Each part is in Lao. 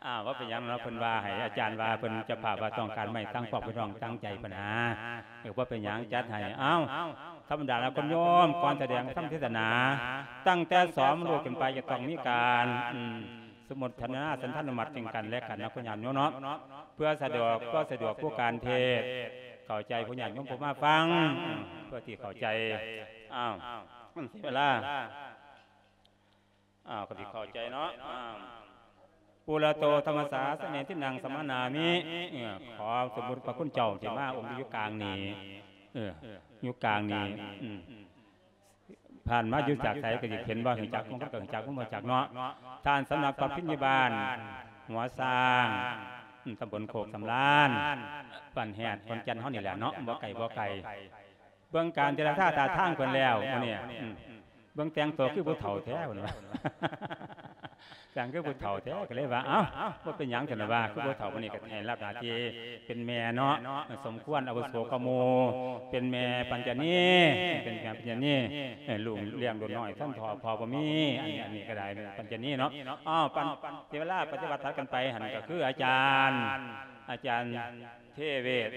ອ້າວ ບໍ່ເປັນຫຍັງເນາະ ເພິ່ນວ່າໃຫ້ອາຈານວ່າ ເພິ່ນເຈົ້າພາບວ່າຕ້ອງການໄມ້ຕັ້ງຄອບ ເພິ່ນຮ້ອງຕັ້ງໃຈເພິ່ນຫາ ເອີ ບໍ່ເປັນຫຍັງ ຈັດໃຫ້. ອ້າວ ທຳມະດາແລ້ວ ຄຸນໂຍມ ກ່ອນສະແດງທຳເທດສະໜາ ຕັ້ງແຕ່ສອງໂມງຂຶ້ນໄປ ຈະຕ້ອງມີການ ອືມ ສະມຸດທະນາສັນທານຸມັດເຖິງກັນແລະກັນເນາະ ຄຸນຍາດໂຍມເນາະ ເພື່ອສະດວກ ເພື່ອສະດວກຜູ້ການເທດ ເຂົ້າໃຈຜູ້ຍາດໂຍມຜູ້ມາຟັງ ເພື່ອທີ່ເຂົ້າໃຈ. ອ້າວ ມັນເສຍເວລາ. ອ້າວ ກໍຊິເຂົ້າໃຈເນາະ. ອ້າວ ປຸລະໂຕທຳມະສາສະເນ ທິນນັງສະມານາມິ. ເອີ ຂໍສົມມຸດພະຄຸນເຈົ້າທີ່ມາອົງຢູ່ກາງນີ້ ເອີ ຢູ່ກາງນີ້ ອືມ ຜ່ານມາຢູ່ຈາກໃສກໍຊິເຫັນບໍ່ ຮູ້ຈັກ ບາງຄົນກໍຮູ້ຈັກ ບາງຄົນບໍ່ຮູ້ຈັກເນາະ. ທ່ານສຳນັກປັດພິນຍາບານຫົວຊ້າງ ອືມ ຕຳບົນໂຄກສຳລານ ບ້ານແຮດ ຂອນແກ່ນເຮົານີ້ແຫຼະເນາະ ບໍ່ໄກ ບໍ່ໄກ. ເບິ່ງການເຈລະຈາທ່າທາງເພິ່ນແລ້ວມື້ນີ້ ອືມ ເບິ່ງແຕ່ງໂຕຄືຜູ້ເຖົ້າແທ້ ເພິ່ນວ່າ ແຕ່ງຄືຜູ້ເຖົ້າແທ້ ກໍເລີຍວ່າ ເອົ້າ ບໍ່ເປັນຫຍັງ ຊັ້ນວ່າ ຄືຜູ້ເຖົ້າ ມື້ນີ້ກໍໃຫ້ຮັບໜ້າທີ່ເປັນແມ່ເນາະ ສົມຄວນອາວຸໂສກວ່າໝູ່ ເປັນແມ່ປັນຈະນີ ເປັນແມ່ປັນຈະນີ ເອີ ລູກລ້ຽງໂດດນ້ອຍ ທ່ານພໍ່ ພໍ່ບໍ່ມີ ອັນນີ້ ອັນນີ້ກໍໄດ້ເປັນປັນຈະນີເນາະ. ອ້າວ ປັນ ເສຍເວລາ ປະຕິບັດ ຕັດກັນໄປ ຫັ້ນກໍຄືອາຈານ ອາຈານເທເວດ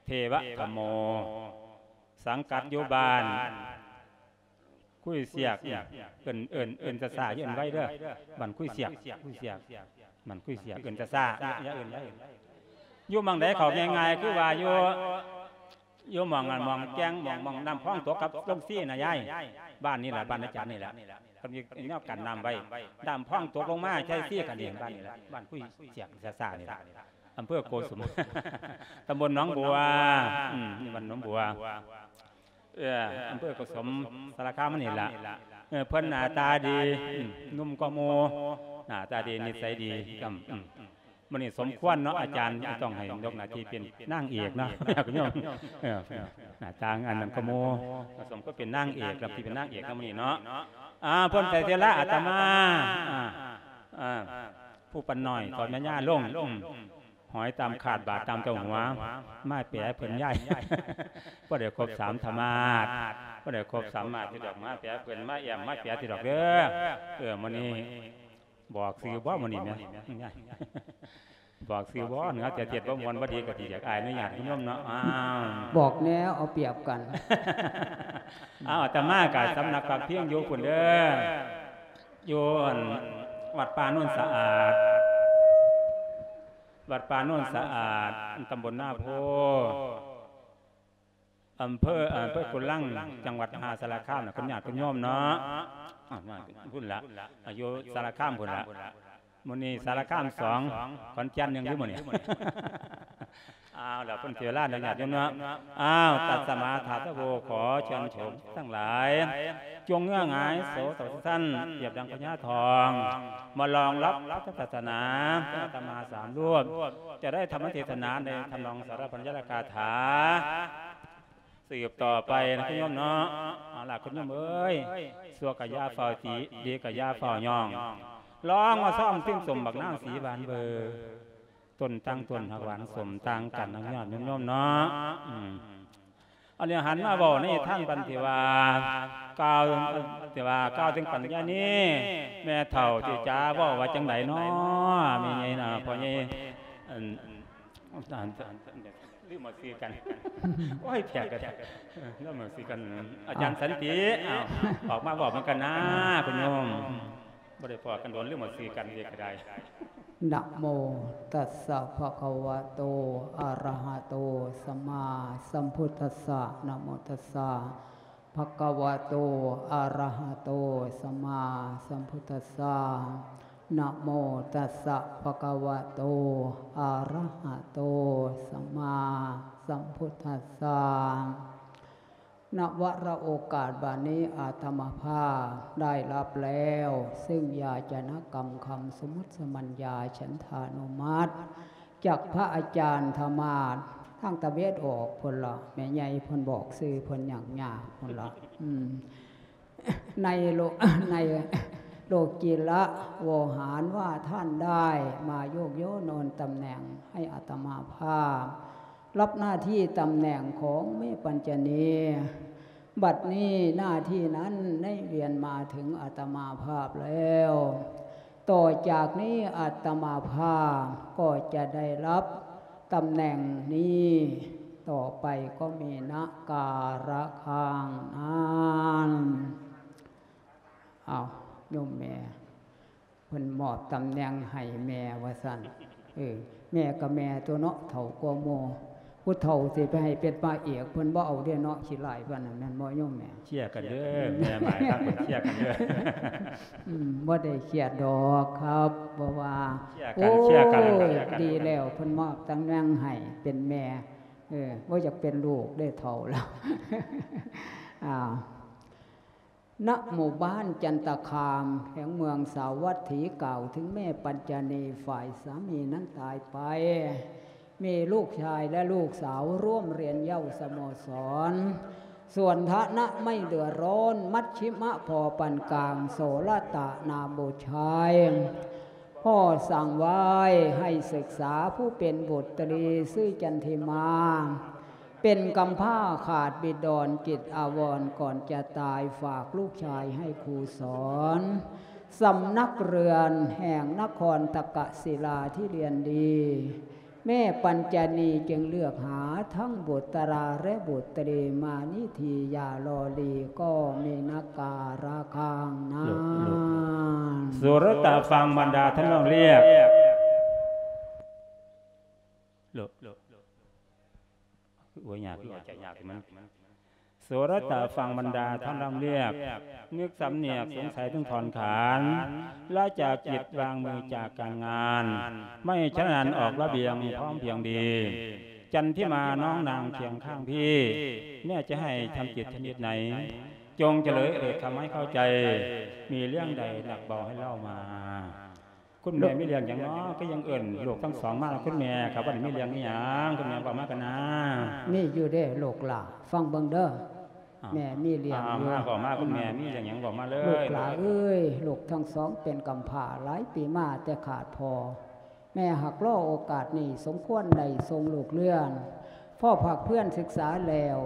ເທວະທຳໂມ ສັງກັດຢູ່ບ້ານ ຄຸຍສຽກ ເອີ້ນ ເອີ້ນ ເອີ້ນຊ້າໆ ຢ່າເອີ້ນໄວເດີ ບ້ານຄຸຍສຽກ ຄຸຍສຽກ ບ້ານຄຸຍສຽກ ເອີ້ນຊ້າໆ ຢ່າເອີ້ນໄວ. ຢູ່ໝ່ອງໃດເຂົ້າງ່າຍໆ ຄືວ່າຢູ່ ຢູ່ໝ່ອງ ໝ່ອງແກ້ງ ໝ່ອງ ໝ່ອງນ້ຳພອງຕົກກັບໂລງຊີນະຍາຍ ບ້ານນີ້ລະ ບ້ານອາຈານນີ້ລະ ເຂົາມີແນວກັນນ້ຳໄວ້ ນ້ຳພອງຕົກລົງມາໃສ່ຊີກັນນີ້ ບ້ານນີ້ລະ ບ້ານຄຸຍສຽກຊ້າໆ ນີ້ລະ ອຳເພີໂກສົມ ຕຳບົນໜອງບົວ ອືມ ບ້ານໜອງບົວ ເອີ ອຳເພີໂກສົມ ສາລະຄາມນີ້ລະ. ເອີ ເພິ່ນໜ້າຕາດີ ອືມ ໜຸ່ມກວ່າໝູ່ ໜ້າຕາດີ ນິໄສດີ ອືມ ອືມ ມື້ນີ້ສົມຄວນເນາະ ອາຈານຕ້ອງໃຫ້ຍົກໜ້າທີ່ເປັນນາງເອກເນາະ ຍາດໂຍມ ເອີ ໜ້າຕ່າງອັນນັ້ນກວ່າໝູ່ ສົມຄວນເປັນນາງເອກ ຮັບທີ່ເປັນນາງເອກນຳມື້ນີ້ເນາະ. ອ່າ ເພິ່ນໃສ່ເສຍລະອາດຕະມາ ອ່າ ອ່າ ຜູ້ປັນນ້ອຍ ຖອດແມ່ຍ່າລົງ ອືມ ຫອຍຕາມຄາດ ບາດຕາມເຕົ້າຫົວ ມາແປເພິ່ນຍາຍ ບໍ່ໄດ້ຄົບສາມທຳມາດ ບໍ່ໄດ້ຄົບສາມມາດຕິດດອກ ມາແປເພິ່ນ ມາແອ້ມ ມາແປຕິດດອກເດີ. ເອີ ມື້ນີ້ບອກຊື່ບໍ່ ມື້ນີ້ແມ່ນ ບອກຊື່ບໍ່ ເໜືອແຕ່ເທດບໍ່ມ່ວນບໍ່ດີ ກໍຊິຢາກອາຍອະນຸຍາດໂຍມເນາະ. ອ້າວ ບອກແດ່ ເອົາປຽບກັນ. ອ້າວ ອາດຕະມາກໍສຳນັກພັກພິງຢູ່ພຸ້ນເດີ ຢູ່ອັນ ວັດປ່າໂນນສະອາດ ວັດປ່າໂນນສະອາດ ຕຳບົນນາໂພ ອຳເພີ ອຳເພີກຸນລັງ ຈັງຫວັດມະຫາສາລະຄາມນະ ຄຸນຍາດຄຸນໂຍມເນາະ. ອ່າ ພຸ້ນລະ ຢູ່ສາລະຄາມພຸ້ນລະ ມື້ນີ້ສາລະຄາມສອງ ຂອນແກ່ນໜຶ່ງຢູ່ມື້ນີ້. ອ້າວ ແລ້ວເພິ່ນເສຍເວລາເນາະ ຍາດໂຍມເນາະ. ອ້າວ ຕັດສະມາທາທະໂວ ຂໍເຊີນໂສມທັງຫຼາຍ ຈົ່ງເງືອຫງາຍໂສຕະວັດສັນ ປຽບດັ່ງພະຍາທອງ ມາລອງຮັບພະທຳສາສະໜາ ອາດຕະມາສາມຮູບ ຈະໄດ້ທຳເທດສະໜາໃນທຳນອງສາລະພັນຍະລະກາຖາ ສືບຕໍ່ໄປນະ ຄຸນໂຍມເນາະ. ເອົາລະ ຄຸນໂຍມເອີຍ ຊົ່ວກະຢ່າຟ້າວຕິ ດີກະຢ່າຟ້າວຍ້ອງ ລອງມາຊອມຊິມຊົມບັກນາງສີບານເບີ ຕົ້ນຕ່າງຕົ້ນຮັກຫວານສົມຕ່າງກັນນະ ຍາດໂຍມເນາະ. ອືມ ອັນນີ້ຫັນມາເວົ້າໃນທາງບັນທີ່ວ່າ ກ່າວ ທີ່ວ່າກ່າວເຖິງປັນຍານີ ແມ່ເຖົ້າຕິຈາເວົ້າວ່າຈັ່ງໃດເນາະ ແມ່ໃຫຍ່ນະ ພໍ່ໃຫຍ່ ອັນ ອັນ ອັນ ລືມເອົາຊື່ກັນ ໂອ້ຍ ແຂກກໍໄດ້ ເອີ ລືມເອົາຊື່ກັນ ອາຈານສັນຕິ ອ້າວ ອອກມາເວົ້ານຳກັນນາ ຄຸນໂຍມ ບໍ່ໄດ້ພໍ້ກັນດົນ ລືມເອົາຊື່ກັນເດ ກໍໄດ້. ນະໂມຕັດສະ ພະຄະວະໂຕ ອະລະຫະໂຕ ສຳມາສຳພຸດທັດສະ ນະໂມຕັດສະ ພະຄະວະໂຕ ອະລະຫະໂຕ ສຳມາສຳພຸດທັດສະ ນະໂມຕັດສະ ພະຄະວະໂຕ ອະລະຫະໂຕ ສຳມາສຳພຸດທັດສະ. ນະວະລະໂອກາດບັດນີ້ ອາດຕະມາພາບໄດ້ຮັບແລ້ວ ຊຶ່ງຢາຈະນະກຳຄຳສະໝຸດສະໝັນຍາ ສັນທານຸມັດ ຈາກພະອາຈານທຳມາດ ທາງຕາເວັນອອກພຸ້ນລະ ແມ່ໃຫຍ່ເພິ່ນບອກຊື່ເພິ່ນຫຍັງຍາກພຸ້ນລະ ອືມ ໃນໂລ ໃນໂລກິລະວະຫານວ່າ ທ່ານໄດ້ມາໂຍກຍ້າຍໂນນຕຳແໜ່ງໃຫ້ອາດຕະມາພາບ ຮັບໜ້າທີ່ຕຳແໜ່ງຂອງແມ່ປັນຈະນີ ບັດນີ້ໜ້າທີ່ນັ້ນໄດ້ວຽນມາເຖິງອາດຕະມາພາບແລ້ວ. ຕໍ່ຈາກນີ້ອາດຕະມາພາບກໍຈະໄດ້ຮັບຕຳແໜ່ງນີ້ຕໍ່ໄປກໍມີນະກາລະຄາງນັ້ນ. ອ້າວ ໂຍມແມ່ ເພິ່ນມອບຕຳແໜ່ງໃຫ້ແມ່ວ່າຊັ້ນ. ເອີ ແມ່ກໍແມ່ຕົວເນາະ ເຖົ້າກວ່າໝູ່. ຜູ້ເຖົ້າຊິໄປໃຫ້ເປັນພະເອກ ເພິ່ນບໍ່ເອົາເດ້ເນາະ ຂີ້ຮ້າຍປານນັ້ນ ແມ່ນບໍ່ໂຍມແມ່? ເຄຍກັນເດີ ແມ່ໝາຍທາງເພິ່ນເຄຍກັນເດີ. ອືມ ບໍ່ໄດ້ເຄຍດອກຄັບ ເພາະວ່າ ເຄຍກັນ ໂອ້ ເຄຍກັນ ເຄຍກັນ ດີແລ້ວ ເພິ່ນມອບຕຳແໜ່ງໃຫ້ເປັນແມ່. ເອີ ບໍ່ຢາກເປັນລູກເດ້ ເຖົ້າແລ້ວ. ອ້າວ ນະໝູ່ບ້ານຈັນຕະຄາມ ແຂວງເມືອງສາວັດຖີ ກ່າວເຖິງແມ່ປັນຈະນີ ຝ່າຍສາມີນັ້ນຕາຍໄປ ມີລູກຊາຍ ແລະ ລູກສາວຮ່ວມຮຽນເຍົາສະໂມສອນ ສວນທະນະໄມ່ເດືອຮ້ອນ ມັດຊິມະພໍປານກາງ ໂສລະຕະນາມບຸດຊາຍ ພໍ່ສັ່ງໄວ້ໃຫ້ສຶກສາຜູ້ເປັນບຸດຕຣີຊື່ຈັນທິມາ ເປັນກຳພ້າຂາດບິດອນ ຈິດອາວອນກ່ອນຈະຕາຍ ຝາກລູກຊາຍໃຫ້ຄູສອນ ສຳນັກເຮືອນແຫ່ງນະຄອນຕະກະສິລາທີ່ລຽນດີ. ແມ່ປັນຈະນີຈຶ່ງເລືອກຫາທັງບຸດຕະລາ ແລະ ບຸດຕຣີ ມານິທີຢ່າລໍຫຼີ ກໍມີນະກາລະຄາງນັ້ນ. ໂລ ໂລ ໂລ ສຸຣະຕະຟັງບັນດາທ່ານຮ້ອງລຽກ. ໂລ ໂລ ໂລ ໂອ້ຍ ຍາກ ຍາກ ຍາກ ມັນ ໂສລະຕະຟັງບັນດາທ່ານລຳລຽບ, ນຶກສຳນຽກສົງໄສເຖິງຖອນຂານ, ລະຈາກຈິດວາງມືຈາກການງານ, ໄມ່ຊະນານອອກລະບຽງພ້ອມພຽງດີ. ຈັນທິມານ້ອງນາງຄຽງຂ້າງພີ່, ແມ່ຈະໃຫ້ທຳຈິດຊະນິດໃດ, ຈົ່ງຈະເລີຍເອີດຄຳໃຫ້ເຂົ້າໃຈ, ມີເລື່ອງໃດໜັກເບົາໃຫ້ເລົ່າມາ. ຄຸນແມ່ມີເລື່ອງຫຍັງເນາະ ຄືຍັງເອີ້ນລູກທັງສອງມາ? ຄຸນແມ່ ເຂົາບໍ່ໄດ້ມີເລື່ອງອີ່ຫຍັງ, ຄຸນແມ່ເວົ້າມາກັນນາ. ມີຢູ່ເດ້ລູກຫຼ້າ, ຟັງເບິ່ງເດີ. ອ້າວ ແມ່ມີເລື່ອງຢູ່. ອ້າວ ມາ ເວົ້າມາ, ຄຸນແມ່ມີເລື່ອງຫຍັງເວົ້າມາເລີຍ. ລູກຫຼ້າເອີຍ, ລູກທັງສອງເປັນກຳພ້າຫຼາຍປີມາແຕ່ຂາດພໍ່. ແມ່ຫາກລໍໂອກາດນີ້ສົມຄວນໄດ້ສົ່ງລູກຮຽນ, ພໍພັກເພື່ອນສຶກສາແລ້ວ,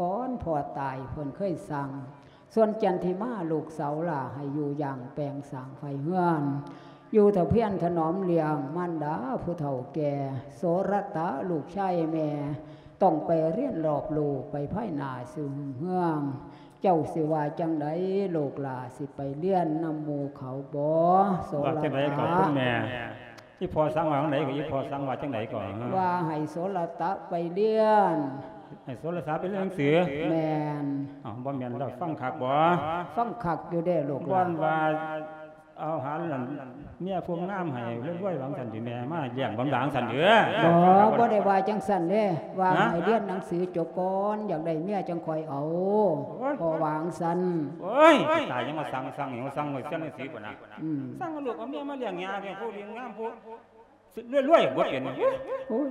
ກ່ອນພໍ່ຕາຍເພິ່ນເຄີຍສັ່ງ ສ່ວນຈັນທິມາລູກສາວຫຼ້າໃຫ້ຢູ່ຢ່າງແປງສ້າງໄຟເຮືອນ, ຢູ່ຖະພຽນຖະໜອມລ້ຽງມານດາຜູ້ເຖົ້າແກ່. ໂສລະຕະລູກຊາຍແມ່ ຕ້ອງໄປຮຽນລອບຮູ້ໄປພາຍໜ້າສູ່ຮຸ່ງເຮືອງ. ເຈົ້າຊິວ່າຈັ່ງໃດ ລູກຫຼ້າ ຊິໄປຮຽນນຳໝູ່ເຂົາບໍ່? ໂສລະຕະ ວ່າຈັ່ງໃດກໍຄຸນແມ່? ອີ່ພໍ່ສັ່ງວ່າຈັ່ງໃດກໍ? ອີ່ພໍ່ສັ່ງວ່າຈັ່ງໃດກໍ? ວ່າໃຫ້ໂສລະຕະໄປຮຽນ. ໃຫ້ໂສລະຕະໄປຮຽນໜັງສື? ແມ່ນ. ອ້າວ ບໍ່ແມ່ນແລ້ວ ຟັງຄັກບໍ່? ຟັງຄັກຢູ່ເດ້ລູກຫຼ້າ. ບ່ອນວ່າເອົາຫາເມຍຜູ້ງາມໃຫ້ລວຍໆ ວ່າຈັ່ງຊັ້ນຕິແມ່? ມາລ້ຽງບັນດາຈັ່ງຊັ້ນເດີ? ບໍ່ ບໍ່ໄດ້ວ່າຈັ່ງຊັ້ນເດ້, ວ່າໃຫ້ຮຽນໜັງສືຈົບກ່ອນ ຢາກໄດ້ເມຍຈັ່ງຄ່ອຍເອົາ. ໂອ້ຍ ພໍ່ວ່າຈັ່ງຊັ້ນ. ໂອ້ຍ ຕາຍ ຍັງມາສັ່ງ ສັ່ງຫຍັງ ສັ່ງໄວ້ຮຽນໜັງສືພຸ້ນນະ. ອືມ ສັ່ງເອົາລູກເອົາເມຍມາລ້ຽງຍາ ລ້ຽງຜູ້ລ້ຽງງາມຜູ້ ລວຍໆ ບໍ່ເປັນ. ໂອ້ຍ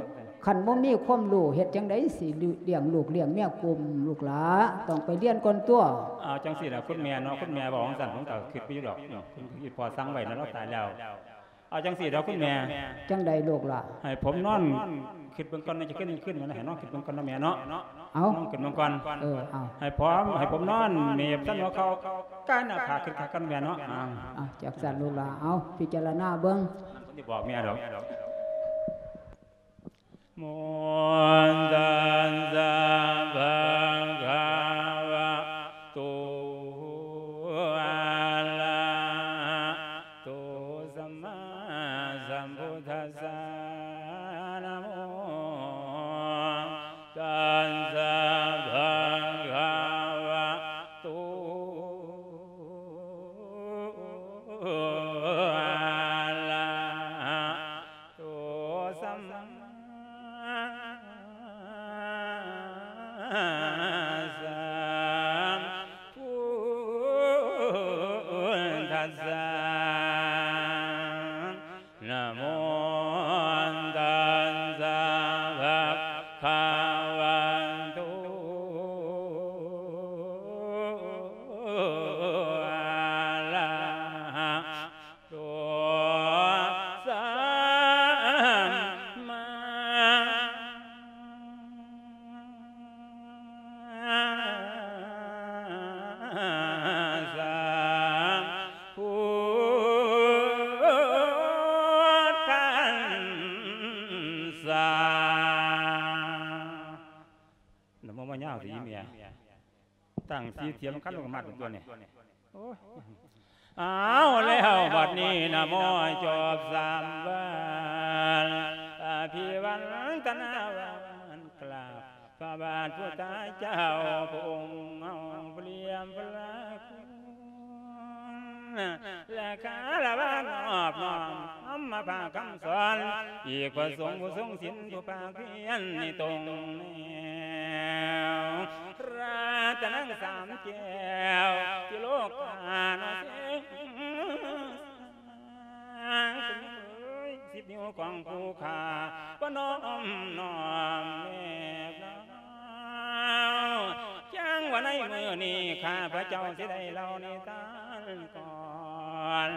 ຄັນບໍ່ມີຄວາມຮູ້ ເຮັດຈັ່ງໃດຊິລ້ຽງລູກລ້ຽງເມຍກຸ້ມລູກຫຼ້າ? ຕ້ອງໄປຮຽນກ່ອນຕົວະ. ເອົາ ຈັ່ງຊີ້ລະຄຸນແມ່ເນາະ, ຄຸນແມ່ເວົ້າຈັ່ງຊັ້ນ ຜົມກໍຄິດໄປຢູ່ດອກ. ເອີ ອີ່ພໍ່ສັ່ງໄວ້ນະ ລາວຕາຍແລ້ວ. ເອົາຈັ່ງຊີ້ດອກຄຸນແມ່. ຈັ່ງໃດລູກຫຼ້າ? ໃຫ້ຜົມນອນຄິດເບິ່ງກ່ອນນະ, ຈະຂຶ້ນ ຂຶ້ນມາໃຫ້ນອນຄິດເບິ່ງກ່ອນນະແມ່ເນາະ. ເອົາ ນອນຄິດເບິ່ງກ່ອນ. ເອີ ເອົາ ໃຫ້ຜົມ ໃຫ້ຜົມນອນເໝັບສັນຫົວເຂົ່າ ກາຍໜ້າຜາກຄິດຄັກກ່ອນແມ່ເນາະ. ເອົາ ເອົາ ຈັ່ງຊັ້ນລູກຫຼ້າ. ເອົາ ພິຈາລະນາເບິ່ງ. ນັ້ນເພິ່ນຊິບອກແມ່ດອກ. ໂມ ຕັດສະ ພະຄະວະໂຕ ອະລະຫະໂຕ ສຳມາສຳພຸດທັດສະ ນະໂມ ຕັດສະ ພະຄະວະໂຕ ອະລະຫະໂຕ ສຳມາສຳພຸດທັດສະ ນະໂມ ຕັດສະ ພະຄະວະໂຕ ອະລະຫະໂຕ ສຳມາສຳພຸດ ຕັ້ງສີເສຍສຳຄັນລົງມາຕົວນີ້ ໂອ້ຍ ເອົາແລ້ວບັດນີ້ນະ ໝໍຈອບສາມບານ ອະພິວັນຕະນາວານ ກາບພະບາດພຸດທະເຈົ້າ ພະອົງເຮົາພະລຽມພະລາຄຸນ ແລະຄາລະວະນອບນ້ອມນຳມາພາຄຳສອນ ອີກພະສົງຜູ້ຊົງສິນ ຜູ້ພາກພຽນໃນຕົງແນວ ລັດຕະນັງສາມແກ້ວ ຕິໂລການະເສງ ສິບນິ້ວຂອງຜູ້ຂ້າ ປະນອມນ້ອມແນບລາວ ຈັ່ງວ່າໃນມື້ນີ້ ຂ້າພະເຈົ້າຊິໄດ້ເລົ່ານິທານກ່ອນ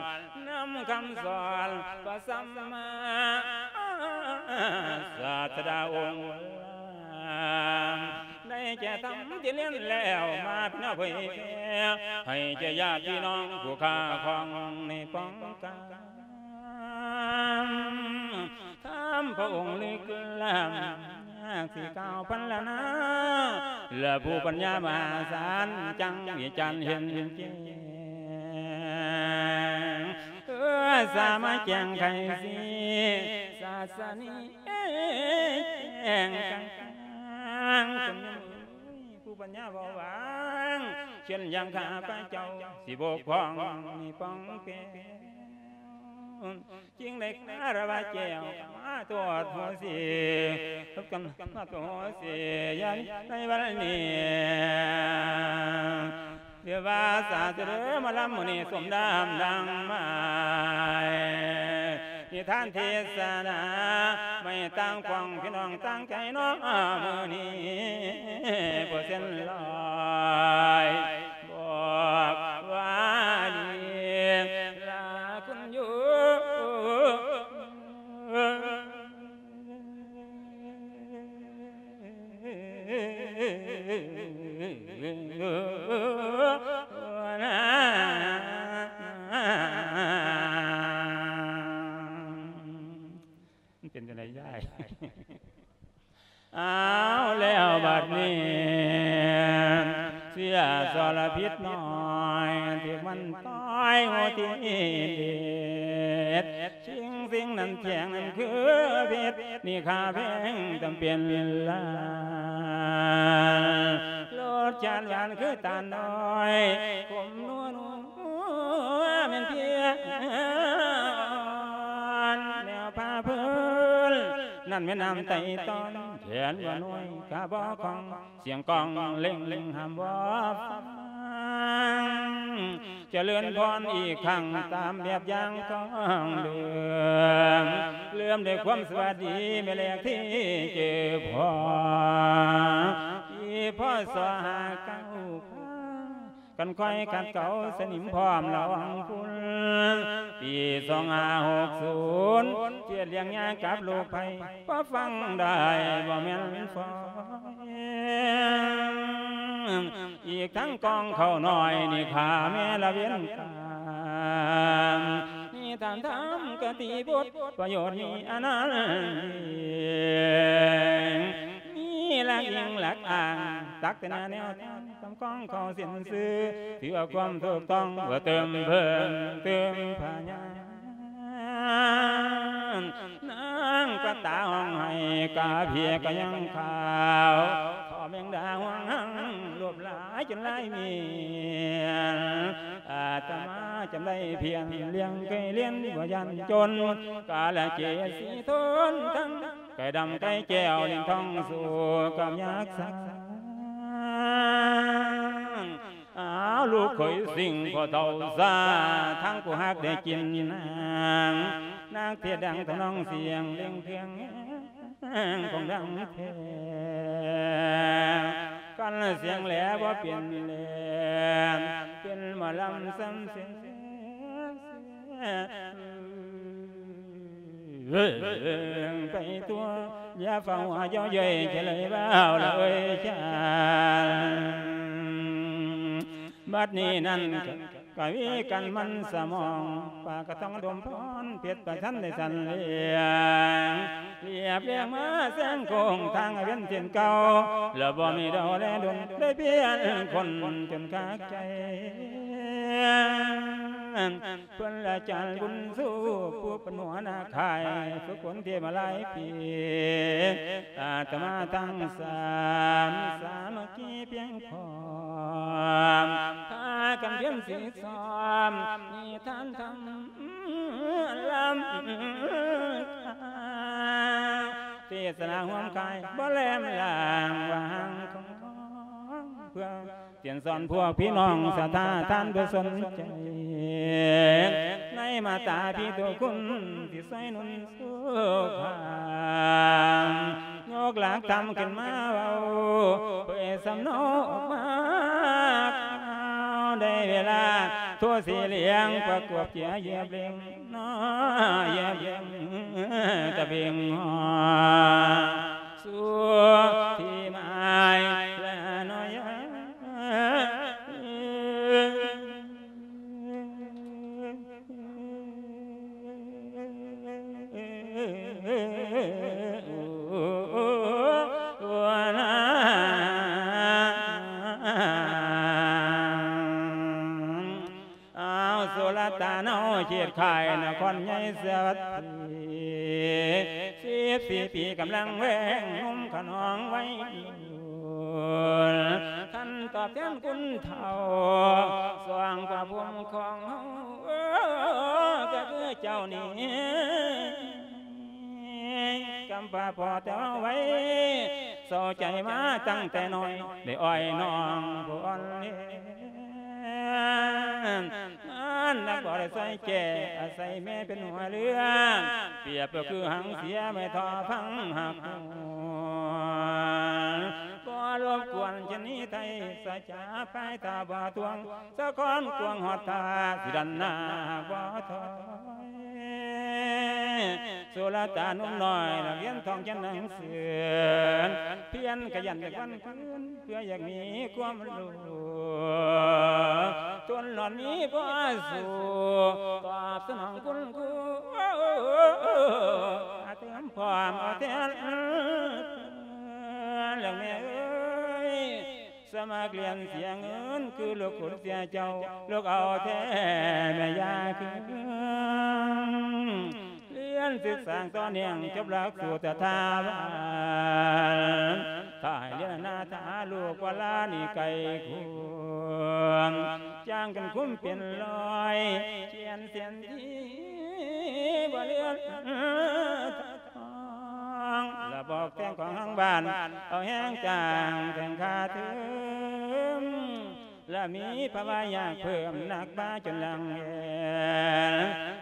ນຳຄຳສອນພະສຳມາສາດສະດາອົງ ໄດ້ແກ່ທຳທີ່ລຽນແລ້ວ ມາເຜີຍແຜ່ ໃຫ້ແກ່ຍາດພີ່ນ້ອງຜູ້ຂ້າຂອງໃນປ້ອງການ ທຳພະອົງລຶກລ້ຳ ຍາກຊິກ່າວພັນລະນາ ແລະຜູ້ປັນຍາມະຫາສານ ຈັ່ງວິຈານເຫັນແຈ້ງ ເອີ ສາມາແຈ້ງໄຂສີ ສາສະນີ ແຈ້ງກາງ ຄົນມີຜູ້ປັນຍາເບົາບາງ ເຊັ່ນຢ່າງຂ້າພະເຈົ້າ ຊິບົກຜ່ອງໃນປ້ອງແປງ ຈຶ່ງໄດ້ຄາລະວະແກ້ວ ມາໂທດໂຫສິ ກັນມາໂທດໂຫສິ ໃນວັນນີ້ ເດວາສາດເດີ ມາລຳມື້ນີ້ສົມດຳດັ່ງໝາຍ ນິທານເທດສະນາ ໄມ້ຕ່າງພອງພີ່ນ້ອງຕ່າງໃຈເນາະ ມື້ນີ້ບໍ່ເຊັ່ນລອຍ ບອກວ່າດີລາຄຸນຢູ່ ມັນເປັນຈັ່ງໃດຍາຍ? ອ້າວ ແລ້ວບັດນີ້ ເສຍສະລະພິດນ້ອຍ ຖືກມັນຕ່ອຍຫົວທີ່ເດັດ ສິ່ງສິ່ງນັ້ນແຈ້ງນັ້ນຄືເພັດ ນີ້ຄ່າແພງຈຳເປັນລານ ລົດຊາດຫວານຄືຕານນ້ອຍ ຂົມນົວ ແມ່ນເພຍອ່ອນ ແນວພາເພີນ ນັ້ນແມ່ນນ້ຳໄຕຕອນ ແຂນບໍ່ໜ່ວຍ ຂາບໍ່ຄ່ອງ ສຽງກ້ອງເລັ່ງຫ້າມບໍ່ຟັງ ຈະເລີນພອນອີກຄັ້ງ ຕາມແບບຢ່າງຂອງເດີມ ເລີ່ມດ້ວຍຄວາມສະຫວັດດີ ແມ່ແລກທີ່ເຈີພໍ ປີ ພ.ສ. ຫ້າເກົ້າ ກັນຄອຍຂັດເກົາສະໜິມພ້ອມລະວັງຝຸ່ນ ປີສອງຫ້າຫົກສູນ ຈຽດລ້ຽງຍາກັບລູກໃຜ ພໍຟັງໄດ້ບໍ່ແມ່ນຝອຍ ອີກທັງກອງເຂົ້ານ້ອຍນີ້ຂ້າແມ່ລະເວນກາມ ນິທານທຳຄະຕິບົດ ປະໂຫຍດມີອະນັນເດ ມີຫຼັກອີງຫຼັກອ້າງ ຕັກແຕ່ໜ້າແນວທາງ ຄຳຄອງເຂົ້າເສັ້ນຊື່ ຖືວ່າຄວາມຖືກຕ້ອງ ເພື່ອເຕີມເພີ່ມຕື່ມພະຍານ ນາງປະຕາຮ້ອງໄຫ້ ກາເພຍກະຍັງຂາວ ທໍ່ແມງດາຫວງຫັງ ລວບຫຼາຍຈົນຫຼາຍເມນ ອາດຕະມາຈຳໄດ້ພຽນ ລ້ຽງໄກ່ລ້ຽງບໍ່ຢ້ານຈົນ ກາລະເກດສີທົນທັງ ໄກ່ດຳໄກ່ແກ້ວ ຫຼິ້ນທ່ອງສູ້ກັບຍັກສາງ ອ້າວ ລູກເຂີຍສິງ ພໍ່ເຖົ້າຊາ ທັງຜູ້ຮັກໄດ້ກິນນາງ ນາງເທດດັງທຳນອງສຽງເລັ່ງເຄື່ອງແຮງ ຂອງດັງແທ້ ກັນສຽງແຫຼບໍ່ເປັນແລນ ເປັນໝໍລຳສຳເສນ ເອີ ໄປທົ່ວ ຢ່າຟ້າວເຍົາເຍີ້ຍ ຈະເລີຍເວົ້າລະເອີຍຊານ ບັດນີ້ນັ້ນ ກະວີກັນມັນສະໝອງ ປາກະຕ້ອງດົມພອນ ເພັດປະທັນໄດ້ສັນລຽງ ລຽບລຽງມາແຊງໂຄ້ງທາງໃຫ້ເປັນເສັ້ນເກົ່າ ແລ້ວບໍ່ມີດອກແລດົນ ໄດ້ປ່ຽນຄົນຈົນຂາດໃຈ. ເພິ່ນລະຈານບຸນຊູ ຜູ້ເປັນຫົວໜ້າຄ້າຍ ຝຶກຝົນທີ່ມາຫຼາຍປີ ອາດຕະມາທັງສາມ ສາມັກຄີພຽງພ້ອມ ພາກັນພຽນສິດຊ້ອມ ນິທານທຳລຳ ເທດສະໜາຮ່ວມຄ້າຍ ບໍ່ແຫຼມລາງວາງຂອງ ເພື່ອ ສຽນສອນພວກພີ່ນ້ອງສັດທາທ່ານຜູ້ສົນໃຈ ໃນມາດຕາພີໂຕຄຸນທີ່ຊ່ວຍໜູນສູ້ຄ້າ ຍົກຫຼັກທຳຂຶ້ນມາເວົ້າ ເຜີຍສຳເນົາອອກມາ ໄດ້ເວລາໂທສີຫຼຽງ ປະກວບເຈຍຢຽບເຫຼັງ ນອ ຢຽບເຫຼັງຕະເບັງ ສູ່ທີ່ໝາຍລະໜ້ອຍ ອ້າວ ສຸລະຕາເນົາ ເຂດຄ້າຍນະຄອນໃຫຍ່ສະຫວັດດີ ສິບສີ່ປີກຳລັງແວງ ໜຸ່ມຂະໜອງໄວລຸ້ນ ຄັນຕອບແທນຄຸນເຖົ້າ ຊ່ວງພະພູມຂອງເຮົາ ກໍຄືເຈົ້ານີ້ ກຳພາພໍ່ແຕ່ເວົ້າໄວ້ ເສົ້າໃຈມາຕັ້ງແຕ່ນ້ອຍ ໄດ້ອ້ອຍນ້ອງຜູ້ອ່ອນແຮງ ງານໜັກບໍ່ໄດ້ຊ່ວຍແກ້ ອາໄສແມ່ເປັນຫົວເຮືອ ປຽບກໍຄືຫາງເສຍ ແມ່ທໍ່ຟັງຮັກຫວງ ບໍ່ລົບກວນຊະນີໄທ ສາຈາພາຍຕາບໍ່ທວງ ສະຄອນກວາງຮອດທ່າ ຊິດັນໜ້າບໍ່ຖອຍ ສຸລະຕາໜຸ່ມນ້ອຍ ນັກຮຽນທ່ອງຂຽນໜັງສື ພຽນຂະຫຍັນຈາກວັນຄືນ ເພື່ອຢາກມີຄວາມຮູ້ ທົນຫຼອນມີພໍສູ້ ຕອບສະໜອງຄຸນຄູ ເຕີມພ້ອມເອົາແທນ ແລ້ວແມ່ເອີຍ ສະໝັກຮຽນເສຍເງິນ ຄືລູກຂຸນເສຍເຈົ້າ ລູກເອົາແທ້ແມ່ຢ່າຄືນ ຮຽນສຶກສາຕໍ່ເນື່ອງ ຈົບຫຼັກສູດສະຖາບັນ ຖ້າໃຫ້ຮຽນອະນາຖາ ລູກວ່າລານີ້ໄກຄວນ ຈ້າງກັນຄຸມເປັນຮ້ອຍ ຂຽນແຜນທີ່ບໍ່ເລື່ອນ ລະບອກແຕ່ງຂອງທາງບ້ານ ເອົາແຮງຈ້າງແຕ່ງຄ່າເທີມ ລະມີພາວະຢາກເພີ່ມ ໜັກມາຈົນຫຼັງແຫນ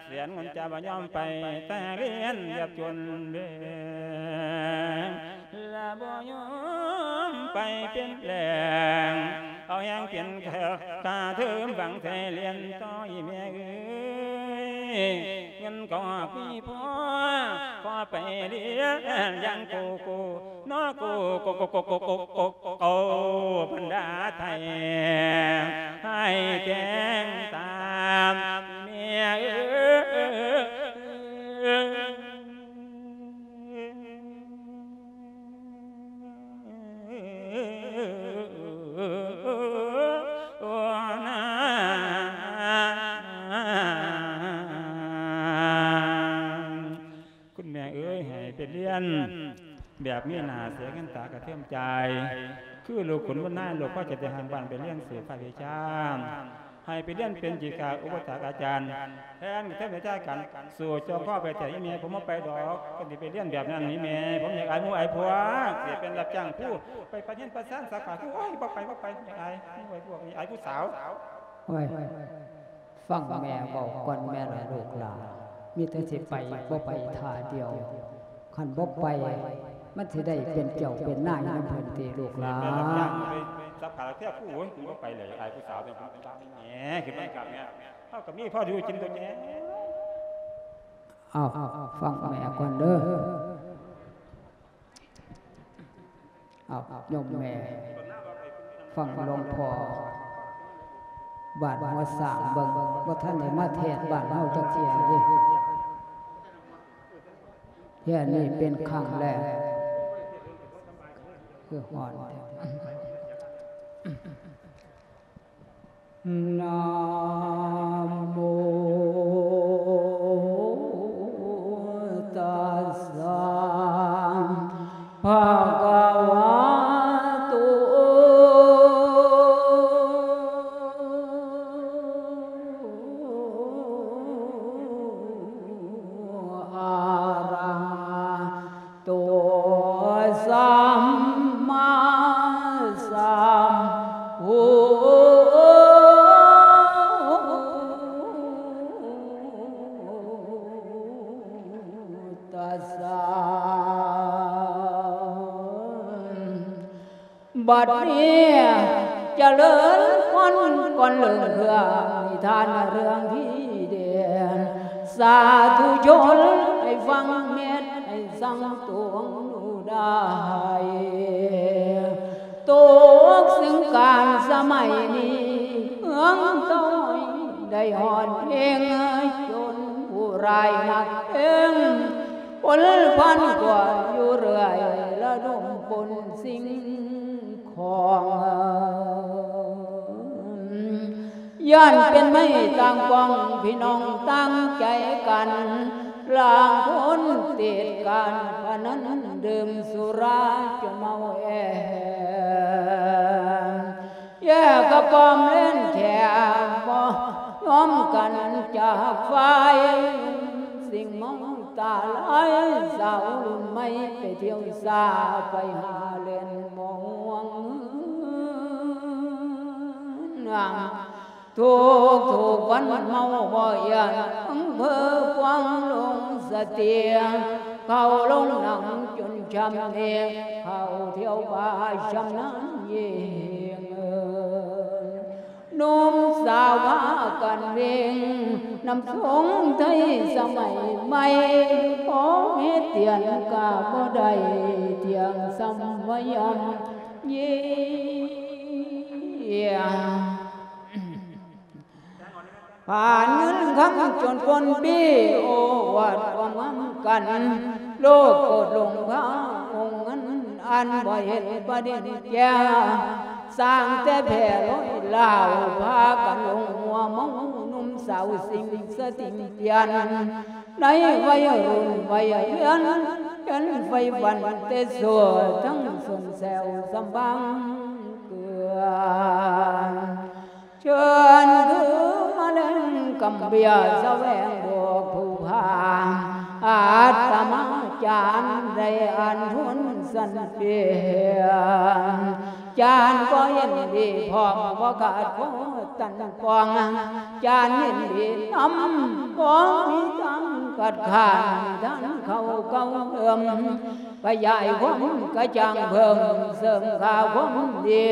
ສຽນເງິນຈະບໍ່ຍອມໄປ ແຕ່ຮຽນແບບຈົນແບງ ລະບໍ່ຍອມໄປເປັນແຫຼ່ງ ເອົາແຮງເປັນຄ່າເທີມ ຫວັງແຕ່ຮຽນຕໍ່ອີ່ແມ່ເອີຍ ເງິນກໍມີພໍ ພໍໄປຮຽນຢ່າງໂກໂກ້ ເນາະ ໂກໂກໂກໂກໂກໂກໂກ ບັນດາໄທ ໃຫ້ແຕ່ງຕາມແມ່ເອີຍ ໂອ້ນາ ຄຸນແມ່ເອີຍ ໃຫ້ໄປຮຽນແບບມີໜ້າເສຍເງິນຕາກະເທີມຈ່າຍ ຄືລູກຂຸນບຸນນາຍ ລູກພໍ່ເຈົ້າແຕ່ຫ່າງບ້ານໄປຮຽນສືບພາກວິຊາ ໃຫ້ໄປຮຽນເປັນຈິກາອຸປະຖາກອາຈານ ແທນກະເທີມໃນຈາຍກັນ ສູ້ຈໍຄໍໄປແທ້ ອີ່ແມ່ ຜົມບໍ່ໄປດອກ ຄັນຊິໄປຮຽນແບບນັ້ນ ອີ່ແມ່ ຜົມຢາກອາຍໝູ່ອາຍພວກ ຊິໄປເປັນຮັບຈ້າງຄູ ໄປປະຮຽນປະຊານສາຂາຄູ ໂອ້ຍ ບໍ່ໄປ ບໍ່ໄປ ຢາກອາຍໝູ່ອາຍພວກ ອາຍຜູ້ສາວ ໂອ້ຍ ຟັງແມ່ເວົ້າກ່ອນແມ່ລະລູກຫຼານ ມີແຕ່ຊິໄປ ບໍ່ໄປທ່າດຽວ ຄັນບໍ່ໄປ ມັນຊິໄດ້ເປັນເຈົ້າເປັນນາຍນຳເພິ່ນຕິລູກຫຼານ ໄປສັບຂາແທ້ຜູ້ ໂອ້ຍ ບໍ່ໄປເລີຍ ອາຍຜູ້ສາວ ແໝ ຄືມັນຄັກແມ່ ເຮົາກໍມີພໍຢູ່ກິນຕົວແມ່ ເອົ້າ ຟັງແມ່ກ່ອນເດີ. ເອົາ ໂຍມແມ່ ຟັງຫຼວງພໍ່ ບ້ານຫົວຊ້າງເບິ່ງ ບໍ່ທັນໄດ້ມາເທດບ້ານເຮົາຈັກເທື່ອເດ້. ເທື່ອນີ້ເປັນຄັ້ງແລກ ຄືຮ້ອນແທ້. ນະໂມຕັດສະ ພະຄະວະໂຕ ອະຣະຫະໂຕ ສຳມາສຳພຸດ ຕັດສະ. ບັດນີ້ຈະເລີນພອນກ່ອນເລີ່ມເລື່ອງນິທານເລື່ອງທີ່ເດັ່ນ ສາທຸຊົນໃຫ້ຟັງເມັດໃຫ້ສັງຕົງດູໄດ້ ຕົກຊຶ່ງການສະໄໝນີ້ ເມືອງຕ້ອຍໄດ້ຮອດເພງ ຈົນຜູ້ຮ້າຍນັກເພງ ພົນພັນກວ່າຢູ່ເລື້ອຍ ລະດົມປົນສິ່ງຂອງ ຢ້ານເປັນໄມ້ຕ່າງກອງ ພີ່ນ້ອງຕ່າງໃຈກັນ ລາງຄົນຕິດການພະນັນ ດື່ມສຸລາຈົນເມົາແອ ແຍກກະປ້ອມເລນແຖວ ບໍ່ຍອມກັນຈາກຝ່າຍ ສິ່ງເມົາຕາຫຼາຍ ສາວລຸ້ນໃໝ່ໄປທ່ຽວສາ ໄປຫາເລນໝໍງ ທຸກໆວັນເມົາບໍ່ຢ້ານ ອຳເພີພວງລົງສະເຕຍ ເຂົ້າລົງນັ່ງຈົນຊ່ຳເອ ເຂົ້າທ່ຽວປ່າຊຳນານຍິ່ງ ໜຸ່ມສາວພາກັນເວັ່ງ ນຳສົງໄທສະໄໝໃໝ່ ຂໍເຮັດຕຽນກະບໍ່ໄດ້ ທ່ຽງສ່ຳວ່າຍາມເຢັນ ຜ່ານເງິນຄຳຈົນປົນປີ້ ໂອ້ອວດຄວາມງາມກັນ ໂລກໂກດຫຼົງພາອົງເງິນ ອັນບໍ່ເຫັນປະດິນແກ່ ສ້າງແຕ່ແຜ່ລອຍລາວ ພາກັນຫຼົງຫົວເມົາ ໜຸ່ມສາວສິ່ງສະຕິງປ່ຽນ ໃນໄວລຸ້ນໄວເຮືອນ ເຫັນໄຟຝັນແຕ່ຊົ່ວ ທັງຊົນແຊວສຳບາງເກືອນ ເຊີນຄືມາແລງກຳເບຍ ສະແຫວງບອກຜູ້ພາ ອາດຕະມາຈານໄດ້ອ່ານທົນສັນເປຍ ຈານກໍເຫັນດີພ້ອມ ບໍ່ຂາດຂໍ້ຕັນປ້ອງ ຈານເຫັນດີນຳ ບໍ່ມີທາງຄັດຄ້ານ ທ່ານເຂົ້າເກົ່າເດີມ ຂະຫຍາຍຄວາມກະຈ່າງເພີ່ມ ເສີມຄ່າຄວາມດີ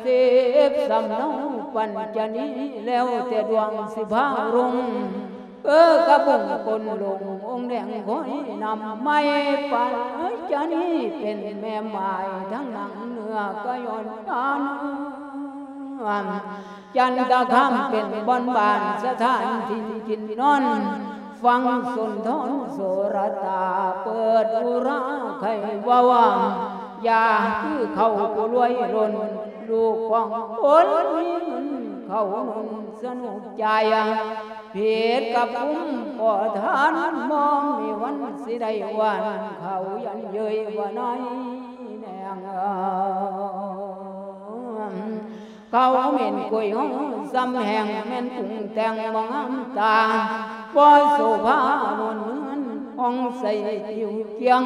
ສິບສຳເນົາປັນຈະນີ ແລ້ວແຕ່ດວງຊິພາລຸ່ງ ເອີ ກະບຸງກົ້ນລົງອົງແດງຄອຍນຳ ໄມ້ປັນຈະນີເປັນແມ່ໝ້າຍ ທັງໜັງເນື້ອກະຍ້ອນການ ຈັນຕະຄາມເປັນບ່ອນບ້ານ ສະຖານຖິ່ນກິນນອນ ຝັ່ງສຸນທອນໂສລະຕາ ເປີດອຸລາໄຂເວົ້າວ່າ ຢ່າຄືເຂົາຜູ້ລວຍລົ້ນ ລູກຂອງຄົນມີເງິນເຂົ້າໜູນສະໜຸກຈ່າຍ ຜິດກັບກຸ່ມຂໍທານ ບໍ່ມີວັນຊິໄດ້ຫວານ ເຂົາຢັນເຍີ້ຍວ່ານາຍແນງ ເຂົາເໝັນກຸຍຫ້ອງຊຳແຫ້ງ ແມ່ນປຸງແຕ່ງບໍ່ງາມຕາ ບໍ່ໂສພານວນເຮືອນ ຫ້ອງໃສຕິວກຽງ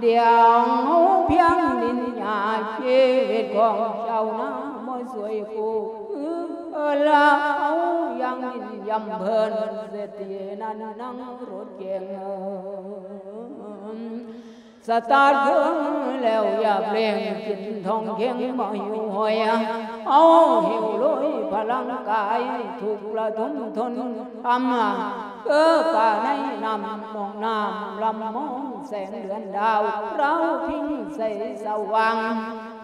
ດຽວເຮົາພຽງດິນຫຍ້າ ຊີວິດຂອງຊາວນາບໍ່ຊ່ວຍກູ້ ລະເຮົາຍັງຍິນຢຳເພີນ ເສດຖີນັ້ນນັ່ງລົດເກັງ ສະຕາດເຄື່ອງແລ້ວຢາກເລັ່ງ ກິນທອງເຄັງບໍ່ຫິວໂຫຍ ເຮົາຫິວໂລຍພະລັງກາຍ ທຸກລະທົນທົນທຳ ເອີ ປາໃນນ້ຳໜອງນ້ຳລຳມອງ ແສງເດືອນດາວລາວພິງໃສສະຫວ່າງ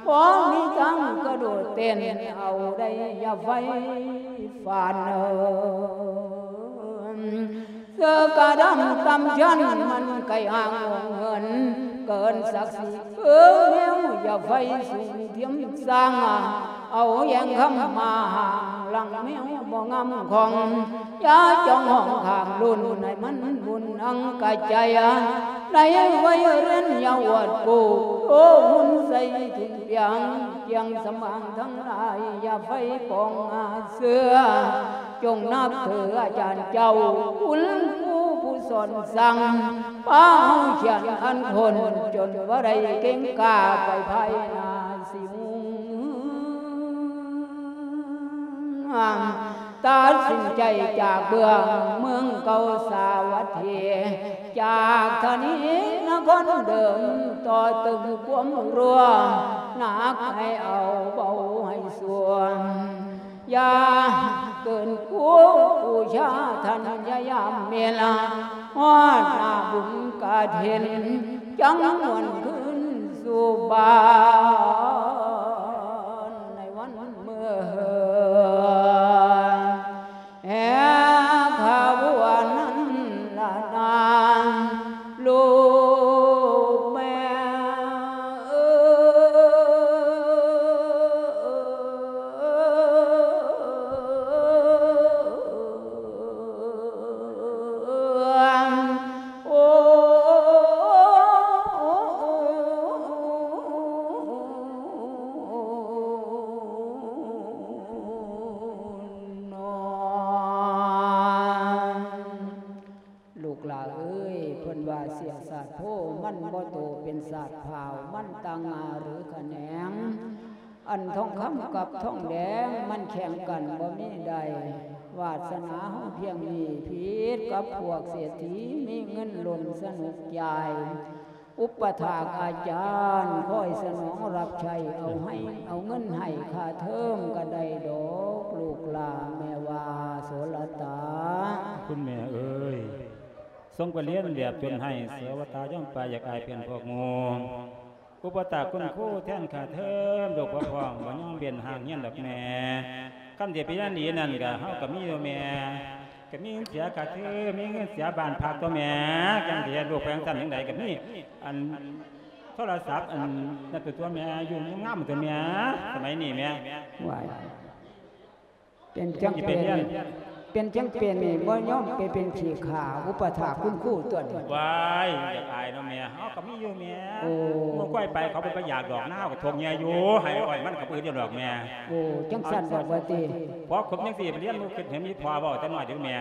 ພໍມີທາງກະໂດດເຕັ້ນເອົາໄດ້ ຢ່າໄຟຝັນເອີຍ. ເສື້ອກະດຳຕ່ຳຊັ້ນມັນໄກ່ຫາງເງິນເກີນສັກສີ ເອີ ແມວຢ່າໄຟສູງທຽມສ້າງ ເອົາແຍງຄຳມາຫາງຫຼັງແມວບໍ່ງາມຂອງ ຢ່າຈ້ອງຫ້ອງຂ້າງລຸ້ນໃຫ້ມັນບຸນອັງກະໃຈ ໃນໄວເຣັນຢ່າອວດໂກ ໂຕຮຸນໃສ່ທຸນພຽງ ຈຽງສະໝາງທັງຫຼາຍ ຢ່າໄຟປອງອາເຊື່ອ ຈົ່ງນັບຖືອາຈານເຈົ້າ ຄຸນຄູຜູ້ສອນສັ່ງ ພາເຮົາຂຽນອັນຄົນ ຈົນບໍ່ໄດ້ເກັ່ງກ້າໄປພາຍໜ້າຊິຮຸ່ງ ຕັດສິນໃຈຈາກເບື້ອງເມືອງເກົ່າສາວັດຖີ ຈາກທານີນະຄອນເດີມ ຕໍ່ຕຶງຄວາມຮົວ ໜັກໃຫ້ເອົາເບົາໃຫ້ສ່ວນ ຢ່າເກີນຄູບູຊາທ່ານ ຢ່າຍາມເມລາ ຮອດໜ້າບຸນກະຖິນ ຈັ່ງຫວນຄືນສູ່ບ້ານໃນວັນມື້ແຫ່ຂະບວນນັ້ນລະນາ ລູກແມ່ເອີຍ. ລູກຫຼ້າເອີຍ ເພິ່ນວ່າເສຍສາດໂພ ມັນບໍ່ໂຕເປັນສາດພ້າວ ມັນຕ່າງງ່າຫຼືຂະແໜງ ອັນທອງຄຳກັບທອງແດງ ມັນແຂ່ງກັນບໍ່ມີໄດ້ ວາດສະໜາເຮົາພຽງນີ້ ຜິດກັບພວກເສດຖີ ມີເງິນລົ້ນສະໜຸກຈ່າຍ ອຸປະຖາກອາຈານ ຄອຍສະໜອງຮັບໃຊ້ ເອົາໃຫ້ ເອົາເງິນໃຫ້ຄ່າເທີມກະໄດ້ດອກ ລູກຫຼ້າແມ່ວ່າໂສລະຕາ. ຄຸນແມ່ເອີຍ ສົ່ງໄປຮຽນແບບຈົນໄຫ້ ເສຍວະຕາຍອມໄປ ຢາກອາຍເພື່ອນພວກໝູ່ ອຸປະຖາກຄຸນຄູແທນຄ່າເທີມ ລູກບໍ່ພ້ອມບໍ່ຍອມເວັ້ນຫ່າງຮຽນດອກແມ່ ຄັນຊິໄປຮຽນດີນັ້ນກະ ເຮົາກະມີຢູ່ແມ່ ກະມີເງິນເສຍຄ່າເທີມ ມີເງິນເສຍບ້ານພັກຕົວະແມ່ ຈັ່ງຊິເຮັດລູກໄປຈັ່ງຊັ້ນຈັ່ງໃດ ກະມີອັນໂທລະສັບ ອັນນັ້ນຕົວະແມ່ ຢູ່ງາມຕົວະແມ່ ສະໄໝນີ້ແມ່ ວ້າຍ ເປັນຈັ່ງເປັນ ເປັນຈັ່ງເປັນນີ້ ບໍ່ຍອມໄປເປັນຂີ້ຂ້າ ອຸປະຖາກຄຸນຄູຕົວະນີ້ ວ້າຍ ຢາກອາຍເນາະແມ່ ເຮົາກະມີຢູ່ແມ່ ໂອ້ ໝູ່ກ້ອຍໄປ ເຂົາບໍ່ໄປຢາກດອກນາ ເຮົາກະທົກເຫຍື່ອຢູ່ ໃຫ້ອ້ອຍມັນກະບໍ່ອຶດດອກແມ່ ໂອ້ ຈັ່ງຊັ້ນດອກວ່າຕິ ພໍຄົບຈັ່ງຊີ້ໄປຮຽນ ບໍ່ຄິດເຫັນອີ່ພໍ່ເວົ້າຈັກໜ້ອຍເດີແມ່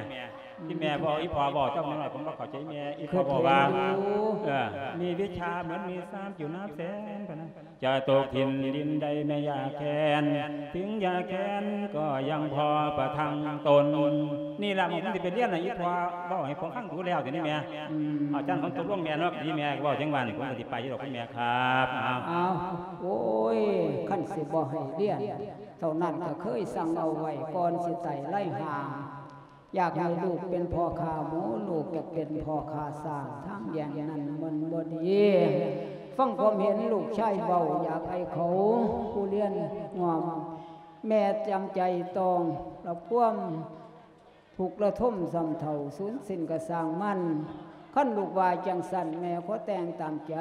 ອີ່ແມ່ເວົ້າ ອີ່ພໍ່ເວົ້າຈັກໜ້ອຍ ຜົມບໍ່ເຂົ້າໃຈແມ່ ອີ່ພໍ່ເວົ້າວ່າ ເອີ ມີວິຊາເໝືອນມີຊານຢູ່ນັບແສນ ປານນັ້ນ ຈະຕົກຖິ່ນດິນໃດແມ່ຢາກແຄ້ນ ເຖິງຢາກແຄ້ນກໍຍັງພໍປະທັງຕົນ ນີ້ລະ ໝົງມັນຊິໄປຮຽນນະ ອີ່ພໍ່ເວົ້າໃຫ້ຜົມຟັງດູແລ້ວ ດຽວນີ້ແມ່ ອືມ ອາຈານ ຜົມຕົກລົງແມ່ເນາະ ດີແມ່ເວົ້າຈັ່ງວ່ານີ້ ຜົມກະຊິໄປຢູ່ດອກ ຄຸນແມ່ຄັບ ເອົາ ເອົາ ໂອ້ຍ ຄັນຊິບໍ່ໃຫ້ຮຽນ ເທົ່ານັ້ນກະເຄີຍສັ່ງເອົາໄວ້ ກ່ອນຊິໄຕ່ໄລ່ຫ່າງ ຢາກໃຫ້ລູກເປັນພໍ່ຂ້າໝູ ລູກຢາກເປັນພໍ່ຂ້າຊ້າງ ທາງຢ່າງນັ້ນມັນບໍ່ດີ ຟັງຄວາມເຫັນລູກຊາຍເວົ້າ ຢາກໃຫ້ເຂົາຜູ້ຮຽນຮ່ວມ ແມ່ຈຳໃຈຕ້ອງຮັບຄວາມທຸກລະທົມສ່ຳເທົາ ສູນສິ້ນກະຊ່າງມັນ ຄັນລູກວ່າຈັ່ງຊັ້ນ ແມ່ຂໍແຕ່ງຕາມໃຈ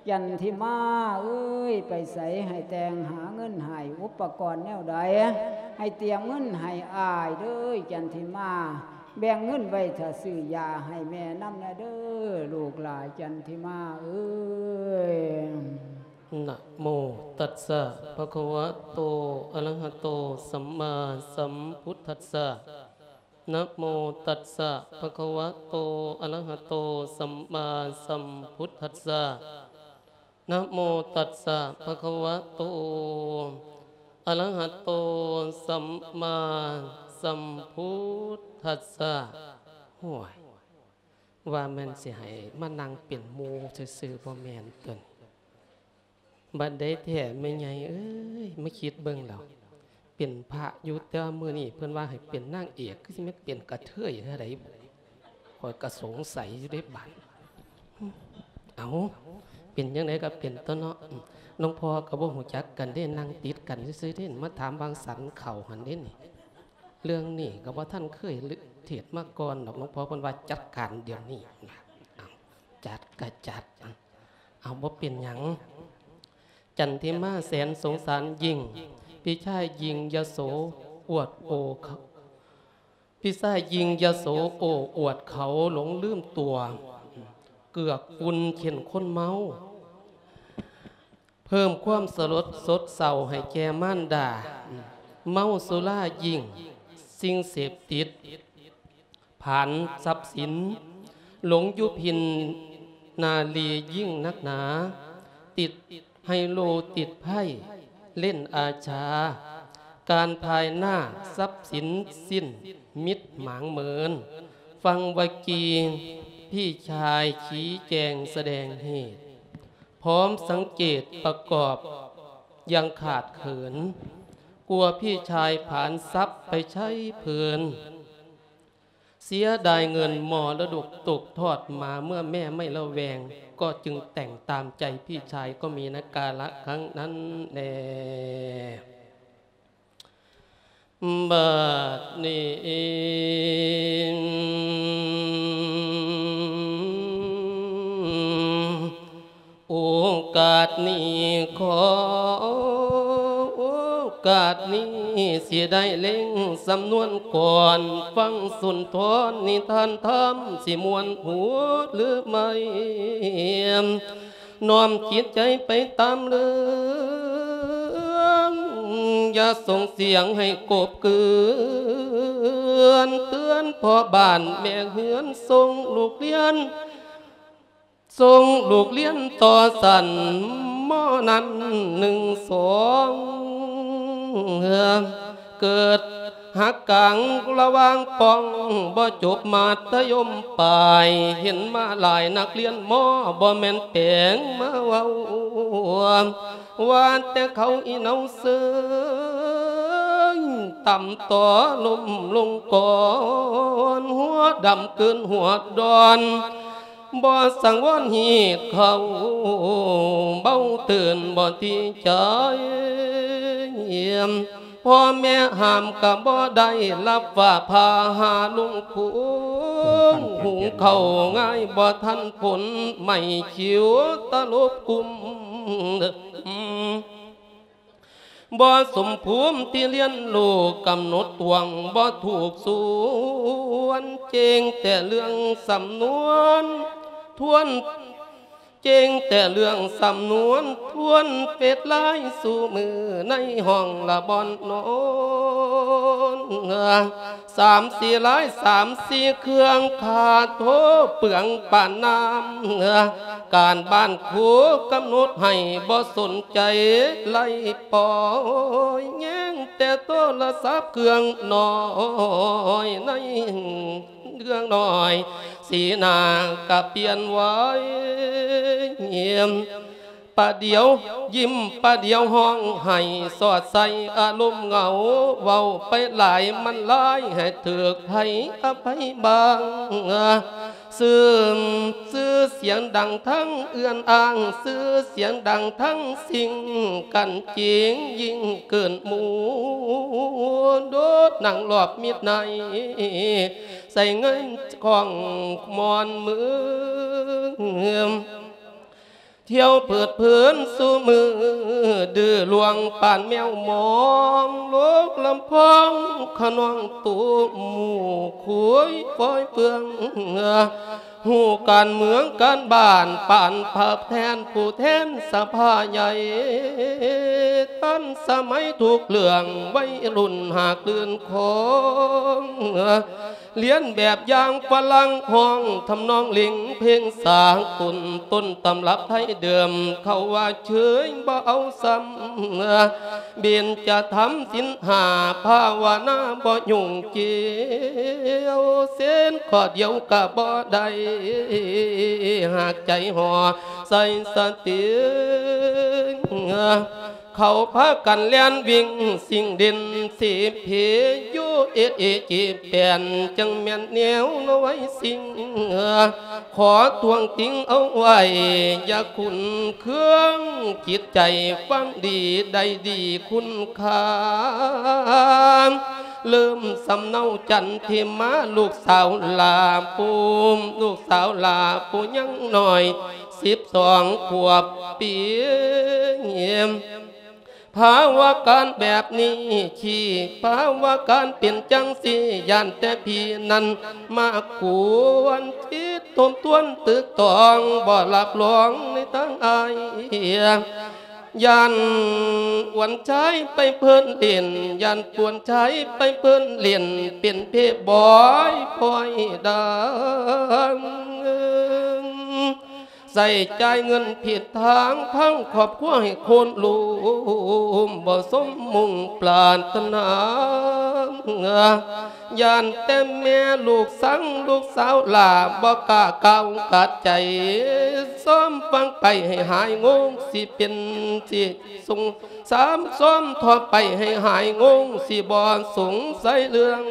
ຈັນທິມາເອີຍ ໄປໃສໃຫ້ແຕ່ງຫາເງິນໃຫ້ ອຸປະກອນແນວໃດ ໃຫ້ຕຽມເງິນໃຫ້ອ້າຍເດີ ຈັນທິມາ ແບ່ງເງິນໄວ້ຖ້າຊື້ຢາໃຫ້ແມ່ນຳແດ່ເດີ ລູກຫຼ້າຈັນທິມາເອີຍ. ນະໂມຕັດສະ ພະຄະວະໂຕ ອະລະຫະໂຕ ສຳມາສຳພຸດທັດສະ. ນະໂມຕັດສະ ພະຄະວະໂຕ ອະລະຫະໂຕ ສຳມາສຳພຸດທັດສະ. ນະໂມຕັດສະ ພະຄະວະໂຕ ອະລະຫະໂຕ ສຳມາສຳພຸດທັດສະ. ໂອ້ຍ ວ່າແມ່ນຊິໃຫ້ມານັ່ງເປັນໝູ່ຊື່ໆ ບໍ່ແມ່ນຕົວນີ້. ບັດໃດແທ້ແມ່ໃຫຍ່ເອີຍ ມາຄິດເບິ່ງແລ້ວ ເປັນພະຢູ່ ແຕ່ວ່າມື້ນີ້ເພິ່ນວ່າໃຫ້ເປັນນາງເອກ ຄືຊິແມ່ນເປັນກະເທີຍແນວໃດ ຂ້ອຍກະສົງໄສຢູ່ເດ້ບາດ. ເອົ້າ ເປັນຈັ່ງໃດກໍເປັນຕົວເນາະ. ອືມ ຫຼວງພໍ່ກໍບໍ່ຮູ້ຈັກກັນເດ້ ນັ່ງຕິດກັນຊື່ໆເດ້ ມາຖາມວາງສັນເຂົ້າຫັ້ນເດ້ນີ້. ເລື່ອງນີ້ກໍບໍ່ທັນເຄີຍເທດມາກ່ອນດອກ. ຫຼວງພໍ່ເພິ່ນວ່າ ຈັດການດຽວນີ້. ເອົາ ຈັດກໍຈັດ. ເອົາ ບໍ່ເປັນຫຍັງ. ຈັນທິມາແສນສົງສານຍິ່ງ ພີ່ຊາຍຍິ່ງຍະໂສອວດໂອ ພີ່ຊາຍຍິ່ງຍະໂສໂອ້ອວດເຂົາ ຫຼົງລືມຕົວ ເກືອກກຸນເຊັ່ນຄົນເມົາ ເພີ່ມຄວາມສະຫຼົດສົດເສົ້າໃຫ້ແກ່ມານດາ ເມົາສຸລາຍິ່ງສິ່ງເສບຕິດ ຜານຊັບສິນ ຫຼົງຢູ່ພິນນາລີຍິ່ງນັກໜາ ຕິດໄຮໂລຕິດໄພ້ ເລ່ນອາຊາ ການພາຍໜ້າຊັບສິນສິ້ນມິດໝາງເມີນ. ຟັງວະກີ ພີ່ຊາຍຊີ້ແຈງສະແດງເຫດ ພ້ອມສັງເກດປະກອບຢ່າງຂາດເຂີນ ກົວພີ່ຊາຍຜານຊັບໄປໃຊ້ເພີນ. ເສຍດາຍເງິນມໍລະດົກຕົກທອດມາເມື່ອແມ່ໄມ່ລະແວງ ກໍຈຶ່ງແຕ່ງຕາມໃຈພີ່ຊາຍ ກໍມີໃນກາລະຄັ້ງນັ້ນແລ. ບັດນີ້ ໂອກາດນີ້ ຂໍໂອກາດນີ້ ຊິໄດ້ເລັ່ງສຳນວນກ່ອນ ຟັງສຸນທອນນິທານທຳ ຊິມ່ວນຫວດຫຼືໄໝ້ ນ້ອມຈິດໃຈໄປຕາມເລື່ອງ ຢ່າສົ່ງສຽງໃຫ້ກົບເກືອນ ເຕືອນພໍ່ບ້ານແມ່ເຮືອນ ສົ່ງລູກຮຽນ ສົ່ງລູກຮຽນຕໍ່ຊັ້ນ ມໍ ນັ້ນໜຶ່ງສອງ ເກີດຫັກກາງລະຫວ່າງປ່ອງ ບໍ່ຈົບມັດທະຍົມປາຍ ເຫັນມາຫຼາຍນັກຮຽນມໍ ບໍ່ແມ່ນແປງມາເວົ້າ ວ່າແຕ່ເຂົາອີ່ເນົາເຊີຍ ຕ່ຳຕໍ່ລົ້ມລົງກ່ອນ ຫົວດຳເກີນຫົວດອນ ບໍ່ສັງວອນຮີດເຂົ້າ ເບົາເຕືອນບໍ່ຕິໃຈ ພໍ່ແມ່ຫ້າມກໍບໍ່ໄດ້ ລັບຟ້າຜ່າຫາລຸງໂຄງ ເອີ ຂັ້ນຂັ້ນ ຫຸງເຂົ້າງ່າຍບໍ່ທັນຜົນ ໄໝ້ຂິວຕະຫຼົບກຸມ ບໍ່ສົມພູມທີ່ຮຽນຮູ້ ກຳນົດຕວງບໍ່ຖືກສ່ວນ ເກັ່ງແຕ່ເລື່ອງສຳນວນ ທວນ ເກັ່ງແຕ່ເລື່ອງສຳນວນ ທວນເຟດລາຍສູ່ມື້ ໃນຫ້ອງລະບ່ອນນອນ ສາມສີ່ລາຍ ສາມສີ່ເຄື່ອງ ຄ່າໂທເປືອງປານນ້ຳ ການບ້ານຄູກຳນົດໃຫ້ ບໍ່ສົນໃຈໄລ່ປ່ອຍ ແຍງແຕ່ໂທລະສັບເຄື່ອງນ້ອຍ ໃນເຄື່ອງນ້ອຍ ສີໜ້າກະປ່ຽນໄວ ປະດຽວຍິ້ມ ປະດຽວຮ້ອງໄຫ້ ສອດໃສ່ອາລົມເຫງົາ ເວົ້າໄປຫຼາຍມັນຫຼາຍ ໃຫ້ຖືກໃຜອະໄພບາງ ຊື່ ຊື່ສຽງດັງທັງເອື້ອນອ້າງ ຊື່ສຽງດັງທັງຊິງ ກັນຈິງຍິ່ງເກີນໝູ່ ໂດດນັ່ງລອບມິດໃນ ໃສ່ເງິນຂອງມ່ອນເມືອງ ທ່ຽວເພີດເພີນສູ່ມື້ ດື້ລວງປານແມວມອງ ໂລກລຳພອງຂະໜອງໂຕ ໝູ່ຄຸຍຟອຍເຟືອງ ຮູ້ການເມືອງການບ້ານ ປານພະແທນຜູ້ແທນສະພາໃຫຍ່ ທັນສະໄໝທຸກເລື່ອງ ໄວລຸ້ນຫາກລື່ນຂອງ ລຽນແບບຢ່າງຝຣັ່ງ ຮ້ອງທຳນອງເລັ່ງເພງສາກົນ ຕົ້ນຕຳລັບໄທເດີມ ເຂົາວ່າເຊີຍບໍ່ເອົາຊ້ຳ ເບັນຈະທຳສິນຫ້າ ພາວະນາບໍ່ຫຍຸ້ງກ່ຽວ ເສັ້ນຂໍ້ດຽວກະບໍ່ໄດ້ ຫາກໃຈຫໍ່ໃສ່ສະຕິ ເຂົາພາກັນແລ່ນວິ່ງສິ່ງເດັ່ນສີເພ ຢູ່ເອດເອຈີແປນ ຈັ່ງແມ່ນແນວນ້ອຍສິ່ງ ຂໍທ້ວງຕິງເອົາໄວ້ ຢ່າຂຸ້ນເຄືອງຈິດໃຈ ຟັງດີໄດ້ດີຄຸນຄ່າ ເລີ່ມສຳເນົາຈັນທິມາ ລູກສາວຫຼ້າປູ່ ລູກສາວຫຼ້າປູ່ຍັງນ້ອຍ ສິບສອງຂວບປີ. ພາວະການແບບນີ້ ທີ່ພາວະການເປັນຈັ່ງຊີ້ ຢ້ານແຕ່ພີ່ນັ້ນມາກວນຈິດ ທົບທວນຕຶກຕອງ ບໍ່ຮັບຮອງໃນທາງອ້າຍ. ຢ້ານອວນຊາຍໄປເພີ້ນຫຼິ້ນ ຢ້ານອວນຊາຍໄປເພີ້ນຫຼິ້ນ ເປັນເພບອຍພອຍດັງ ໃຊ້ຈ່າຍເງິນຜິດທາງ ພັງຄອບຄົວໃຫ້ໂຄ່ນລົ້ມ ບໍ່ສົມມຸ່ງປາດຖະໜາ. ຢ້ານແຕ່ແມ່ລູກສັງ ລູກສາວຫຼ້າບໍ່ກ້າກ້າວກັດໃຈ ຊອມຟັງໄປໃຫ້ຫາຍງົງ ຊິເປັນຊິສົງສາມ ຊອມທໍ່ໄປໃຫ້ຫາຍງົງ ຊິບໍ່ສົງໄສເລື່ອງ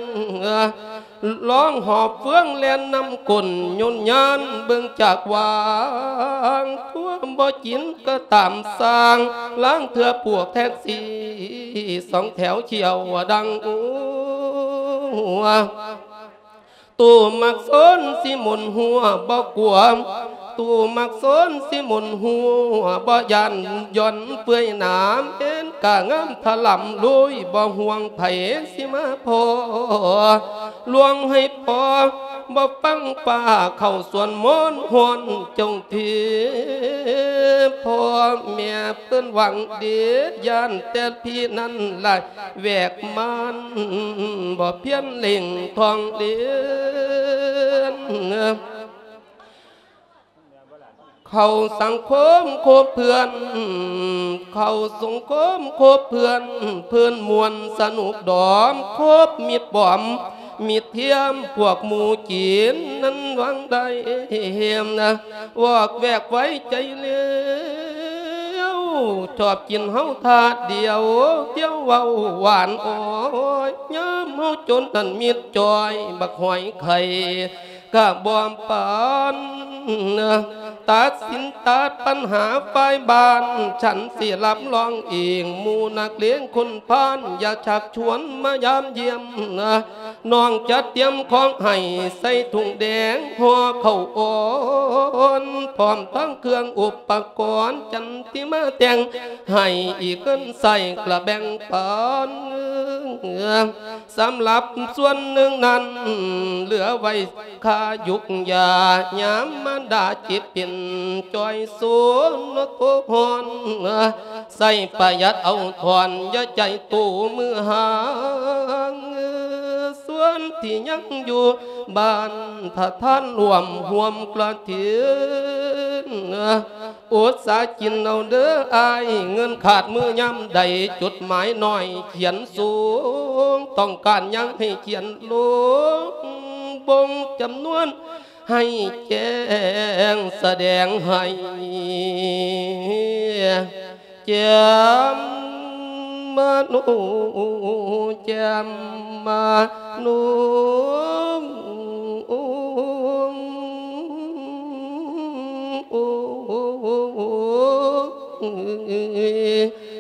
ລອງຫອບເຟືອງແລ່ນນຳກົ້ນ ໂຍນຍານເບິ່ງຈາກວາງ ທົ່ວບໍ່ຈິນກໍຕາມຊ່າງ ລາງເທື່ອພວກແທັກຊີ ສອງແຖວຖ້ຽວດັງອູ ຕູ້ມັກຊົນຊິໝູນຫົວບໍ່ກົວ ຕູ້ມັກຊົນຊິໝູນຫົວບໍ່ຢ້ານ ຢ່ອນເປື່ອຍໜາມ ເຫັນກະງາມທະລຳລຸຍ ບໍ່ຫ່ວງໃຜຊິມາພໍ ລວງໃຫ້ພໍ ບໍ່ຟັງຟ້າເຂົ້າສວນມອນ ຮ້ອນຈົງທີ ພໍ່ແມ່ເພິ່ນຫວັງດີ ຢ້ານແຕ່ພີ່ນັ້ນຫຼາຍແວກມານ ບໍ່ພຽນເລັ່ງທ່ອງລຽນ ເຂົ້າສັງຄົມຄົບເພື່ອນ ເຂົ້າສັງຄົມຄົບເພື່ອນ ເພື່ອນມ່ວນສະໜຸກດອມ ຄົບມິດປອມ ມິດທຽມ ພວກໝູ່ຈີນນັ້ນຫວັງໄດ້ ວອກແວກໄວ້ໃຈເລວ ຊອບກິນເຮົາທາດດຽວ ດຽວເວົ້າຫວານອ້ອຍ ຍາມເຮົາຈົນນັ້ນມິດຈ່ອຍ ບັກຫອຍໄຂ່ ກະບໍ່ປານ ຕັດສິນຕັດປັນຫາຝ່າຍບ້ານ ສັນຊິຮັບຮອງເອງ ໝູ່ນັກລຽນຄົນພານ ຢ່າຊັກຊວນມາຢາມຢ້ຽມ ນ້ອງຈັດຕຽມຂອງໃຫ້ ໃສ່ຖົງແດງຫໍ່ເຂົ້າອ່ອນ ພ້ອມທັງເຄື່ອງອຸປະກອນ ຈັນ ທີ່ມາແຕ່ງໃຫ້ອີກເງິນໃຊ້ກະແບ່ງປັນ ສຳລັບສ່ວນໜຶ່ງນັ້ນ ເຫຼືອໄວ້ຄ່າຢູກຢາ ຍາມມານດາເຈັບເປັນ ຈ່ອຍໂຊນໂຕຮ້ອນ ໃຊ້ປະຢັດເອົາຖອນ ຢ່າໃຈໂຕມືຫາງ ສ່ວນທີ່ຍັງຢູ່ບ້ານ ຖ້າທ່ານຮ່ວມຮ່ວມກະຖິນ ອົດສາກິນເອົາເດີອ້າຍ ເງິນຂາດມືຍາມໃດ ຈົດໝາຍໜ້ອຍຂຽນສູງ ຕ້ອງການຫຍັງໃຫ້ຂຽນລົງ ບົ່ງຈຳນວນໃຫ້ແຈ້ງ ສະແດງໃຫ້ແຈ່ມມະໂນ ແຈ່ມມະໂນ.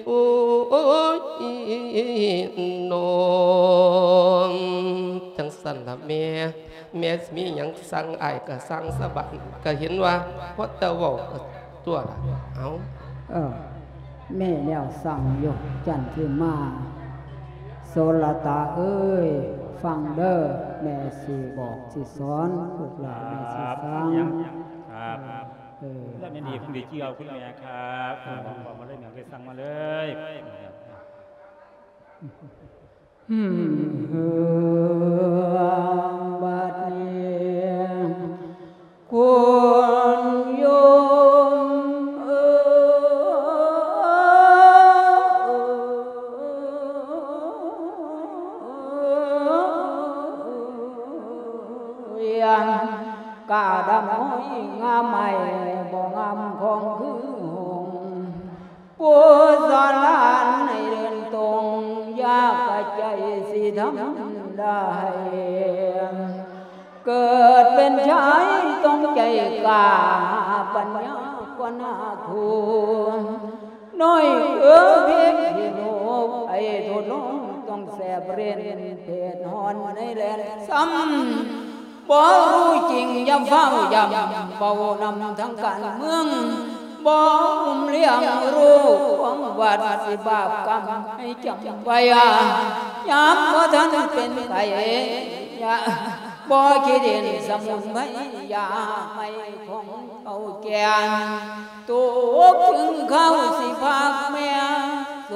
ໂອ້ຍ ນ້ອງ ຈັ່ງຊັ້ນລະແມ່ ແມ່ຊິມີຫຍັງສັ່ງອ້າຍກະສັ່ງສະບາຍ ກະເຫັນວ່າພໍແຕ່ເວົ້າກະຕົວະລະ ເອົ້າ. ເອີ ມີແນວສັ່ງຢູ່ ຈັນທິມາ ໂສລະຕາເອີຍ ຟັງເດີ ແມ່ຊິບອກຊິສອນ ລູກຫຼານແມ່ຊິສັ່ງ ຄັບ ເອີ ແລ້ວແມ່ນດີ ເອີ ເພິ່ນໄດ້ຈື່ເອົາ ຄຸນແມ່ຄັບ ເອີ ບອກມາເລີຍ ແມ່ໄດ້ສັ່ງມາເລີຍ. ບາດນີ້ ຄຸນໂຍມເອີຍ ກາດຳຫ້ອຍງາມໃໝ່ ບໍ່ງາມຂອງຄືຫົງ ຜູ້ສອນຫຼານໃຫ້ເດີນຕົງ ຢ່າກະໃຈຊິທຳໄດ້ ເກີດເປັນຊາຍຕ້ອງໃຈ ກາປັນຍາກວ່າໜ້າຄູ ນ້ອຍເອີເພກທີ່ລູກໄອ້ທົດລອງຕ້ອງແສບເຣັນເພດຮ້ອນໃນແລນຊ້ຳ ບໍ່ຮູ້ຈິງຢ່າຟ້າວຢ້ຳ ເວົ້ານຳທາງການເມືອງ ບໍ່ຫຸ້ມລ້ຽງລູກຂອງວັດ ຊິບາບກຳໃຫ້ຈຳໄວ້ ຍາມບໍ່ທັນເປັນໄຂ້ ຢ່າ ບໍ່ຂີ້ດິນສະໝຸນໄພ ຢາໄມ້ຂອງເຖົ້າແກ່ ໂຕເຖິງຄາວຊິພາກແມ່ ໂສ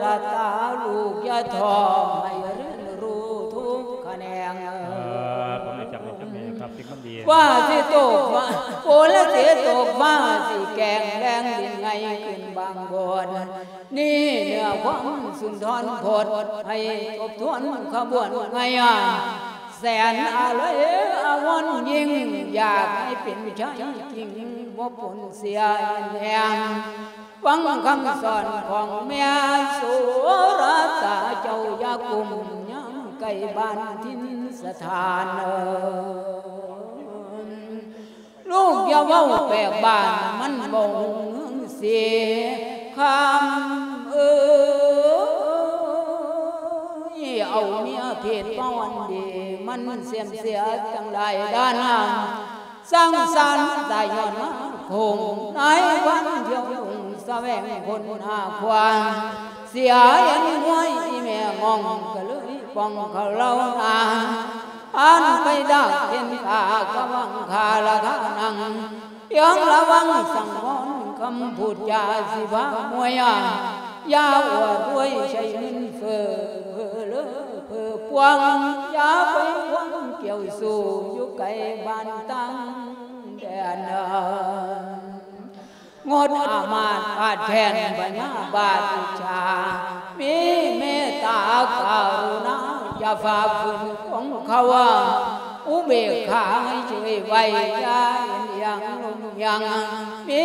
ລະຕາລູກຢ່າທໍ້ ໃຫ້ຮຽນຮູ້ທຸກຂະແໜງ ເອີ ເອີ ຜົມໄດ້ຈຳໄດ້ຈັກແມ່ຄັບ ເດັກມັນດີ ຟ້າຊິຕົກຟ້າ ຝົນລະຊິຕົກ ຟ້າຊິແກງ ແລງດິນໄຫງຂຶ້ນບາງບ່ອນ ນີ້ເນື້ອຄວາມສຸນທອນພົດ ໃຫ້ທົບທວນຂະບວນໄຫງ ແສນອາໄລອາວອນ ຍິ່ງຢາກໃຫ້ເປັນໄທຈິງ ບໍ່ປົນເສຍແຮງ ຟັງຄຳສອນຂອງແມ່ ໂສລະຕາເຈົ້າຢ່າກຸ້ມ ຍາມໃກ້ບ້ານຖິ່ນສະຖານ ລູກຢ່າເວົ້າແປກບ້ານ ມັນບໍ່ຮູ້ເຮືອງສີຄຳເອີຍ ເອົາເມຍເພດປານດີ ມັນເສື່ອມເສຍຕັ້ງຫຼາຍດ້ານ ສ້າງສານສາຍຍ້ອນມາຄົງ ນາຍພັນທ່ຽວລຸງສະແຫວງຄົນຫາຄວານ ເສຍເຫັນຫວຍອີແມ່ງອງ ກະເລີຍປ່ອງເຂົາເລົ່ານາ ອ່ານໄປດາກເຫັນກາກະວັງຄາລະຄານັງ ຍັງລະວັງສັງວອນຄຳພູດຈາຊິພາມວຍ ຢ່າອວດອວຍໃຊ້ເງິນເຟີ້ ເພີ້ເລີເພີ້ປວງ ຢ່າໄປຫວັງກ່ຽວສູ້ ຢູ່ໄກບ້ານຕ່າງແດນ ງົດອາມາດອາດແຄ້ນພະຍາບາດອິດສາ ມີເມດຕາກະລຸນາ ຢ່າຝ່າຝືນຂອງເຂົາ ອຸເບກຂາໃຫ້ເຊີຍໄວ້ ຢ່າເອັນອີ່ຍງລົງຍັງ ມີ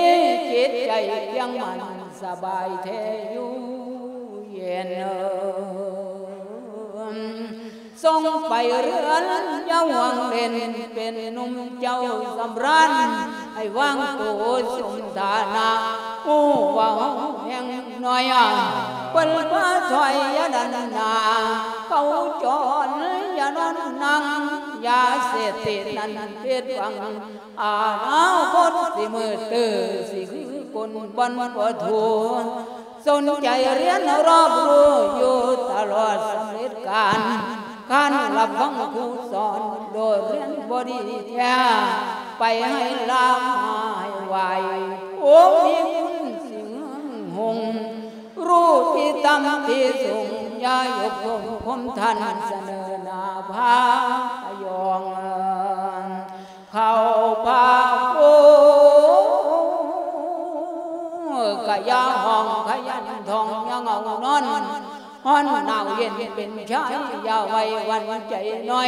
ຈິດໃຈພຽງໝັ້ນສະບາຍແທ້ຢູ່ເຢັນ ສົ່ງໄປເຮືອນຢ່າຫວງເຫຼັ້ນ ເປັນໜຸ່ມເຈົ້າສຳຣານ ໃຫ້ວາງໂຕສົມຖານະ ຮູ້ວ່າເຮົາແຮງໜ້ອຍ ເພິ່ນພາຖອຍຢ່າດັນໜ້າ ເຂົາຈອນຢ່ານອນນັ່ງ ຢາເສບຕິດນັ້ນຜິດຫວັງ ອະນາຄົດຊິມືດຕື້ ຊິຄືຄົນບ່ອນບໍ່ຖື ສົນໃຈຮຽນຮອບຮູ້ຢູ່ຕະຫຼອດສຳເລັດການ ຄັນຮັບຟັງຄູສອນ ໂດດຮຽນບໍ່ດີແທ້ ໄປໃຫ້ລາມາໃຫ້ໄຫວ້ ໂອ ມີຄຸນຊິເຮືອງຫົງ ຮູ້ທີ່ຕ່ຳທີ່ສູງ ຢ່າຍົກໂທດຄົມທ່ານ ສະເໜີໜ້າພາຍອງ ເຂົ້າພາໂອ ກະຢ່າຫ້ອງຂະຍັນທ້ອງ ຢ່າເຫງົານອນ ຮ້ອນໜາວເຢັນເປັນຊາຍ ຢ່າໄວ້ວັ່ນໃຈນ້ອຍ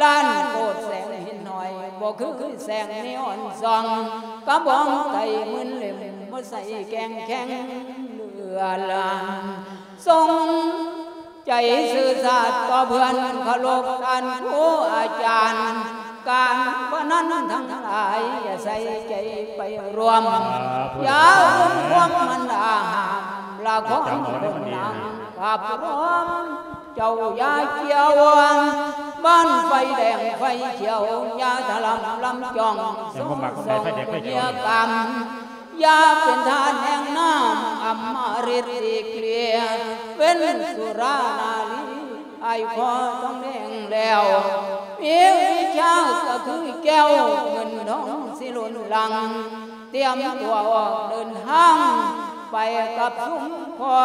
ລ້ານໂກດແສງຫີນຫອຍ ບໍ່ຄືແສງນີອອນສ່ອງ ກະບອງໄຕໝື່ນເຫຼັ້ມ ບໍ່ໃສ່ແກງແຂງເຫຼືອລານ ຊົງ ໃຈຊື່ສັດຕໍ່ເພື່ອນ ເຄົາລົບທ່ານຄູອາຈານ ການພະນັນທັງຫຼາຍ ຢ່າໃສ່ໃຈໄປຮ່ວມ ຢ່າລົງຄວາມມັນອາຫາມ ລະຄອນຄົນນາງກັບຮ່ວມ ເຈົ້າຢ່າກ່ຽວ ບ້ານໄຟແດງໄຟຂຽວ ຢ່າທະລຳລຳຈ່ອງ ສົງສົງເມຍກຳ ຢ່າເປັນທາດແຫ່ງນ້ຳ ອຳມະລິດຫຼີກເລ່ຍ ເວັ້ນສຸລານາລີ ອ້າຍຂໍທອງແດງແລ້ວ ມີວິຊາກະຄືແກ້ວ ເງິນທອງຊິລົ້ນຫຼັງ ຕຽມຕົວອອກເດີນທາງ ໄປກັບຊຸມພໍ່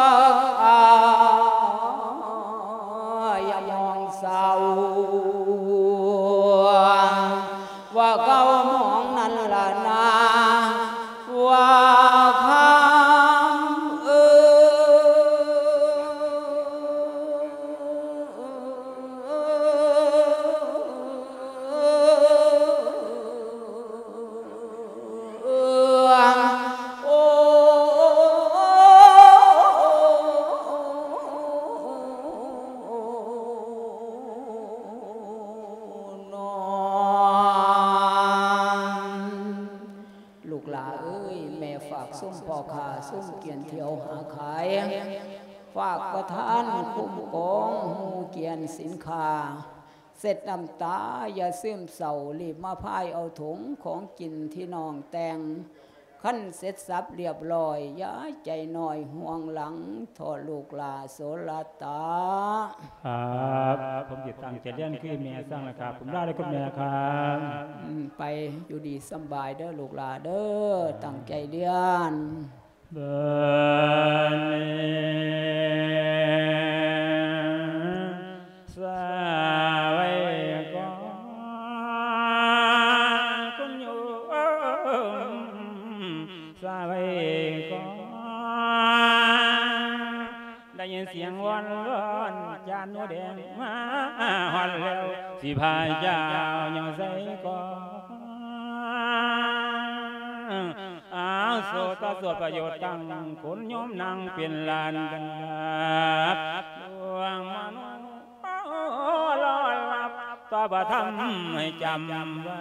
ຢ່າມອງເສົ້າ ວ່າເກົ່າໝອງນັ້ນລະນາ ວ່າຄຳເອີ ຊຸມພໍ່ຄ້າ ຊຸມກຽນທ່ຽວຫາຂາຍ ຝາກປະທານຄຸ້ມຄອງ ຮູ້ກຽນສິນຄ້າ ເຊັດນ້ຳຕາຢ່າຊຶມເສົ້າ ລີບມາພາຍເອົາຖົງຂອງກິນທີ່ນ້ອງແຕ່ງ ຄັນເສັດສັບລຽບລ້ອຍ ຢ່າໃຈນ້ອຍຫ່ວງຫຼັງ ເທາະລູກຫຼ້າໂສລະຕາ. ຄັບ ຜົມຊິຕັ້ງໃຈຮຽນຄືແມ່ສັ່ງລະຄັບ ຜົມລາເດີຄຸນແມ່ຄັບ. ອືມ ໄປຢູ່ດີສຳບາຍເດີລູກຫຼ້າເດີ ຕັ້ງໃຈຮຽນ. ບາດນີ້ສະໄຫວ້ກ່ອນ ຄຸນໂຍມ ສະໄຫວ້ກ່ອນ ໄດ້ຍິນສຽງວອນວອນ ຈານໜູແດງມາຮອດແລ້ວ ຊິພາເຈົ້າຍ່າງໃສ່ກ່ອນ. ອາວ ໂສຕະໂສດປະໂຫຍດຕັ້ງ ຄຸນໂຍມນັ່ງເປັນລ້ານດາບ ດວງມະໂນລອດລັບ ຕໍ່ພະທຳໃຫ້ຈຳໄວ້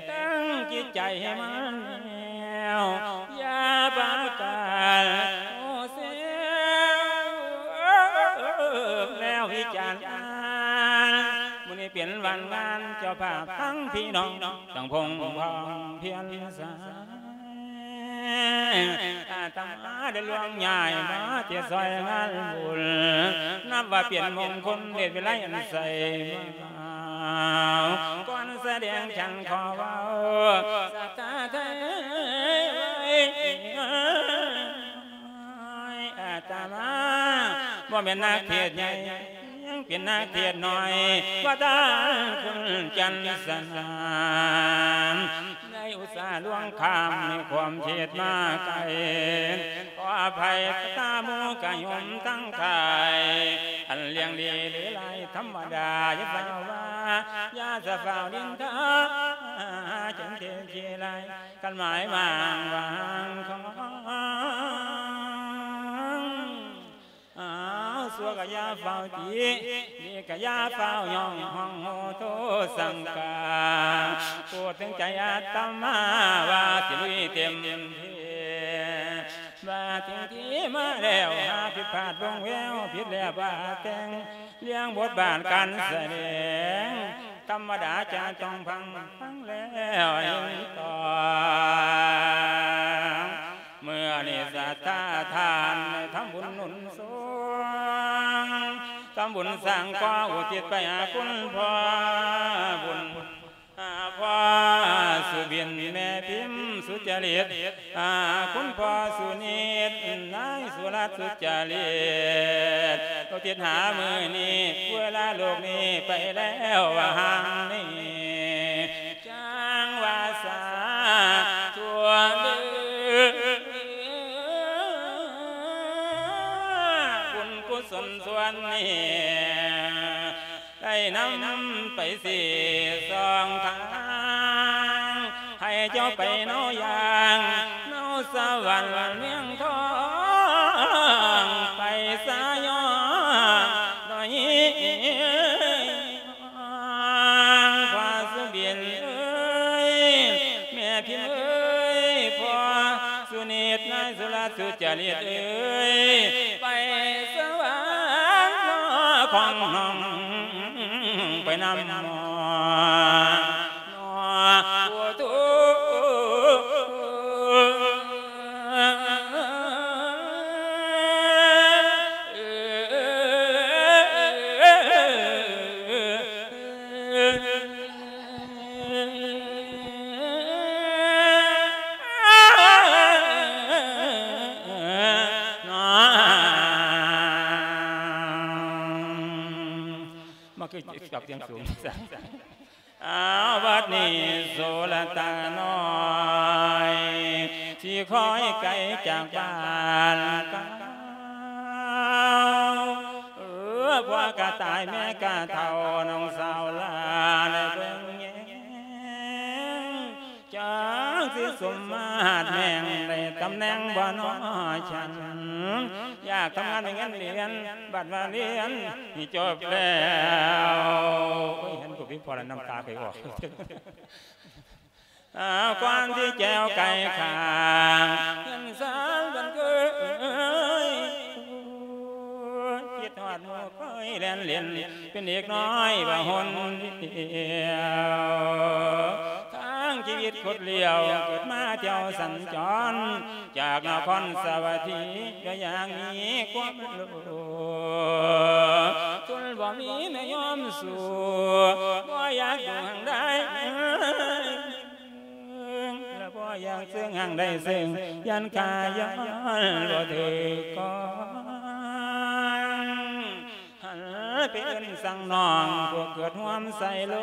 ຕັ້ງຈິດໃຈໃຫ້ໝັ້ນແໜ້ວ ຢ່າປະກາດໂອເຊວ ແລ້ວວິຈານ ມື້ນີ້ເປັນວັນງານ ເຈົ້າພາບທັງພີ່ນ້ອງ ຕັ້ງພົງພ້ອມພຽນສາ ອາດຕະມາໄດ້ລ່ວງຍ້າຍມາເທດຊ່ອຍງານບຸນ ນັບວ່າເປັນມົງຄົນເດດວິໄລອັນໃສມາ ກ່ອນສະແດງສັນຂໍເວົ້າສາທາໄທ ອາດຕະມາບໍ່ແມ່ນນັກເທດໃຫຍ່ ຍັງເປັນນັກເທດນ້ອຍ ວ່າຕາຄຸນຈັນສະໜາມ ໃນອຸດສາຫຼວງຂ້າມໃນຄວາມເທດມາໄກ ຂໍອະໄພຕາໝູ່ກະໂຍມທັງຫຼາຍ ອັນລ້ຽງດີຫຼືຫຼາຍທຳມະດາ ຢ່າເຝົ້າວ່າ ຢ່າສະຟ້າວນິນທາ ຈັ່ງເທດຂີ້ລາຍ ຄັນໝາຍໝາງວາງຂອງ ອ້າວ ຊົ່ວກະຢ່າຟ້າວຕິ ດີກະຢ່າຟ້າວຍ້ອງຮ້ອງໂຫໂທສັງກາ ໂປດເຖິງໃຈອາດຕະມາວ່າຊິລຸຍເຕັມທີ່ ມາເຖິງທີ່ມາແລ້ວ ຫາຜິດພາດລົງແວວ ຜິດແລ້ວບາດແຕ່ງ ລຽງບົດບາດການສະແດງ ທຳມະດາຈະຕ້ອງພັງ ຟັງແລ້ວເຫັນຕ້ອງ ເມື່ອນີ້ສັດທາທ່ານໄດ້ທຳບຸນໜູນສົ່ງ ທຳບຸນສ້າງກໍອຸທິດໄປຫາຄຸນພໍ່ບຸນ ຫາພໍ່ສຸບິນ ແມ່ພິມສຸຈະລິດ ຫາຄຸນພໍ່ສຸນິດ ນາຍສຸລັດສຸຈະລິດ ອຸທິດຫາມື້ນີ້ ເວລາໂລກນີ້ໄປແລ້ວວ່າຫ່າງນີ້ ຈັ່ງວ່າສາທຸເດີ ບຸນກຸສົນສ່ວນນີ້ ໄດ້ນຳໄປສີ່ສອງທາງ ໃຫ້ເຈົ້າໄປເນົາຢ່າງ ເນົາສະຫວັນເມືອງທອງ ໄປສະຫຍອງໜ້ອຍ ພໍ່ສຸບິນເອີຍ ແມ່ພິມເອີຍ ພໍ່ສຸນິດ ນາຍສຸລະສຸຈະລິດເອີຍ ໄປສະຫວັນຂອງນ້ອງ ໄປນຳໜໍ່ ໂອ້ໂທ ມັນຄືກັບສຽງສູງ. ອ້າວ ບັດນີ້ໂສລະຕານ້ອຍ ຊິຄ່ອຍໄກຈາກບ້ານກາວ ເອີ ພໍ່ກະຕາຍແມ່ກະເຖົ້າ ນ້ອງສາວຫຼ້າໄດ້ເບິ່ງແຍງ ຈັກຊິສົມມາດແມ່ງ ໄດ້ຕຳແໜ່ງບໍ່ນໍຊັ້ນ ຢາກທຳງານໄດ້ເງິນເດືອນ ບັດວ່າຮຽນນີ້ຈົບແລ້ວ ໂອ້ຍ ເຫັນຜູ້ພິມພໍແລ້ວນ້ຳຕາໄຄອອກ. ອ້າວ ກ່ອນທີ່ແຈວໄກ່ຂ້າງ ເຮືອນຊານບ້ານເກີດ ຄິດຮອດໝູ່ເຄີຍແລ່ນຫຼິ້ນ ເປັນເດັກນ້ອຍວ່າຫົນດຽວ ທາງຊີວິດຄົດລ້ຽວ ເກີດມາທ່ຽວສັນຈອນ ຈາກນະຄອນສາວັດຖີ ກໍຢ່າງມີຄວາມໂລພ ທົນບໍ່ມີແມ່ຍອມສູ້ ບໍ່ຢາກຢູ່ຫ້າງໃດ ແລະບໍ່ຢາກເຊິ່ງຫ້າງໃດເຊິ່ງ ຢ້ານຂ້າຍ້ອນບໍ່ຖືກຕ້ອງ ຫັນໄປເອີ້ນສັ່ງນ້ອງ ພວກເກີດຮ່ວມໃສ່ໂລ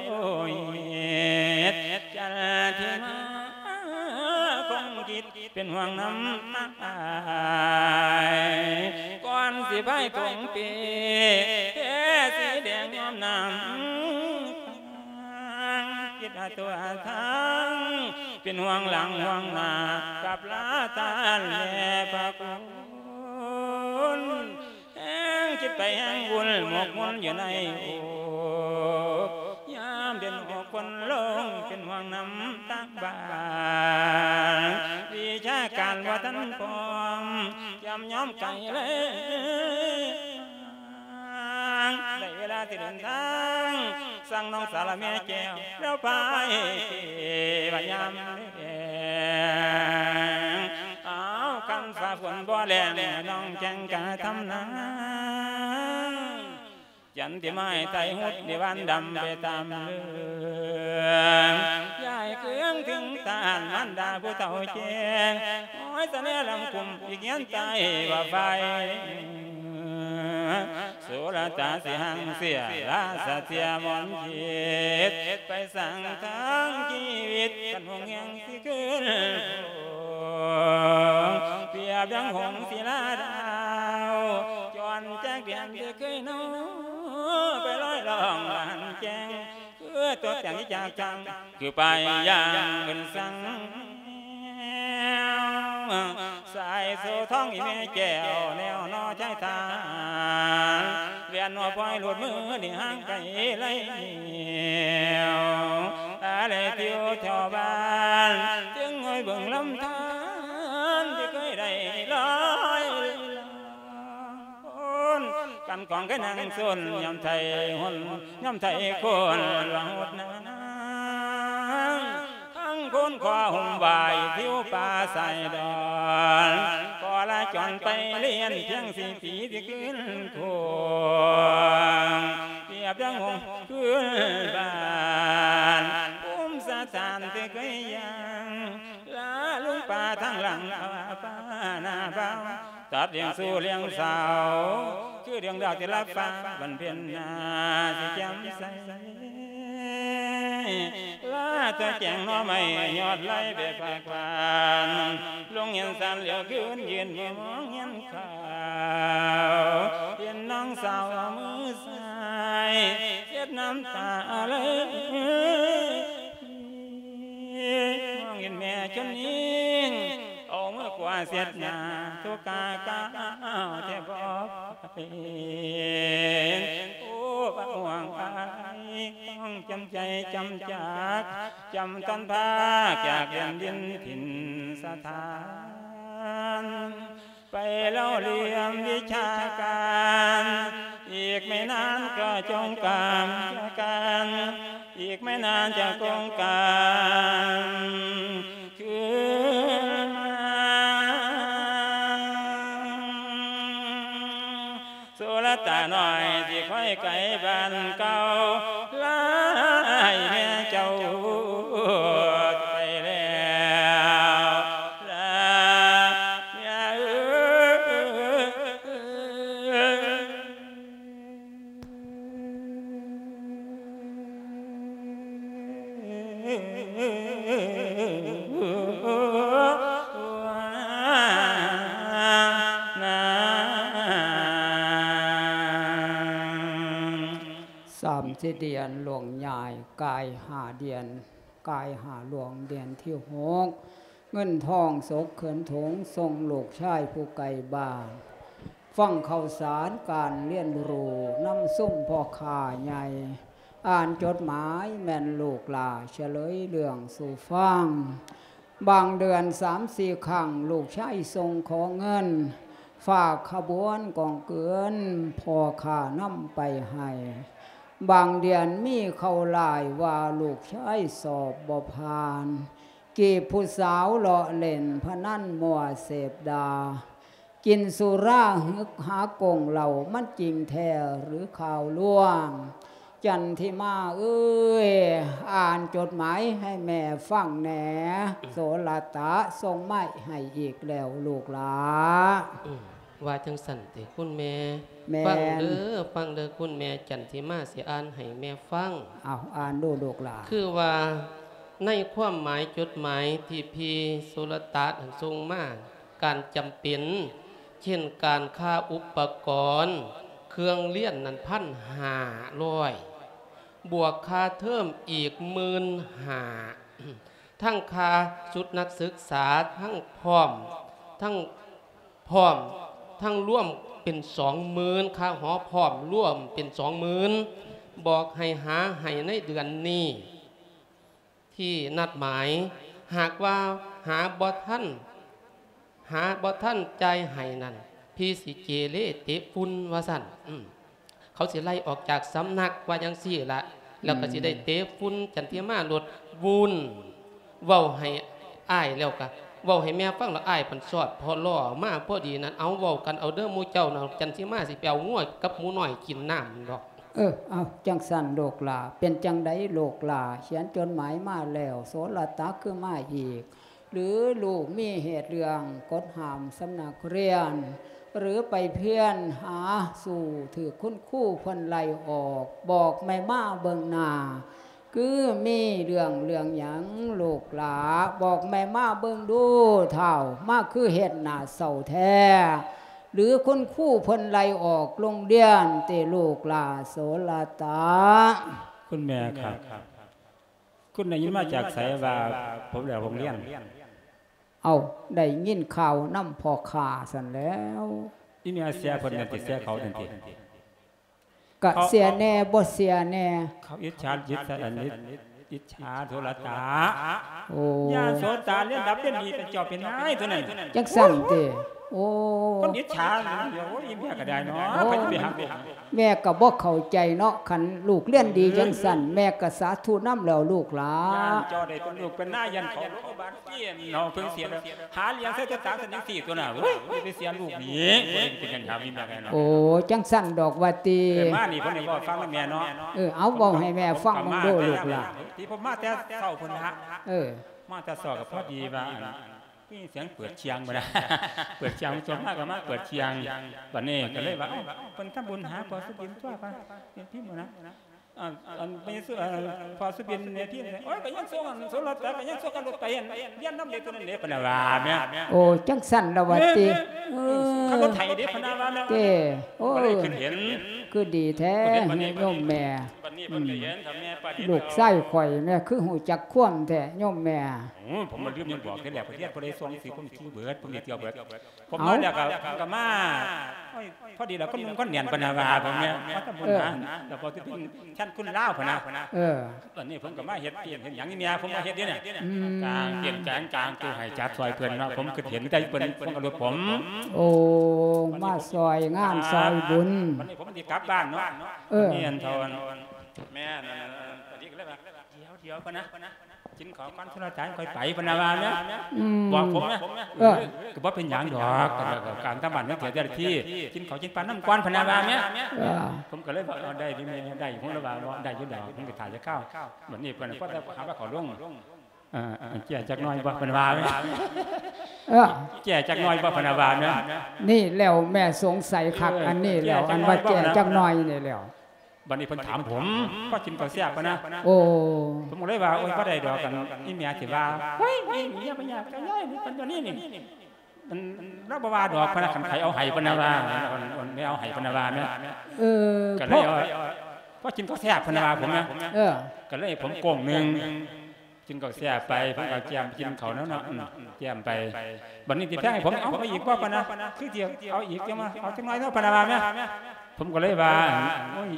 ຫິດ ຈັນທິມາຄົງຄິດ ເປັນຫ່ວງນຳອ້າຍ ກ່ອນຊິພາຍຖົງເປ ແພສີແດງຍອມນ້ຳ ຄິດຫາຕົວທາງ ເປັນຫ່ວງຫຼັງຫ່ວງໜ້າ ກັບລາທ່ານແລະພະຄຸນ ແຮງຄິດໄປແຮງວຸ່ນ ໝົກໝຸ່ນຢູ່ໃນອົກ ຍາມເປັນຫົກຄົນລົງ ເປັນຫ່ວງນຳທາງບ້ານ ວິຊາການບໍ່ທັນພ້ອມ ຈຳຍອມໄກແລ້ວ ໄດ້ເວລາຊິເດີນທາງ ສັ່ງນ້ອງສາວລະແມ່ແກ້ວ ແລ້ວພາຍເກວ່າຍາມແລງ ອ້າວ ຄັນຟ້າຝົນບໍ່ແລ້ງ ນ້ອງແຈ້ງກະທຳນາ ຈັນຕິມາຍໄຕຮຸດ ນິວັນດຳໄປຕາມເລື່ອງ ຍ້າຍເຄືອງເຖິງທ່ານ ມານດາຜູ້ເຖົ້າແກ່ ຫ້ອຍສະແນລຳຄຸມ ອີກເຮືອນໃຕ້ວ່າໄຟ ສຸລະຕາຊິຮັ່ງເສຍ ລາສະເສຍມອນຈິດ ໄປສ້າງທາງຊີວິດ ກັນຫົງແຮງຊິຂຶ້ນ ປຽບດັ່ງຫົງສີລາດາວ ຈອນຈາກແດນທີ່ເຄີຍນອນ ໄປລອຍລ່ອງບານແຈ້ງ ຄືຕົວແຕ່ງທີ່ຈາກຈາງ ຄືໄປຢ່າງເພິ່ນສັ່ງ ສາຍໂສທອງອີແມ່ແກ້ວ ແນວໜໍຊາຍທ່ານ ແວ່ນຫົວພອຍຫຼຸດມື ນີ້ຫ່າງໄກໄລແນວ ອາໄລທິວແຖວບ້ານ ຈຶ່ງຫ້ອຍເບິ່ງລຳທານ ທີ່ເຄີຍໄດ້ລອຍ ຄົນກັນຂອງເຄີຍນັ່ງຊົນ ຍາມໄທຫົນ ຍາມໄທຄົນວ່າຫົດນາງ ທັງຄົນຂໍຫົ່ມໄຫວ້ ທິວປ່າຊາຍດອນ ຂໍລາຈອນໄປລຽນ ພຽງສີ່ປີຊິຄືນຄົງ ປຽບດັ່ງຫົງຄືນບ້ານ ພູມສະຖານທີ່ເຄີຍຍ່າງ ລາລຸງປ່າທາງຫຼັງ ພາວ່າປ່າໜ້າບ່າວ ຕັດລ້ຽງສູ່ລ້ຽງສາວ ຄືດວງດາວທີ່ລັບຟ້າ ວັນເພັນໜ້າຊິແຈ່ມໃສ ລາຕົວແຈງໜໍ່ໄມ້ ຍອດໄລແບບພາກຫວານ ລົງເຮືອນຊານແລ້ວຄືນ ຢືນມອງເຮືອນຂາວ ເຫັນນ້ອງສາວເອົາມືຊ້າຍ ເຊັດນ້ຳຕາໄຫຼ ມອງເຫັນແມ່ຊົນຍິງ ເອົາມືຂວາເຊັດໜ້າ ທຸກກາກ້າວແທບບໍ່ໄຫວ ໂອ້ ພະຫ່ວງອາຍ ຕ້ອງຈຳໃຈຈຳຈາກ ຈຳຕ້ອນພາກຈາກແດນດິນຖິ່ນສະຖານ ໄປເລົ່າລຽມວິຊາການ ອີກໄມ່ນານກໍຈົງການ ຈາກກັນ ອີກໄມ່ນານຈະກົງການຄືນມາ ສຸລະຕານ້ອຍທີ່ຄອຍໄກບ້ານເກົ່າ ລາໃຫ້ແມ່ເຈົ້າໄປແລ້ວ ລາເອີຍ ສາມສີ່ດຽນຫຼວງຍາຍ ກາຍຫ້າດຽນ ກາຍຫ້າຫຼວງ ເດືອນທີຫົກ ເງິນທອງສົກເຂີນຖົງ ສົ່ງລູກຊາຍຜູ້ໄກບ້ານ ຟັງຂ່າວສານການລຽນຮູ້ ນຳຊຸມພໍ່ຄ້າໃຫຍ່ ອ່ານຈົດໝາຍແມ່ນລູກຫຼ້າສະເຫຼີຍເລື່ອງສູ່ຟັງ. ບາງເດືອນສາມສີ່ຄັ້ງ ລູກຊາຍສົ່ງຂໍເງິນ ຝາກຂະບວນກອງເກີນພໍ່ຄ້ານຳໄປໃຫ້. ບາງເດືອນມີຂ່າວຮ້າຍວ່າລູກຊາຍສອບບໍ່ຜ່ານ. ຈີບຜູ້ສາວເລາະຫຼິ້ນພະນັນມົວເສບຢາ ກິນສຸລາຫຶກຫາກົງເຫຼົ້າ ມັນຈິງແທ້ຫຼືຂ່າວລວງ? ຈັນທິມາເອີຍ ອ່ານຈົດໝາຍໃຫ້ແມ່ຟັງແດ່. ໂສລະຕະສົ່ງມາໃຫ້ອີກແລ້ວລູກຫຼ້າ. ອືມ ວ່າຈັ່ງຊັ້ນຕິຄຸນແມ່? ແມ່ນ. ຟັງເດີ ຟັງເດີຄຸນແມ່ ຈັນທິມາຊິອ່ານໃຫ້ແມ່ຟັງ. ເອົາ ອ່ານດູລູກຫຼ້າ. ຄືວ່າໃນຄວາມໝາຍຈົດໝາຍທີ່ພີ່ໂສລະຕະນັ້ນສົ່ງມາ ການຈຳເປັນ ເຊັ່ນ ການຄ່າອຸປະກອນເຄື່ອງລຽນນັ້ນ ພັນຫ້າຮ້ອຍ ບວກຄ່າເທີມອີກໝື່ນຫ້າ ທັງຄ່າຊຸດນັກສຶກສາ ທັງພ້ອມ ທັງພ້ອມ ທັງລວມເປັນສອງໝື່ນ ຄ່າຫໍພ້ອມລວມເປັນສອງໝື່ນ ບອກໃຫ້ຫາໃຫ້ໃນເດືອນນີ້ ທີ່ນັດໝາຍ. ຫາກວ່າຫາບໍ່ທັນ ຫາບໍ່ທັນຈ່າຍໃຫ້ນັ້ນ ພີ່ຊິເກເລເຕະຝຸ່ນ ວ່າຊັ້ນ. ອືມ ເຂົາຊິໄລ່ອອກຈາກສຳນັກ ວ່າຈັ່ງຊີ້ລະ ແລ້ວກໍຊິໄດ້ເຕະຝຸ່ນ ອືມ ຈັນທິມາໂລດວຸ້ນ. ເວົ້າໃຫ້ອ້າຍແລ້ວກະເວົ້າໃຫ້ແມ່ຟັງ ແລ້ວອ້າຍພັນຊອດພໍລໍ້ມາພໍດີນັ້ນ. ເອົາ ເວົ້າກັນເອົາເດີໝູ່ເຈົ້ານະ ຈັນທິມາຊິໄປເອົາງົວກັບໝູນ້ອຍກິນນ້ຳດອກ. ເອີ ເອົາ ຈັ່ງຊັ້ນລູກຫຼ້າ. ເປັນຈັ່ງໃດລູກຫຼ້າ ຂຽນຈົດໝາຍມາແລ້ວ ໂສລະຕະຄືມາອີກ? ຫຼືລູກມີເຫດເລື່ອງກົດຫ້າມສຳນັກຮຽນ ຫຼືໄປພຽນຫາສູ້ຖືກຄຸນຄູເພິ່ນໄລ່ອອກ? ບອກແມ່ມາເບິ່ງໜ້າ ຄືມີເລື່ອງ ເລື່ອງຫຍັງລູກຫຼ້າ? ບອກແມ່ມາເບິ່ງດູທ້າວ ມາຄືເຮັດໜ້າເສົ້າແທ້ ຫຼືຄຸນຄູເພິ່ນໄລ່ອອກໂລງຮຽນຕິລູກຫຼ້າໂສລະຕະ? ຄຸນແມ່ຄັບ ຄຸນໄດ້ຍິນມາຈາກໃສວ່າຜົມໄດ້ອອກໂລງຮຽນ? ເອົ້າ ໄດ້ຍິນຂ່າວນຳພໍ່ຄ້າຊັ້ນແລ້ວ. ອີແມ່ເສຍເພິ່ນນັ້ນຕິ ເສຍເຂົານັ້ນຕິ? ກະເສຍແດ່ ບໍ່ເສຍແດ່. ເຂົາອິດສາ ອິດສາ ອັນ ອິດ ອິດສາໂສລະຕະ. ໂອ້ ຍາໂສຕາ ຮຽນດັບຮຽນດີ ເປັນເຈົ້າເປັນນາຍຕົວນັ້ນ. ຈັ່ງຊັ້ນຕິ? ໂອ້ ຄົນອິດສາ ໂອ້ຍ ອີແມ່ກໍໄດ້ເນາະ. ໂອ້ ໃຜຊິໄປຫາລູກ? ແມ່ກໍບໍ່ເຂົ້າໃຈເນາະ ຄັນລູກຮຽນດີຈັ່ງຊັ້ນ ເອີ ແມ່ກໍສາທຸນຳແລ້ວລູກຫຼ້າ. ຢ້ານເຈົ້າໄດ້ເປັນລູກເປັນນາຍ ຢ້ານເຂົາໂລງບານ ເກມເນາະ ເພິ່ນເສຍ ຫາລ້ຽງໃຊ້ແຕ່ຕາງສັນຈັ່ງຊີ້ຕົວນະ. ໂອ້ຍ ໄປເສຍລູກນີ້ ບໍ່ໄດ້ເປັນຫຍັງຫາມີແມ່ໄດ້ເນາະ. ໂອ້ ຈັ່ງຊັ້ນດອກວ່າຕິ. ເອີ ມານີ້ເພິ່ນໃຫ້ເວົ້າຟັງນຳແມ່ເນາະ. ເອີ ເອົາ ເວົ້າໃຫ້ແມ່ຟັງເບິ່ງດູລູກຫຼ້າ. ທີ່ຜົມມາແຕ່ເຊົ້າພຸ້ນລະ. ເອີ ມາແຕ່ເຊົ້າກໍພໍດີວ່າ ໄດ້ຍິນສຽງເປີດຊ່ຽງພຸ້ນນະ ເປີດຊ່ຽງ ຈົບມາກໍມາເປີດຊ່ຽງ. ບັດນີ້ກໍເລີຍວ່າ ເອົ້າ ເພິ່ນທຳບຸນຫາພໍ່ສຸບິນຕົວະ ເປັນພິມພຸ້ນນະ. ອັນ ອັນ ແມ່ສຸ ເອີ ພໍ່ສຸບິນແມ່ພິມ ໂອ້ຍ ກໍຍັງສົ່ງ ອັນ ໂສລະຕະກໍຍັງສົ່ງກັນລົດໄປ ອັນ ຮຽນນຳເດ້ຕົວນັ້ນເດ້ ເພິ່ນວ່າແມ່. ໂອ້ ຈັ່ງຊັ້ນລະວ່າຕິ. ເອີ ເອີ ເອີ ຂັບລົດໄຖເດ້ ເພິ່ນວ່າແມ່. ເດ້ ໂອ້ ກໍເລີຍຂຶ້ນເຫັນ ຄືດີແທ້ ໂຍມແມ່. ບັດນີ້ເພິ່ນກໍເຫັນ ອືມ ຖ້າແມ່ປານນີ້ ລູກຊາຍຂ້ອຍແມ່ຄືຮູ້ຈັກຄວາມແທ້ໂຍມແມ່. ໂອ້ ຜົມມາລືມຍັງບອກແທ້ແຫຼະ ປະເທດບໍ່ໄດ້ສົ່ງຊື່ຄົນທີ່ເບິດ ເພິ່ນໄດ້ທ່ຽວເບິດ. ຜົມມາແລ້ວກໍ ເອີ ກໍມາ ໂອ້ຍ ພໍດີລະຄົນໜຸ່ມຄົນແໜ້ນເພິ່ນວ່າ ເພິ່ນວ່າ ເອີ ມາທຳບຸນນະ ແລ້ວພໍຊິເປັນແທນຄຸນລາວເພິ່ນນະ. ເອີ ອັນນີ້ເພິ່ນກໍມາເຮັດ ເຮັດຫຍັງນີ້ແມ່ ເພິ່ນມາເຮັດນີ້ນະ. ອືມ ກາງເປັນແກງກາງ ຕູ້ໃຫ້ຈັດຊ່ອຍເພິ່ນເນາະ. ຜົມຄິດເຫັນແຕ່ເພິ່ນ ເພິ່ນກໍລົດຜົມ. ໂອ້ ມາຊ່ອຍງານຊ່ອຍບຸນ. ບັດນີ້ຜົມຊິກັບບ້ານເນາະ. ເອີ ອັນນີ້ອັນເທົ່າ ແມ່ນ ອັນນີ້ກໍເລີຍວ່າ ດຽວໆ ເພິ່ນນະ ກິນເຂົ້າກ່ອນ ໂທລະສັບຄ່ອຍໄປ ເພິ່ນວ່າແມ່. ອືມ ບອກຜົມນະ. ເອີ ກໍບໍ່ເປັນຫຍັງດອກ ການທຳບ້ານມັນເສຍເຈົ້າໜ້າທີ່ ກິນເຂົ້າກິນປານຳກ່ອນ ເພິ່ນວ່າແມ່. ເອີ ຜົມກໍເລີຍວ່າ ເອີ ໄດ້ຢູ່ແມ່ ໄດ້ຢູ່. ຜົມເລີຍວ່າ ບໍ່ ໄດ້ຢູ່ດອກ ມັນກໍຖ້າຈະຄາວ. ບັດນີ້ເພິ່ນພໍແຕ່ຫາວ່າເຂົາລົງ ເອີ ແກ້ຈັກໜ້ອຍບໍ່ ເພິ່ນວ່າແມ່. ເອີ ແກ້ຈັກໜ້ອຍບໍ່ ເພິ່ນວ່າແມ່. ນີ້ແລ້ວແມ່ສົງໄສຄັກ ເອີ ອັນນີ້ແລ້ວ ອັນວ່າແກ້ຈັກໜ້ອຍນີ້ແລ້ວ. ບັດນີ້ເພິ່ນຖາມຜົມ ພໍກິນເຂົ້າແຊບປານນະ. ໂອ້ ຜົມກໍເລີຍວ່າ ໂອ້ຍ ບໍ່ໄດ້ດອກ ອັນ ອີແມ່ຊິວ່າ ໂອ້ຍ ເມຍບໍ່ຢາກຈະຍ້າຍ ມັນເປັນຕົວນີ້ນີ້ ອັນ ລາວບໍ່ວ່າດອກ ເພິ່ນວ່າ ຄັນໃຜເອົາໃຫ້ ເພິ່ນວ່າ ແມ່ເອົາໃຫ້ ເພິ່ນວ່າແມ່. ເອີ ກໍເລີຍ ພໍກິນເຂົ້າແຊບ ເພິ່ນວ່າຜົມນະ. ເອີ ກໍເລີຍໃຫ້ຜົມໂກ້ງໜຶ່ງ ກິນເຂົ້າແຊບໄປ ເພິ່ນກໍແຈມກິນເຂົ້າແລ້ວເນາະ ແຈມໄປ. ບັດນີ້ຊິແພງໃຫ້ຜົມ ເອົາ ເອົາອີກບໍ່ ເພິ່ນນະ. ຄືຊິເອົາອີກ ຈັ່ງວ່າ ເອົາຈັກໜ້ອຍເນາະ ເພິ່ນວ່າແມ່. ຜົມກໍເລີຍວ່າ ໂອ້ຍ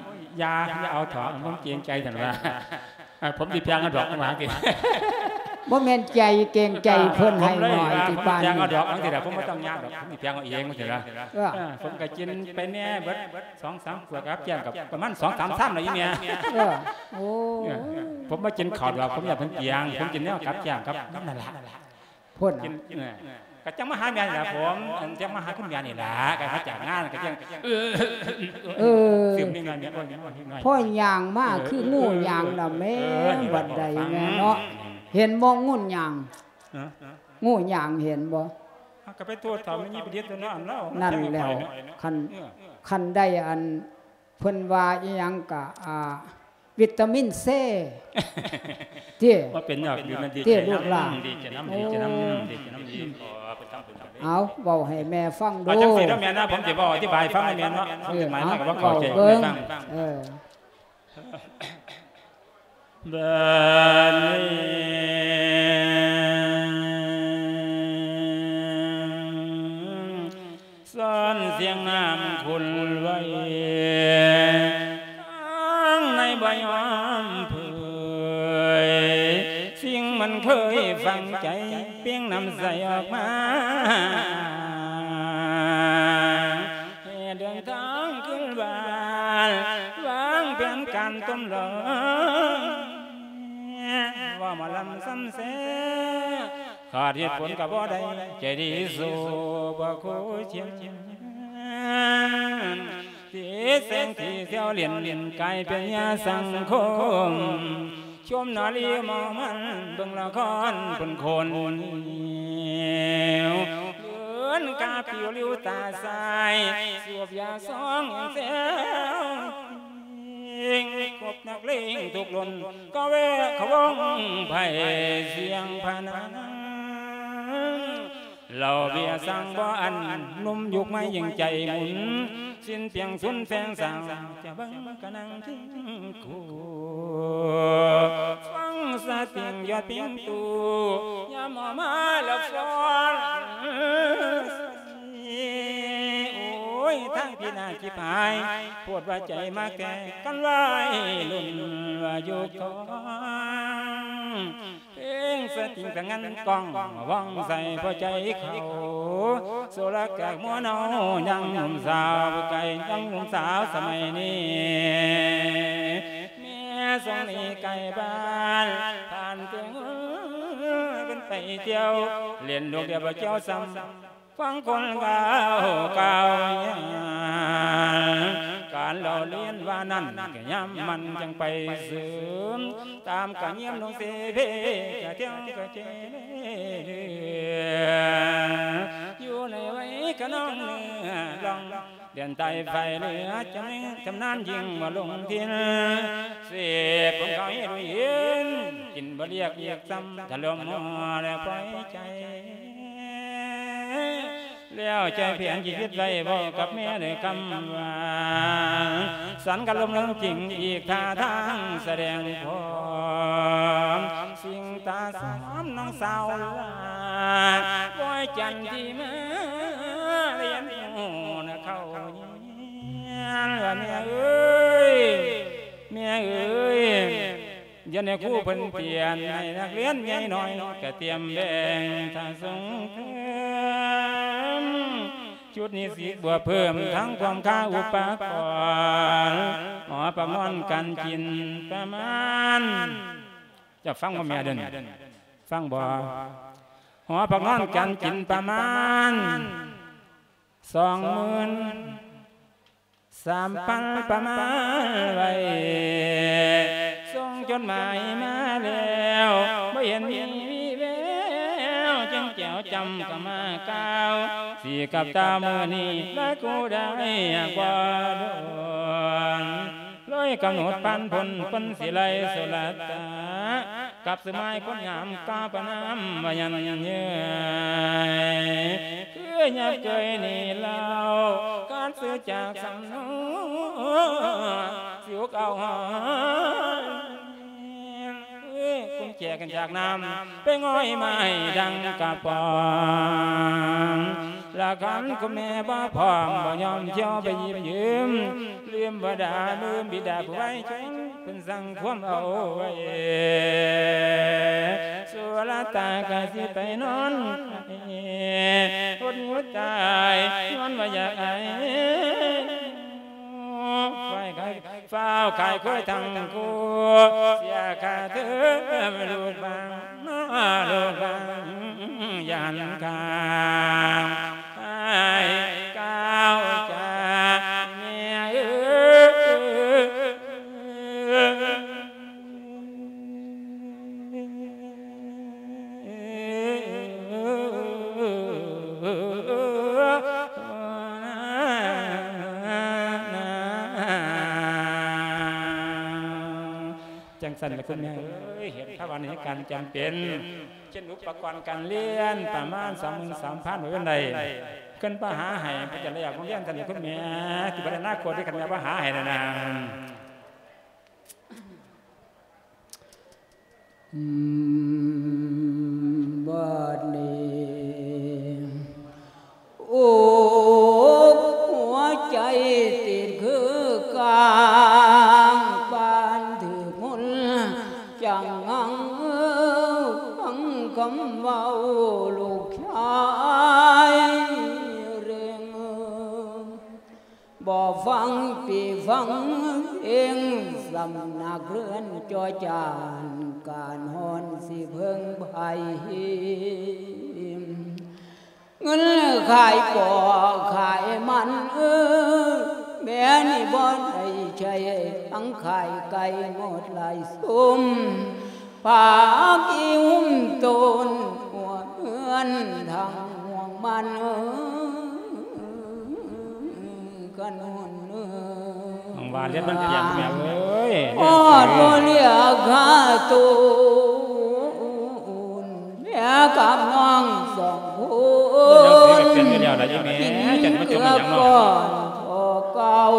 ຢ່າ ຢ່າເອົາເຖາະ ຜົມເກງໃຈ ຊັ້ນວ່າ ເອີ ຜົມຊິແພງເອົາດອກ ວ່າຈັ່ງຊີ້. ບໍ່ແມ່ນໃຈເກງໃຈເພິ່ນໃຫ້ໜ້ອຍຕິປານນີ້ ເອົາດອກ ວ່າຈັ່ງຊີ້ລະ ຜົມບໍ່ຕ້ອງຍາກດອກ ຜົມຊິແພງເອົາເອງ ວ່າຊີ້ລະ. ເອີ ເອີ ຜົມກໍກິນໄປແດ່ເບິດ ສອງສາມ ຂວດກັບແກ້ມ ກໍປະມານ ສອງສາມຊາມແລ້ວ ອີ່ແມ່. ເອີ ໂອ້ ເອີ ຜົມບໍ່ກິນເຂົ້າດອກ ຜົມຢ້ານເພິ່ນກຽງ ຜົມກິນແນວກັບແກ້ມກັບນັ້ນລະ. ພຸ້ນ ກິນ ເອີ ກໍຈັ່ງມາຫາແມ່ນີ້ລະ ຜົມ ອັນ ຈັ່ງມາຫາຄຸນແມ່ນີ້ລະ ກໍມາຈາກງານ ກໍຈັ່ງ ເອີ ເອີ ຊຶມນິດໜ້ອຍ ໂອ້ຍ ນິດໜ້ອຍ ພໍຍ່າງມາ ເອີ ຄືງູຍ່າງນະແມ່ ເອີ ບັດໃດແມ່ເນາະ. ເຫັນບໍ່ງູຍ່າງ? ຮະ? ງູຍ່າງເຫັນບໍ່? ເຮົາກໍໄປໂທດຖາມແມ່ຍິງປະດິດຕົວເນາະ ອັນລາວ ນັ້ນແຫຼ້ວ ຄັນ ເອີ ຄັນໄດ້ອັນ ເພິ່ນວ່າອີ່ຫຍັງກະ ອ່າ ວິຕາມິນເຊ ເດ້ ວ່າເປັນຍອດ ດີນະ ດີ ເດ້ ເຈນຳ ລູກຫຼານ ດີເຈນຳ ໂອ້ ດີເຈນຳ ດີເຈນຳ ດີ ຂໍເພິ່ນທຳບຸນນຳເດີ. ເອົາ ເວົ້າໃຫ້ແມ່ຟັງດູ ເອົາ ຈັ່ງຊີ້ເນາະແມ່ນະ ຜົມຊິເວົ້າອະທິບາຍໃຫ້ຟັງແມ່ນເນາະ ເອີ ເວົ້າເບິ່ງ ເອີ ບາດນີ້ ຊ້ອນສຽງນ້ຳຂຸ່ນໄຫວ ທາງໃນບໍ່ຍອມເຜີຍ ສິ່ງມັນເຄີຍຝັງໃຈ ເປ່ງນ້ຳໃສອອກມາ ໃຫ້ເດີນທາງຄືນບ້ານ ວາງແຜນການຕົມຫຼອກ ເວົ້າມາລຳຊຳແຊ ຂາດເຫດຜົນກໍບໍ່ໄດ້ ໃຈດີສູ້ບໍ່ຄູ່ຈຽນ ທີ່ແສງທີ່ສຽວຫຼຽນ ກາຍເປັນຍາສັງຄົມ ຊົມນາລີເມົາມັນ ເບິ່ງລະຄອນເປັນຄົນ ເດີນກາປິວລິ້ວຕາຊາຍ ສວບຢາຊອງແຊວ ເພງ ຄົບນັກເລງທຸກລຸ້ນ ກໍແວະເຂົ້າວົງໄພສຽງພະນັນ ເຫຼົ້າເບຍສັງບໍ່ອັນ ໜຸ່ມຍຸກໃໝ່ຍິ່ງໃຈໝຸນ ສິ້ນປ່ຽງສຸນແຟງສັງ ຈະເບິ່ງກະນັ່ງຈິງກູ ຟັງສະຕິງຍອດປິງຕູ ຍາມເອົາມາລະຟ້ອນ ໂອ້ຍ ທາງພິນາດຈິບຫາຍ ໂພດວ່າໃຈມັກແທ້ ກັນໄວ້ລຸ້ນວ່າຢູ່ກອງ ເພງສະຕິງສະຫງັນກ້ອງ ວ່ອງໃສພໍໃຈເຂົາ ໂສລະກາກມົວເນົາ ຍັງໜຸ່ມສາວໄກ ຍັງໜຸ່ມສາວສະໄໝນີ້ ແມ່ຊົງໜີໄກບ້ານ ຜ່ານເຕີງເປັນໄປທ່ຽວ ເຫຼັ້ນລູກດຽວບໍ່ກ່ຽວຊ້ຳ ຟັງຄົນກ່າວກ່າວຍານ ການເລົ່າລຽນວ່ານັ້ນ ກະຍາມມັນຈັ່ງໄປເສີມ ຕາມກະຢ້ຽມນົງເສເພ ກະທ່ຽວກະເຈເລ ຢູ່ໃນໄວຂະນອງເໜືອລ່ອງ ແດນໃຕ້ໄຟເຫຼືອຈຳ ຈຳນານຍິ່ງວ່າລົງຖິ່ນ ເສບຜົນເຂົາເຮັດໃຫ້ເຫັນ ກິນບໍ່ລຽກອີກຊ້ຳ ຖ້າລົມຫົວແລ້ວປ່ອຍໃຈ ແລ້ວໃຈແຜນທີ່ຄິດໄວ້ ເວົ້າກັບແມ່ດ້ວຍຄຳຫວານ ສັນກັບລົມເລື່ອງຈິງ ອີກທ່າທາງສະແດງພ້ອມ ສິ່ງຕາສອມນ້ອງສາວຫຼ້າ ປ້ອຍຈັນທີ່ມາຮຽນຮູ້ນະເຂົ້າຮຽນ ວ່າແມ່ເອີຍ ແມ່ເອີຍ ຢ່າໃຫ້ຄູເພິ່ນປ່ຽນ ໃຫ້ນັກຮຽນໃຫຍ່ນ້ອຍ ກະຕຽມແບ່ງຖ້າສົ່ງເສີມ ຊຸດນິສິດບວກເພີ່ມ ທັງຄວາມຄ່າອຸປະກອນ ຫໍພັກນອນການກິນປະມານ ເຈົ້າຟັງບໍ່ແມ່ເດີ ຟັງບໍ່? ຫໍພັກນອນການກິນປະມານ ສອງໝື່ນສາມພັນປະມານໄວ້ ສົ່ງຈົດໝາຍມາແລ້ວ ບໍ່ເຫັນມີວີແວວ ຈຶ່ງແຈວຈຳກະມາກ່າວ ຊິກັບຕາມື້ນີ້ລາກູໄດ້ບໍ່ດົນ ເລີຍກຳນົດພັນພົນ ເພິ່ນຊິໄລ່ສຸລະຕາ ກັບສະໄໝຄົນງາມກາປະນາມວ່າຍັນເຍີ້ຍ ຄືຍັບເຄີຍນີ້ເລົ່າ ການຊື້ຈາກສຳນວນ ຊິອຸກເອົາຫອຍ ກຸນແຈກັນຈາກນ້ຳ ໄປງ່ອຍໄມ້ດັງກະປອງ ລະຄັນຄຸນແມ່ບໍ່ພ້ອມ ບໍ່ຍອມທ່ຽວໄປຢິບຢືມ ລືມບໍ່ໄດ້ລືມບິດາຜູ້ໄວຊົນ ເພິ່ນສັ່ງຄວາມເອົາໄວ້ ສຸລະຕາກະຊິໄປນອນ ຫົດຫຸດຕາຍ ນອນວ່າຢາກອາຍ ໄຟໄກ ຟ້າວຂາຍຄວາຍທັງຄູ່ ເສຍຄ່າເທີມລູກບາງ ລູກບາງ ຢ່າຫັນຂ້າງ ອ້າຍກ່າວຈາແມ່ເອີຍ. ຈັ່ງຊັ້ນລະຄຸນແມ່ເອີຍ ເຫັນພາວະໃນການຈຳເປັນ ເຊັ່ນອຸປະກອນການລຽນປະມານສອງໝື່ນສາມພັນ ບໍ່ເປັນໃດ ຂຶ້ນໄປຫາໃຫ້ ເພິ່ນຈະໄດ້ອອກໂຮງຮຽນ ທ່ານລະຄຸນແມ່ ທີ່ບັດອະນາຄົດທີ່ຄັນແມ່ບໍ່ຫາໃຫ້ນັ້ນນະ. ບາດນີ້ ໂອກຫົວໃຈຕິດຄືກາງ ປານຖືກມຸນຈັງງັງ ຟັງຄຳເວົ້າລູກຊາຍເລັ່ງ. ບໍ່ຟັງປີຟັງເອງ ສຳນັກເຮືອນຈໍຈານ ການຮ້ອນຊິເພິ່ງໃຜ ເງິນຂາຍປໍຂາຍມັນ ເອີ ແມ່ນີ້ບໍ່ໄດ້ໃຊ້ ທັງຂາຍໄກ່ໝົດຫຼາຍຊຸມ ພາກອີຫຸ້ມໂຕນຫົວເຮືອນທັງຫ່ວງມັນ ກະໜູນເອີຍ ຫວັງວ່າເລັບມັນປ່ຽງແມ່ເອີຍ ຮອດບໍ່ເຫຼືອຄ່າໂຕນ ແມ່ກັບນ້ອງສອງຄົນ ເປັນຢູ່ແລ້ວລະອີແມ່ ຈັກມາຈົມຫຍັງເນາະ ກິນເກືອກ່ອນພໍເກົ່າ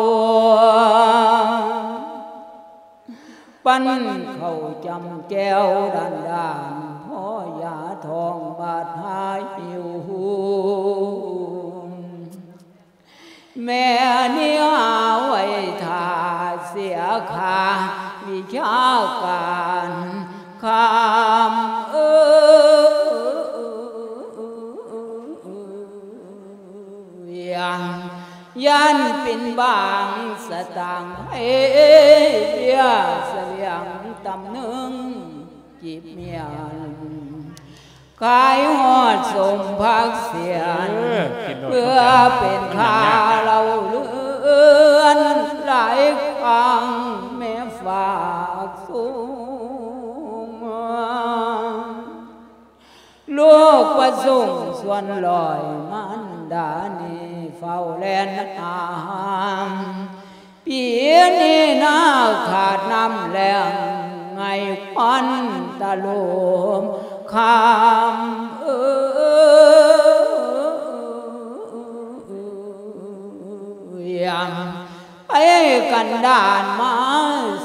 ປັນເຂົ້າຈ້ຳແຈ່ວດ້ານໆ ພໍຢາທ້ອງບາດຫາຫິວ. ແມ່ນີ້ຫາໄວ້ຖ້າເສຍຄ່າວິຊາການຄຳເອີຍ ຢ້ານປິ່ນບາງສະຕາງໃຫ້ເບຍສະບຽງຕຳໜຶ່ງ ຈີບມຽນ ຂາຍຮອດສົມຜັກສຽນ ເອີ ກິນໂລດ ເພື່ອເປັນຄ່າເລົ່າເລື່ອນ ຫຼາຍຄັ້ງແມ່ຝາກສູງ ລູກປະສົງຊວນລອຍ ມານດານີ້ເຝົ້າແລ່ນຫາ ປີນີ້ນາຂາດນ້ຳແລ້ງ ໄຫງຄວັນຕະໂລມຄຳເອີຍ ໄປກັນດານມາ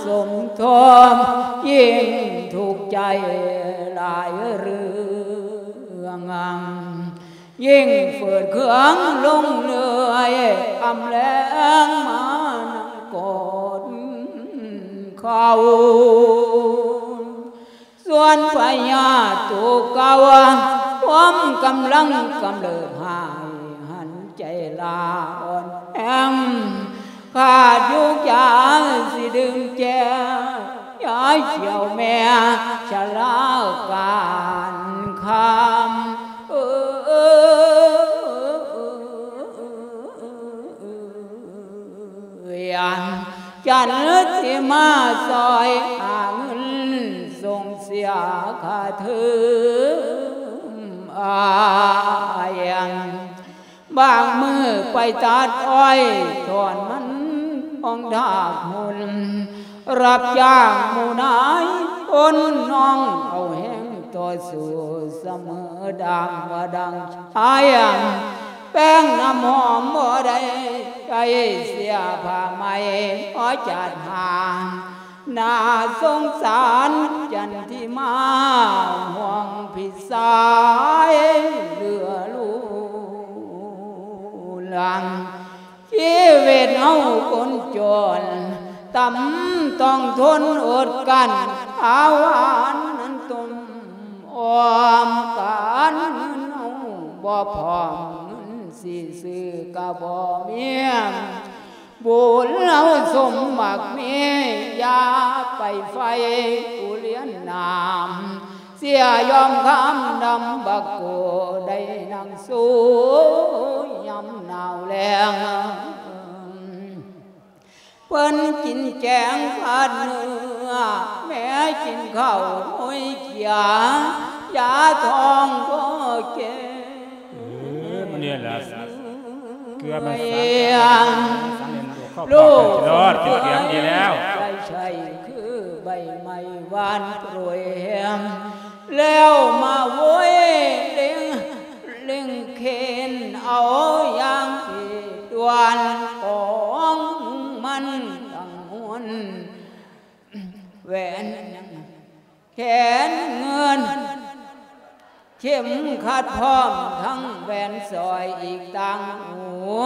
ສົມທົບ ຍິ່ງທຸກໃຈຫຼາຍເລື່ອງ ຍິ່ງຝືດເຄືອງລົງເລື້ອຍ ຄຳແລງມານັ່ງກອດເຂົາ ສ່ວນພະຍາດໂຕເກົ່າ ຄວາມກຳລັງກຳເລີບຮ້າຍ ຫັນໃຈລາອ່ອນແອງ ຂາດຢູ່ຢາຊິດື່ມແຈ ຢາຂຽວແມ່ຊະລາການຄຳເອີຍ ຈັນຊິມາຊ່ອຍຫາເງິນສົ່ງເສຍຄ່າເທີມອ້າຍ ບາງມື້ໄປຕັດອ້ອຍຖອນມັນຂອງທາກຮຸນ ຮັບຈ້າງໝູ່ນາຍຄົນ ນ້ອງເອົາແຮງຕໍ່ສູ້ສະເໝີ ດັ່ງວ່າດັ່ງຊາຍ ແປ້ງນ້ຳຫອມບໍ່ໄດ້ໃຊ້ ເສຍຜ້າໃໝ່ພໍຈັດຫາ ໜ້າສົງສານຈັນທິມາ ຫ່ວງພີ່ຊາຍເຫຼືອລູ ວຄົນຈົນ ຕ່ຳຕ້ອງທົນອົດກັ້ນ ອາຫານນັ້ນຕົ້ມອ້ອມ ການເງິນເຮົາບໍ່ພ້ອມ ເງິນຊິຊື້ກະບໍ່ມີ ບຸນເຮົາສົມໝາກມີ ຢ່າໄປໃຝ່ຜູ້ລຽນນ້ຳ ເສຍຍອມຄຳນຳບັກໂກ ໄດ້ນັ່ງໂຊຍາມໜາວແລ້ງ ເພິ່ນກິນແກງຜັດເນື້ອ ແມ່ກິນເຂົ້າໂຮຍເຂຍ ຢາທ້ອງກໍເກ ເອີ ມັນນີ້ແຫຼະ ເກືອມັນສັງ ສັງເຫັນລູກເຂົ້າປອກເປັນກິໂລດ ເປັນເກືອມັນດີແລ້ວ ໃຊ້ຄືໃບໄມ້ຫວານໂປຣຍ ແລ້ວມາໂຫຍເລັ່ງ ເລັ່ງເຂັນເອົາຢ່າງທີ່ດ່ວນ ຂອງມັນທັງມວນ ແຫວນແຂນເງິນ ເຂັມຂັດພ້ອມທັງແຫວນສ້ອຍອີກຕ່າງຫູ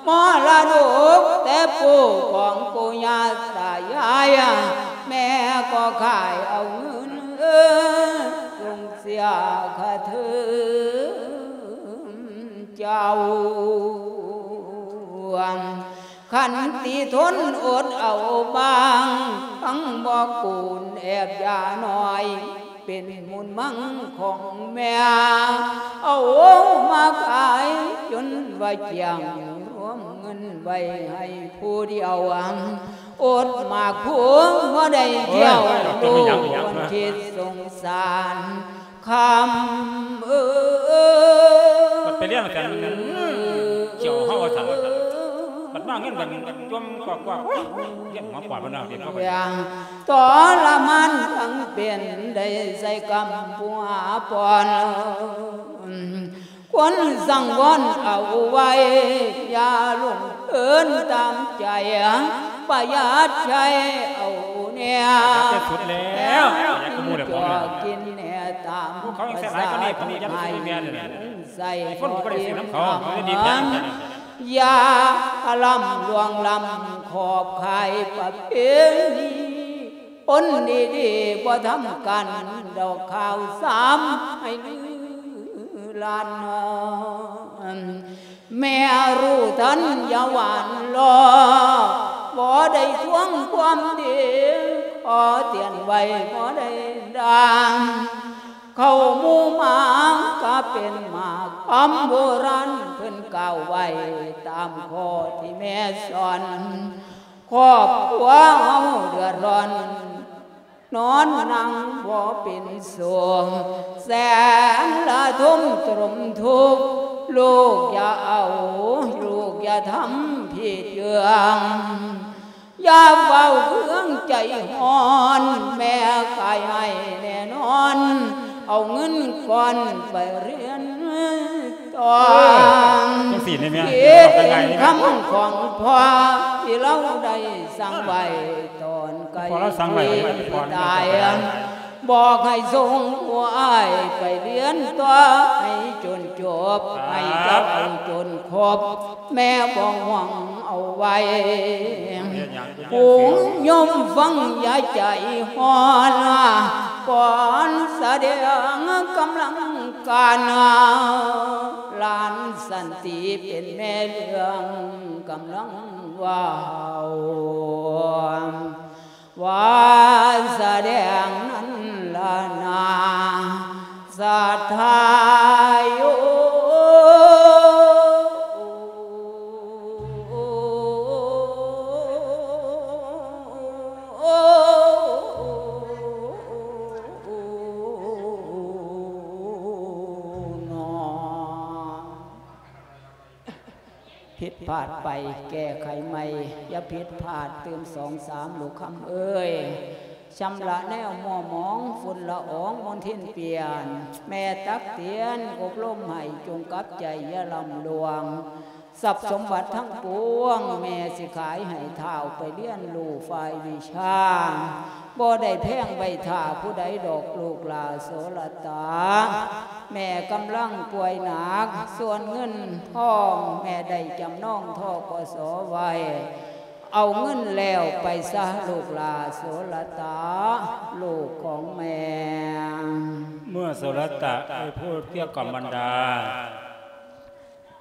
ມໍລະດົກແຕ່ປູ່ຂອງປູ່ຍ່າຕາຍາຍ ແມ່ກໍຂາຍເອົາເງິນ ສົ່ງເສຍຄ່າເທີມເຈົ້າ ຂັນຕິທົນອົດເອົາບາງ ທັງບໍ່ກູນແອບຢານ້ອຍ ເປັນມູນມັງຂອງແມ່ ເອົາມາຂາຍຈົນວ່າກ້ຽງ ລວມເງິນໄວ້ໃຫ້ຜູ້ດຽວ ອົດໝາກພູບໍ່ໄດ້ທ່ຽວ ໂອ້ຍ ລູກຄວນຄິດສົງສານ ຄຳເອີຍ ບັດໄປລ້ຽງແຕ່ນຂຽວເຮົາວ່າຊັ້ນ ບັດມາເງິນກັນຈົ່ມກອກໆ ໂອ້ຍ ວຽນຫົວປອດເພິ່ນວ່າເປັນເຂົາໄປ ທອລະມານທັງເປັນ ໄດ້ໃສ່ກຳປົວປ່ອນ ຄວນສັງວອນເອົາໄວ້ ຢ່າຫຼົງເອີນຕາມໃຈ ປະຢັດໃຊ້ເອົາແນ່ ປະຢັດທີ່ສຸດແລ້ວ ປະຢັດກວ່າໝູ່ແລ້ວ ພວກນັ້ນ ກິນແນ່ຕາມພວກເຂົາຍັງໃສ່ຫຼາຍກວ່ານີ້ ພວກນີ້ຍັງຊິແມ່ນຢູ່ນີ້ ໃສ່ ໄອ້ຝົນກໍບໍ່ໄດ້ຊື້ນຳເຂົາ ເຂົາໄດ້ດີແທ້ ຢ່າລຳຫຼວງລຳຂອບຂາຍປະເພນີ ຄົນດີໆບໍ່ທຳກັນດອກ ຂ່າວສາມໃຫ້ລືລານ ແມ່ຮູ້ທັນຢ່າຫວານລໍ້ ບໍ່ໄດ້ທວງຄວາມດີ ຂໍຕຽນໄວ້ບໍ່ໄດ້ດ່າງ ເຂົ້າໝູ່ໝາກະເປັນໝາກຄຳໂບລານ ເພິ່ນກ່າວໄວ້ຕາມຂໍ້ທີ່ແມ່ສອນ ຄອບຄົວເຮົາເດືອດຮ້ອນ ນອນນັ່ງບໍ່ເປັນສຸກ ແສນລະທົມຕົມທຸກ ລູກຢ່າເອົາ ລູກຢ່າທຳຜິດເລື່ອງ ຢ່າເວົ້າເຄື່ອງໃຈຮ້ອນ ແມ່ຂາຍໃຫ້ແນ່ນອນ ເອົາເງິນກ່ອນໄປຮຽນຕໍ່ ເອີ ຈັ່ງຊີ້ນີ້ແມ່ ເອີ ເປັນຄຳຂອງພໍ່ທີ່ລາວໄດ້ສັ່ງໄວ້ຕອນໃກ້ ພໍ່ລາວສັ່ງໄວ້ ທີ່ຕາຍ ບອກໃຫ້ສົ່ງຜູ້ອ້າຍໄປຮຽນຕໍ່ ໃຫ້ຈົນຈົບ ໃຫ້ຈັບເອົາຈົນຄົບ ແມ່ບໍ່ຫວັງເອົາໄວ້ ເຮັດຫຍັງ ຜູ້ໂຍມຟັງຢ່າໃຈຮ້ອນ ກ່ອນສະແດງກຳລັງການ ຫຼານສັນຕິເປັນແມ່ເລື່ອງກຳລັງເວົ້າ ວ່າສະແດງນັ້ນລະນາ ສັດທາໂຍ ຜິດພາດໄປແກ້ໄຂໃໝ່ ຢ່າຜິດພາດຕື່ມສອງສາມ ລູກຄຳເອີຍ ຊຳລະແນວມົວໝອງ ຝຸ່ນລະອອງມົນທິນປ່ຽນ ແມ່ຕັກຕຽນອົບຮົມໃຫ້ ຈົ່ງກັບໃຈຢ່າລຳລວງ ຊັບສົມບັດທັງປວງ ແມ່ຊິຂາຍໃຫ້ທ້າວ ໄປຮຽນຮູ້ຝ່າຍວິຊາ ບໍ່ໄດ້ແພງໄວ້ຖ້າຜູ້ໃດດອກລູກຫຼ້າໂສລະຕາ ແມ່ກຳລັງປ່ວຍໜັກ ສ່ວນເງິນທອງແມ່ໄດ້ຈຳນອງ ທກສ ໄວ້ ເອົາເງິນແລ້ວໄປຊະລູກຫຼ້າໂສລະຕາ ລູກຂອງແມ່. ເມື່ອໂສລະຕະໄດ້ພູດເກື້ອກລ່ອມບັນດາ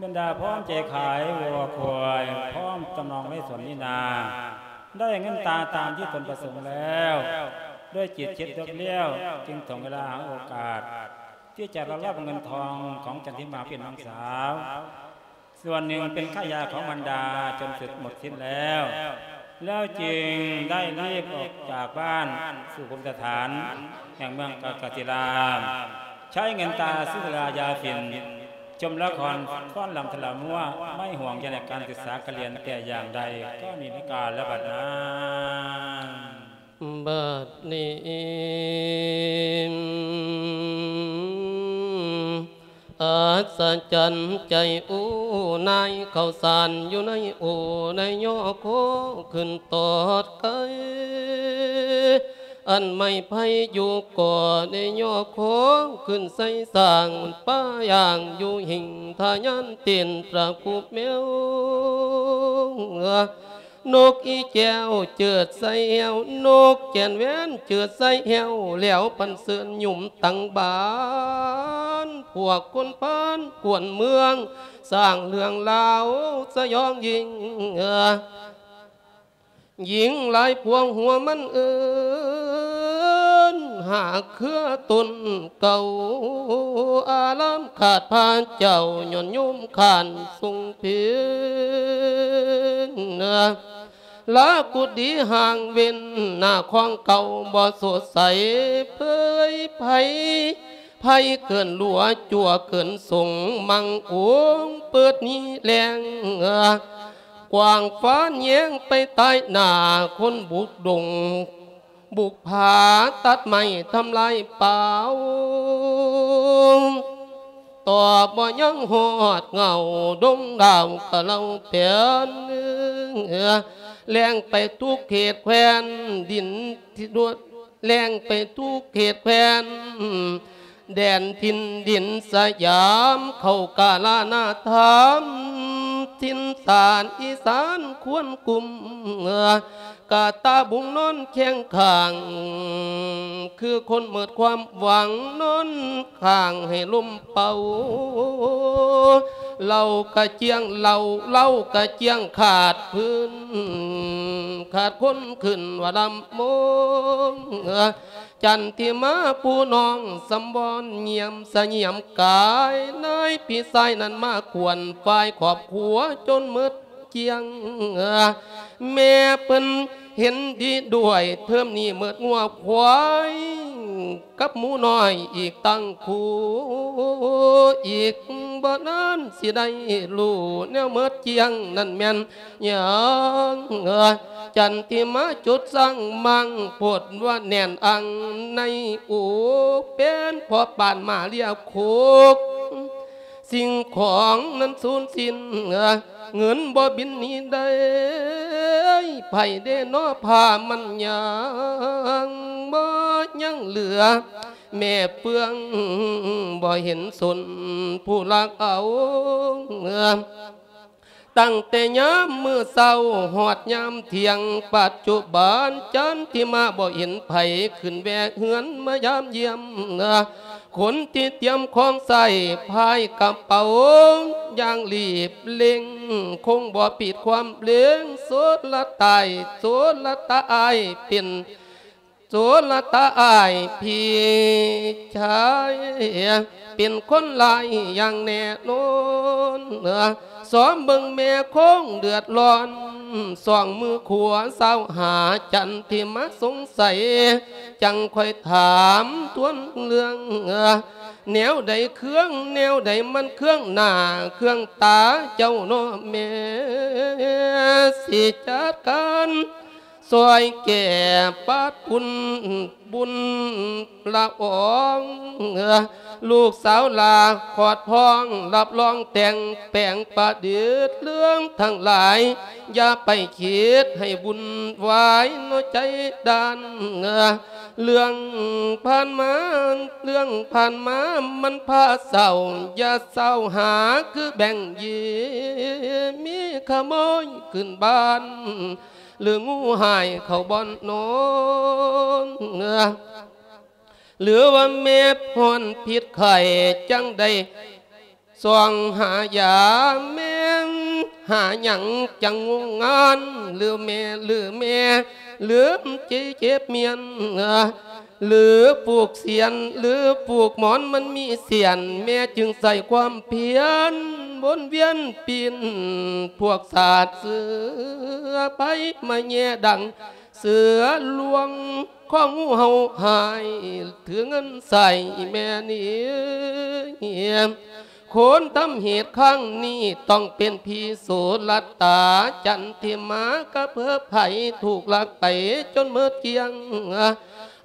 ບັນດາພ້ອມໃຈຂາຍວັວຄວາຍ ພ້ອມຈຳນອງໄວ້ສວນມີນາ ໄດ້ເງິນຕາຕາມທີ່ຕົນປະສົງແລ້ວ ດ້ວຍຈິດຄິດເລືອກລ້ຽວ ຈຶ່ງຖ່ວງເວລາຫາໂອກາດ ທີ່ຈະລັກລອບເງິນທອງຂອງຈັນທິມາເປັນນ້ອງສາວ ສ່ວນໜຶ່ງເປັນຄ່າຢາຂອງບັນດາຈົນເສດໝົດສິ້ນແລ້ວ ແລ້ວຈຶ່ງໄດ້ລີບອອກຈາກບ້ານສູ່ພູມສະຖານແຫ່ງເມືອງກະກະສິລາ ໃຊ້ເງິນຕາຊື້ສຸລາຢາຝິ່ນ ຊົມລະຄອນຟ້ອນລຳທະລະມົວ ໄມ່ຫວງໃຍໃນການສຶກສາການຮຽນແຕ່ຢ່າງໃດ ກໍມີໃນການລະບັດນັ້ນ. ບັດນີ້ ອັດສະຈັນໃຈອູ ນາຍເຂົ້າສານຢູ່ໃນອູ ໄດ້ຍໍຄໍຂຶ້ນຕອດໄກ່ ອັນໄມ້ໄຜ່ຢູ່ກໍໄດ້ຍໍຄໍຂຶ້ນໃສ່ສ້າງ ປ້າຢ່າງຢູ່ຫິງທະຍານເຕັ້ນຕະກຸບແມວ ນົກອີແກ້ວເຈີດໃສ່ແຫ້ວ ນົກແກ່ນແຫວນເຈີດໃສ່ແຫ້ວ ແລ້ວປັນເຊີນຫຍຸມຕັງບານ ພວກຄົນພານກວນເມືອງ ສ້າງເລື່ອງລາວສະຫຍອງຍິ່ງ ຍິງຫຼາຍພວງຫົວມັນເອີ້ນ ຫາເຄືອຕົ້ນເກົ່າ ອາລາມຂາດພະເຈົ້າ ຍ້ອນໂຍມຂ້ານຊົງເພັນ ລາກຸດດີຫ່າງເວັ້ນ ໜ້າຂອງເກົ່າບໍ່ສົດໃສ ເຜີຍໄພ ໄພເກີນຫຼວ ຈົວເກີນສົງ ມັງອົງເປີດມີແລງ ກວ້າງຟານແຍງໄປໃຕ້ໜ້າ ຄົນບຸກດົງ ບຸກຜາຕັດໄມ້ທຳລາຍປ່າ ຕໍ່ບໍ່ຍັງຮອດເຫງົ້າ ດົງດາວກະເລົ່າແປນ ແລ່ນໄປທຸກເຂດແຄວ້ນ ດິນທີ່ດວດ ແລ່ນໄປທຸກເຂດແຄວ້ນ ແດນຖິ່ນດິນສະຫຍາມ ເຂົ້າກາລານາທຳ ຖິ່ນຖານອີສານຄວນກຸມ ກະຕາບຸງນອນຄຽງຂ້າງ ຄືຄົນໝົດຄວາມຫວັງ ນອນຂ້າງໃຫ້ລົມເປົ່າ ເຫຼົ້າກະຈຽງເຫຼົ້າ ເຫຼົ້າກະຈຽງຂາດພື້ນ ຂາດຄົນຂຶ້ນວ່າລຳວົງ ຈັນທິມາຜູ້ນ້ອງສຳບອນ ຢ້ຽມສະຫຍາມກາຍ ນາຍພີ່ຊາຍນັ້ນມາຂວັນ ຝ່າຍຄອບຄົວຈົນໝົດຈຽງ ແມ່ເພິ່ນເຫັນດີດ້ວຍ ເທີມນີ້ໝົດງົວຄວາຍ ກັບໝູນ້ອຍອີກຕັ້ງຄູ່ ອີກບໍ່ນານຊິໄດ້ຮູ້ ແນວໝົດຈຽງນັ້ນແມ່ນ ຍັງ ຈັນທິມາຈຸດສ້າງມັງ ໂພດວ່າແໜ້ນອັງໃນອົກ ເປັນພໍ່ປານມາເລຍໂຄກ ສິ່ງຂອງນັ້ນສູນສິ້ນ ເງິນບໍ່ບິນໜີໄດ້ ໃຜເດນໍ ຜ້າມັນຍັງບໍ່ຍັງເຫຼືອ ແມ່ເຟືອງບໍ່ເຫັນສົນ ຜູ້ລັກເອົາ ຕັ້ງແຕ່ຍາມມື້ເຊົ້າຮອດຍາມທ່ຽງ ປັດຈຸບັນຈັນທິມາບໍ່ເຫັນໃຜຂຶ້ນແວ່ເຮືອນມາຢາມຢ້ຽມ ຄົນທີ່ຕຽມຂອງໃຊ້ພາຍກະເປົາຢ່າງລີບເລັ່ງ ຄົງບໍ່ຜິດຄວາມເລັງ ໂສລະຕາຍ ໂສລະຕາອ້າຍເປັນ ໂສລະຕາອ້າຍພີ່ຊາຍ ເປັນຄົນຮ້າຍຢ່າງແນ່ນອນ ຊອມເບິ່ງແມ່ຄົງເດືອດຮ້ອນ ສອງມືຂວາຊາວຫາ ຈັນທິມາສົງໄສ ຈັ່ງຄ່ອຍຖາມທວນເລື່ອງ ແນວໃດເຄືອງ ແນວໃດມັນເຄືອງໜ້າເຄືອງຕາເຈົ້ານໍແມ່ ຊິຈັດການ ຊ່ອຍແກ່ປັດປຸນບຸນລະອອງ ລູກສາວຫຼ້າຂອດພ້ອງ ຮັບຮອງແຕ່ງແປງປະດິດເລື່ອງທັງຫຼາຍ ຢ່າໄປຄິດໃຫ້ວຸ່ນວາຍເນາະໃຈດ້ານ ເລື່ອງຜ່ານມາ ເລື່ອງຜ່ານມາມັນພາເສົ້າ ຢ່າເສົ້າຫາຄືແບ່ງຢີ ມີຂະໂມຍຂຶ້ນບ້ານ ຫຼືງູຮ້າຍເຂົ້າບ່ອນນອນ ຫຼືວ່າແມ່ພ້ອນພິດໄຂ້ ຈັ່ງໄດ້ສ່ອງຫາຢາ ແມ່ນຫາຫຍັງຈັ່ງງຸ່ງງານ ຫຼືແມ່ ຫຼືແມ່ລືມເຈັບມຽນ ຫຼືຜູກສຽນ ຫຼືຜູກໝອນມັນມີສຽນ ແມ່ຈຶ່ງໃຊ້ຄວາມພຽນວົນວຽນປິ່ນ ພວກສາດເສືອໄພມາແຍ່ດັງ ເສືອລວງ ຂອງເຮົາຫາຍ ຖືເງິນໃຊ້ແມ່ນີ້ ຄົນທຳເຫດຄັ້ງນີ້ ຕ້ອງເປັນພີໂສລະຕາ ຈັນທິມາກະເພີບໃຜ ຖືກລັກໄປຈົນໝົດກ້ຽງ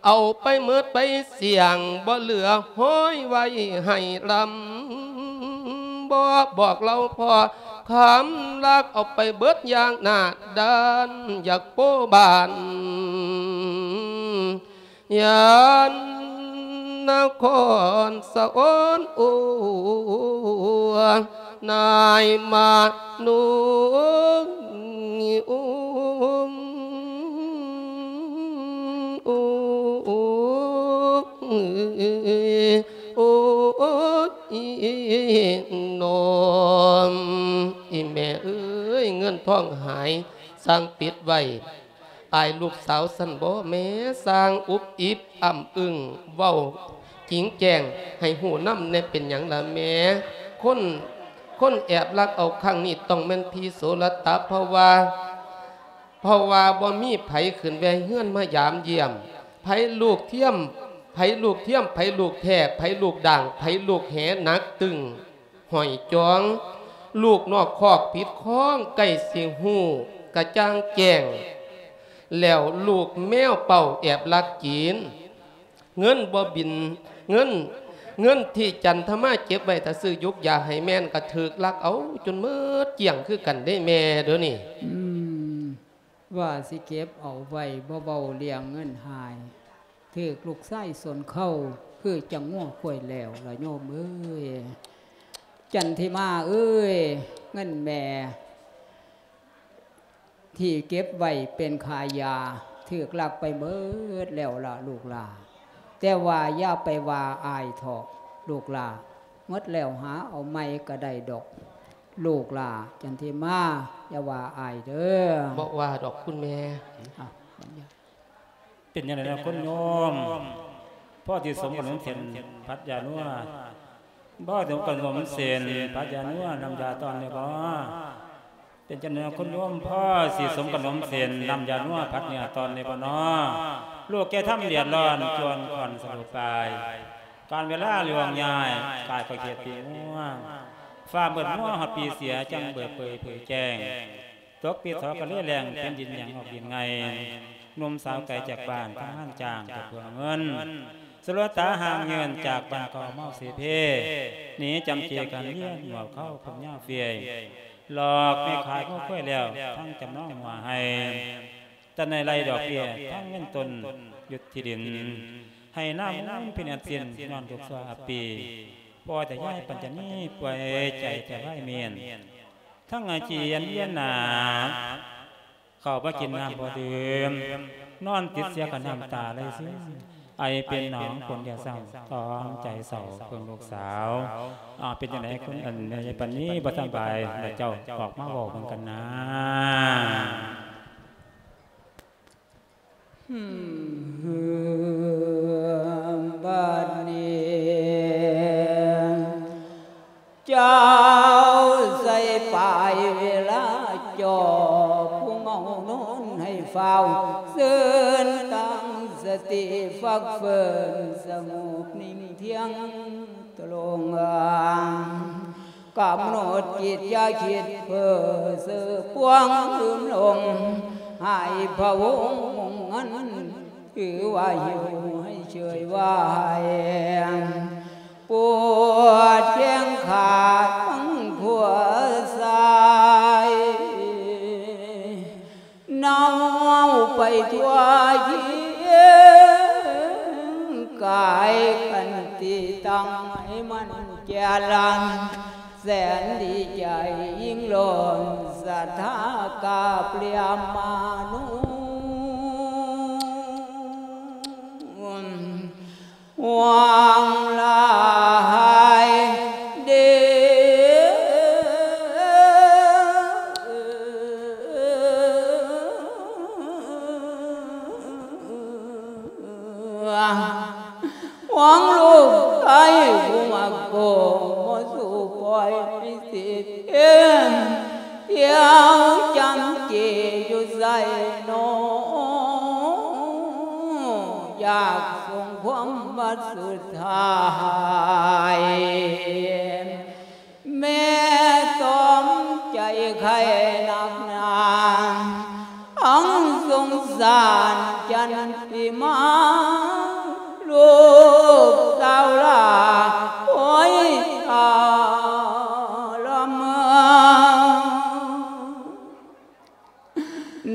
ເອົາໄປໝົດໄປສ່ຽງ ບໍ່ເຫຼືອຫ້ອຍໄວ້ໃຫ້ລຳ ບໍ່ບອກເລົ່າພໍ່ ຄຳລັກເອົາໄປເບິດຢ່າງໜ້າດ້ານ ຢາກໂປ້ບ້ານ ຍານນະຄອນສະອອນ ໂອ້ ນາຍມະນຸ ໂອ້ ໂອ້ ໂອ້ຍ ອີ່ແມ່ເອີຍ ເງິນທອງຫາຍ ຊ່າງປິດໄວ້ ອາຍລູກສາວຊັ້ນບໍແມ່ ຊ່າງອຸບອິບອ້ຳອຶ້ງ ເວົ້າຈິງແຈ້ງໃຫ້ຮູ້ນຳແດ່ ເປັນຫຍັງລະແມ່ ຄົນ ຄົນແອບລັກເອົາຄັ້ງນີ້ ຕ້ອງແມ່ນພີໂສລະຕະ ເພາະວ່າ ເພາະວ່າບໍ່ມີໃຜຂຶ້ນແວ່ເຮືອນມາຢາມຢ້ຽມ ໃຜລູກທຽມ ໃຜລູກທຽມ ໃຜລູກແທ້ ໃຜລູກດ່າງ ໃຜລູກແຫໜັກຕຶງຫ້ອຍຈອງ ລູກນອກຄອກຜິດຄອງ ໃກ້ຊິຮູ້ກະຈ່າງແຈ້ງແລ້ວ ລູກແມວເປົ້າແອບລັກກິນ ເງິນບໍ່ບິນ ເງິນ ເງິນທີ່ຈັນທະມາເກັບໄວ້ຖ້າຊື້ຢູກຢາໃຫ້ແມ່ນ ກະຖືກລັກເອົາຈົນໝົດກ້ຽງຄືກັນເດ້ແມ່ ດຽວນີ້ ອືມ ວ່າຊິເກັບເອົາໄວ້ ບໍ່ເວົ້າເລື່ອງເງິນຫາຍ ຖືກລູກຊາຍຊົນເຄົ້າ ຄືຈັ່ງງົວຄວາຍແລ້ວລະໂຍມເອີຍ ຈັນທິມາເອີຍ ເງິນແມ່ ທີ່ເກັບໄວ້ເປັນຄ່າຢາ ຖືກລັກໄປເໝິດແລ້ວລະລູກຫຼ້າ ແຕ່ວ່າຢ່າໄປວ່າອາຍເຖາະລູກຫຼ້າ ໝົດແລ້ວຫາເອົາໃໝ່ກະໄດ້ດອກ ລູກຫຼ້າ ຈັນທິມາ ຢ່າວ່າອາຍເດີ. ບໍ່ວ່າດອກຄຸນແມ່. ເປັນຈັ່ງໃດນະຄຸນໂຍມ ພໍຊິສົມກັນສົມເສັ້ນຜັດຢານົວ ພໍສົມກັນສົມເສັ້ນຜັດຢານົວ ນ້ຳຢາຕອນແລ້ວບໍ່? ເປັນຈັ່ງໃດນະຄຸນໂຍມ ພໍຊິສົມກັນສົມເສັ້ນນ້ຳຢານົວຜັດເນື້ອຕອນແລ້ວບໍ່ນໍ? ລູກແກ່ທຳເດືອດຮ້ອນ ຈວນຂ້ອນສະຫຼຸບປາຍ ການເວລາລ່ວງຍ້າຍ ກາຍກໍຂຽດປີງົວ ຟ້າມືດມົວຮອດປີເສຍ ຈັ່ງເບີດເຜີຍເຜີຍແຈ້ງ ຕົກປີທໍກະເລແລ້ງ ແຜ່ນດິນຫຍັງອອກດິນໄງ່ ໜຸ່ມສາວໄກຈາກບ້ານ ທຳງານຈ້າງກໍເພື່ອເງິນ ສະຫຼວດຕາຫ່າງເງິນ ຈາກບ້ານເກົ່າເມົາເສເພ ໜີຈຳເຈກັນວຽນ ໝວກເຂົາຜົມຍາວເຟຍ ຫຼອກແມ່ຂາຍງົວຄວາຍແລ້ວ ທັງຈຳນອງຫົວໄຮ່ ຕັດໃນໄລ່ດອກເບ້ຍ ທັງເງິນຕົ້ນ ຢຸດທີ່ດິນ ໄຮ່ນາມູນພິນາດສິ້ນ ຍ້ອນທຸກຊົ່ວອັບປີ ພໍ່ແຕ່ຍາຍປັນຈະນີ ປ່ວຍໃຈແຕ່ວາຍເມນ ທັງອາຈຽນວຽນໜ້າ ເຂົ້າບໍ່ກິນນ້ຳບໍ່ດື່ມ ນອນຕິດເສຍກະນ້ຳຕາໄຫຼຊຶມ ໄອເປັນໜອງ ຝົນຢ່າຊ້ຳ ຕ້ອງໃຈເສົ້າເບິ່ງລູກສາວ. ອາ ເປັນຈັ່ງໃດ ຄຸນ ອັນ ຍາຍປັນນີບໍ່ສະບາຍລະ ເຈົ້າອອກມາເວົ້າເບິ່ງກັນນາ. ບາດນີ້ ເຈົ້າໃສ່ປາຍເວລາ ເຈົ້າຜູ້ເມົານອນໃຫ້ຟ້າວ ຊື່ນຕັ້ງສະຕິ ຟັກເຟີນສະຫງົບນິ່ງທ່ຽງ ຕະຫຼົງ ກຳນົດຈິດຢ່າຄິດເພີ້ ເຊີພວງລືມຫຼົງ ໃຫ້ພະວົງມຸງເງິນ ຖືວ່າຫິວໃຫ້ເຊີຍໄວ້ ປວດແຂ້ງຂາທັງຂົວຊ້າຍ ເນົ່າໄປທົ່ວເຄຍ ກາຍຄັນຕິຕັງໃຫ້ມັນແກ່ລັນ ແສນດີໃຈຍິ່ງລົ້ນ ສະຖາກາບລຽມມານຸ ຫວັງຫຼາຍເດ ຫວັງລູກໄດ້ຜູ້ມັກໂກ ບໍ່ສູ້ປ່ອຍໃຫ້ສິດເອງ ທ່ຽວຈຳເຈຢູ່ໃສນໍ ຢາກສົ່ງຄວາມວ່າສຸດທ້າຍ ແມ່ຕ້ອມໃຈໄຂ້ໜັກໜາ ທັງສົງສານຈັນຕິມາ ລູກສາວຫຼ້າໂອຍທະລະມານ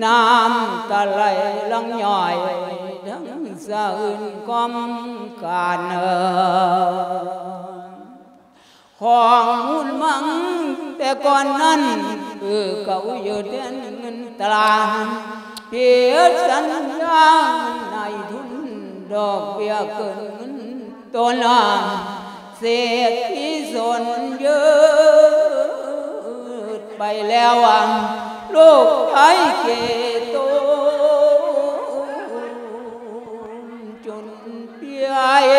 ນ້ຳຕາໄຫຼຫຼັ່ງຍ້ອຍ ທັງສະອື່ນກອມການ ຂອງມູນມັງແຕ່ກ່ອນນັ້ນ ຄືເກົ່າຢູ່ແທນເງິນຕາ ຜິດສັນຍານາຍທຶນ ດອກເບ້ຍເກີນເງິນຕົ້ນ ເສດທີ່ສົນຢືດໄປແລ້ວ ລູກຊາຍເກໂຕນຈົນເປີຍ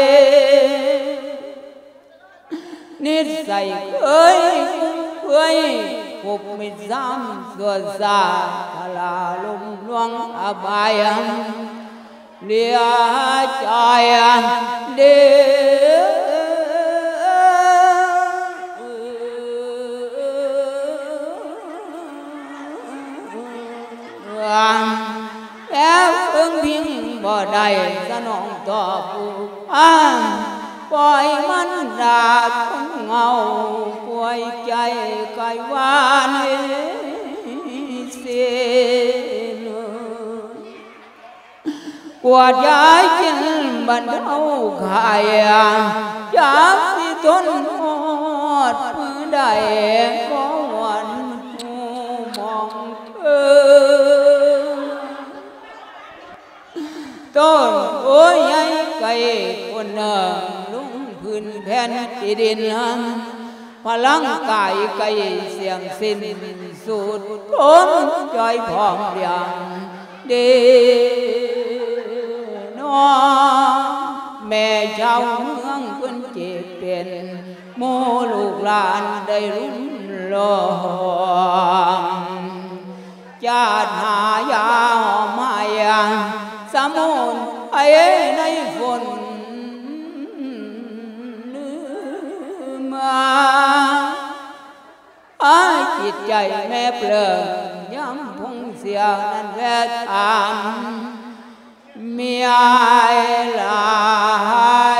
ນິດໄສເຄີຍຟຸ້ມເຟືອຍ ຄົບມິດຊາມຊົ່ວຊ້າ ທະລາລົມລວງອະບາຍ ເຫຼືອຈອຍເດ ແຕ່ເພິ່ງພິງບໍ່ໄດ້ສະໜອງຕອບຜູ້ອານ ປ່ອຍມັນດາດຄົນເຫງົາ ປ່ວຍໃຈໄກວານເວເສນ ກວດຢາກິນບັນເທົາໄຂ້ ຈັກຊິທົນຮອດມື້ໃດ ກໍຫວັ່ນຫູມອງເທີ ຕົ້ນໂພໃຫຍ່ໄກຄົນເໜິ່ງ ລົງພື້ນແຜ່ນທີ່ດິນ ພະລັງກາຍໄກສ່ຽງສິ້ນ ສູດທົນຈ່ອຍພ້ອມລ້ຽງເດ ນ້ອງແມ່ຊາວເມືອງເພິ່ນເຈັບເປັນ ໝູ່ລູກຫຼານໄດ້ລຸນລອງ ຈາດຫາຢາຫອມໃຫ້ສະໝຸນໄພໃນຝົນມາ ອາ ຈິດໃຈແມ່ເປີ້ງ ຍາມພົງເສຍນັ້ນແວດອາມ ເມຍຫຼາ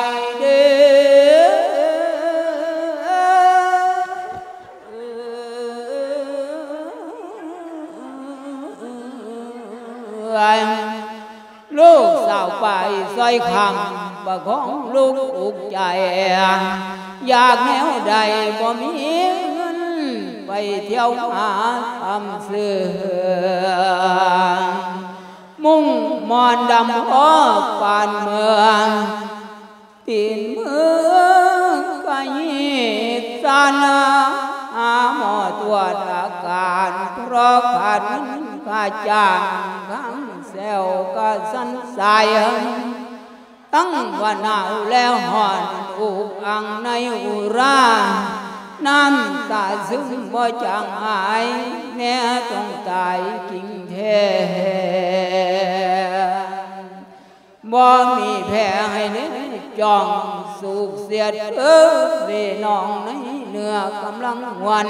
ຍເດີ ລູກສາວໄປຊອຍຄຳ ປະຄອງລູກອຸກໃຈ ຢາກແນວໃດບໍ່ມີເງິນ ໄປທ່ຽວຫາຄຳເຊື່ອ ມຸ້ງມ່ອນດຳພໍປານເມືອງ ຕີນມືກະຍິກສັ່ນ ຫາໝໍຕວດອາການ ເພາະຂາດເງິນຄ່າຈ້າງ ຂ້າງແຊວກະສັ່ນສາຍ ທັງວ່າໜາວແລະຮ້ອນ ອຸກອັ່ງໃນອຸຣາ ນ້ຳຕາຊຶມບໍ່ຈາງຫາຍ ແນ່ຕ້ອງຕາຍຈິງແທ້ ບໍ່ມີແພ້ໃຫ້ເນຈ້ອງ ສູກສຽດເອີເລນ້ອງໃນເນື້ອກຳລັງວັນ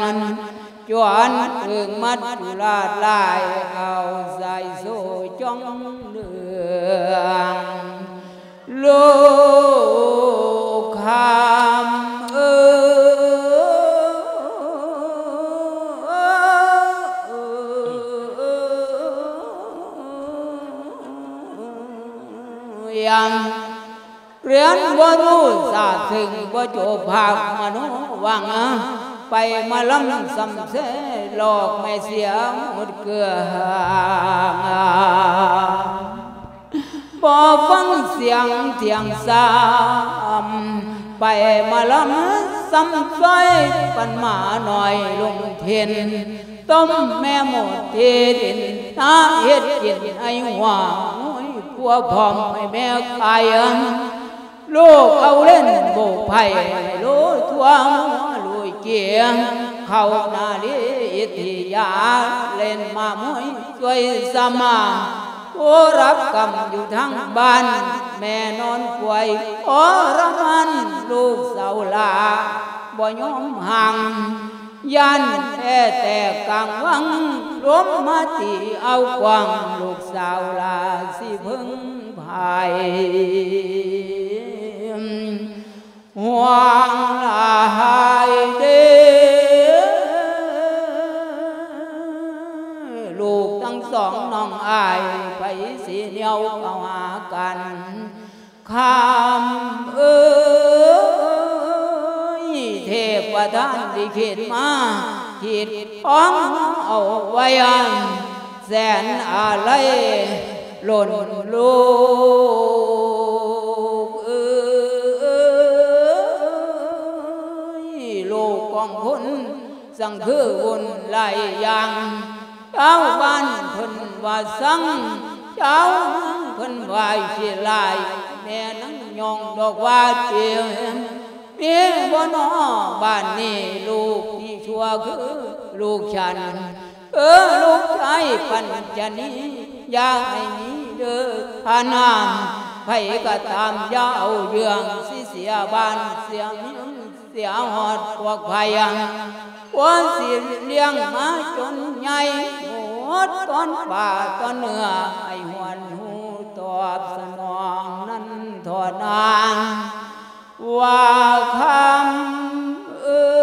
ຈວນເອີງມັດຈຸລາດລາຍ ເອົາສາຍໂຊຈ້ອງເຫຼືອງ ລູກຄຳເອີຍ ຮຽນບໍ່ຮູ້ຊາດເຖິງ ບໍ່ຈົບພາກມະໂນວັງ ໄປມາລຳສ່ຳແຊຫຼອກແມ່ເສຍໝົດເກືອງ ບໍ່ຟັງສຽງທຽງຊ້ຳ ໄປມາລຳຊ້ຳຊອຍ ປັນໝານ້ອຍລົງເທັນ ຕົ້ມແມ່ໝົດທີ່ດິນ ນາເຮັດກິນໄອ້ຫົວ ໂອ້ຍ ຜົວພ້ອມໃຫ້ແມ່ຂາຍ ລູກເອົາເຫຼັ້ນໂບກໄຜ່ ໃຫ້ໂລທົ່ວຫົວລຸຍເກຍ ເຂົ້ານາລີອິດທິຍາ ເຫຼັ້ນມາມວຍຊ່ວຍສະມາ ຜູ້ຮັບກຳຢູ່ທາງບ້ານ ແມ່ນອນປ່ວຍທໍລະມານ ລູກສາວຫຼ້າບໍ່ຍອມຫ່າງ ຢ້ານແພ້ແຕກກາງວັງ ລົມມາຕີເອົາກວາງ ລູກສາວຫຼ້າຊິເພິ່ງພາຍ ຫ່ວງຫຼາຍເດ້ ລູກທັງສອງນ້ອງອ້າຍ ໃຜຊິແນວເຂົ້າຫາກັນ ຄຳເອີຍ ເທບປະທານລິຂິດມາ ຂີດຂອງເຮົາເອົາໄວ້ ແສນອາໄລລົ້ນລູກເອີຍ ລູກຂອງຄົນ ຈັ່ງຄືວຸ່ນຫຼາຍຢ່າງ ຊາວບ້ານເພິ່ນວ່າຊັງ ຊາວເມືອງເພິ່ນວ່າຂີ້ລ້າຍ ແມ່ນາງຍ້ອງດອກວ່າເຕັມ ມີບໍ່ນໍບ້ານນີ້ ລູກທີ່ຊົ່ວຄືລູກສັນ ເອີ ລູກຊາຍປັນຈະນີ ຢ່າໃຫ້ມີເດີພານາມ ໃຜກໍຕາມຢ່າເອົາເລື່ອງ ຊິເສຍບ້ານເສຍເມືອງ ເສຍຮອດພວກໄພ ກວ່າຊິລ້ຽງມາຈົນໃຫຍ່ ໝົດຕອນປ່າຕອນເນື້ອ ໃຫ້ຫວນຮູ້ຕອບສະໜອງນັ້ນທໍ່ນາງ ວ່າຄຳເອີຍ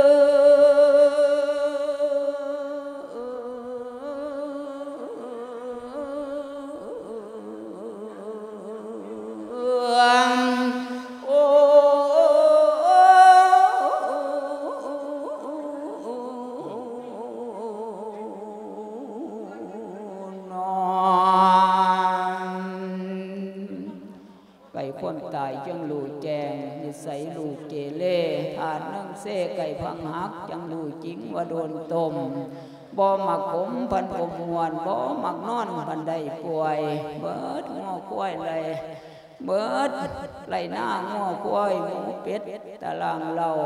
ໃກ້ຄວາມຕາຍຈຶ່ງຮູ້ແຈ້ງ ນິໄສລູກເກເລ ທາດໜຶ່ງເຊໄກ່ພັງຫັກ ຈັ່ງຮູ້ຈິງວ່າໂດນຕົ້ມ ບໍ່ມັກຂົມພັນອົບມ່ວນ ບໍ່ມັກນອນພັນໄດ້ປ່ວຍ ເບິດງົວຄວາຍໄລ່ ເບິດໄລ່ນາງົວຄວາຍ ໝູເປັດຕະລາງເລົາ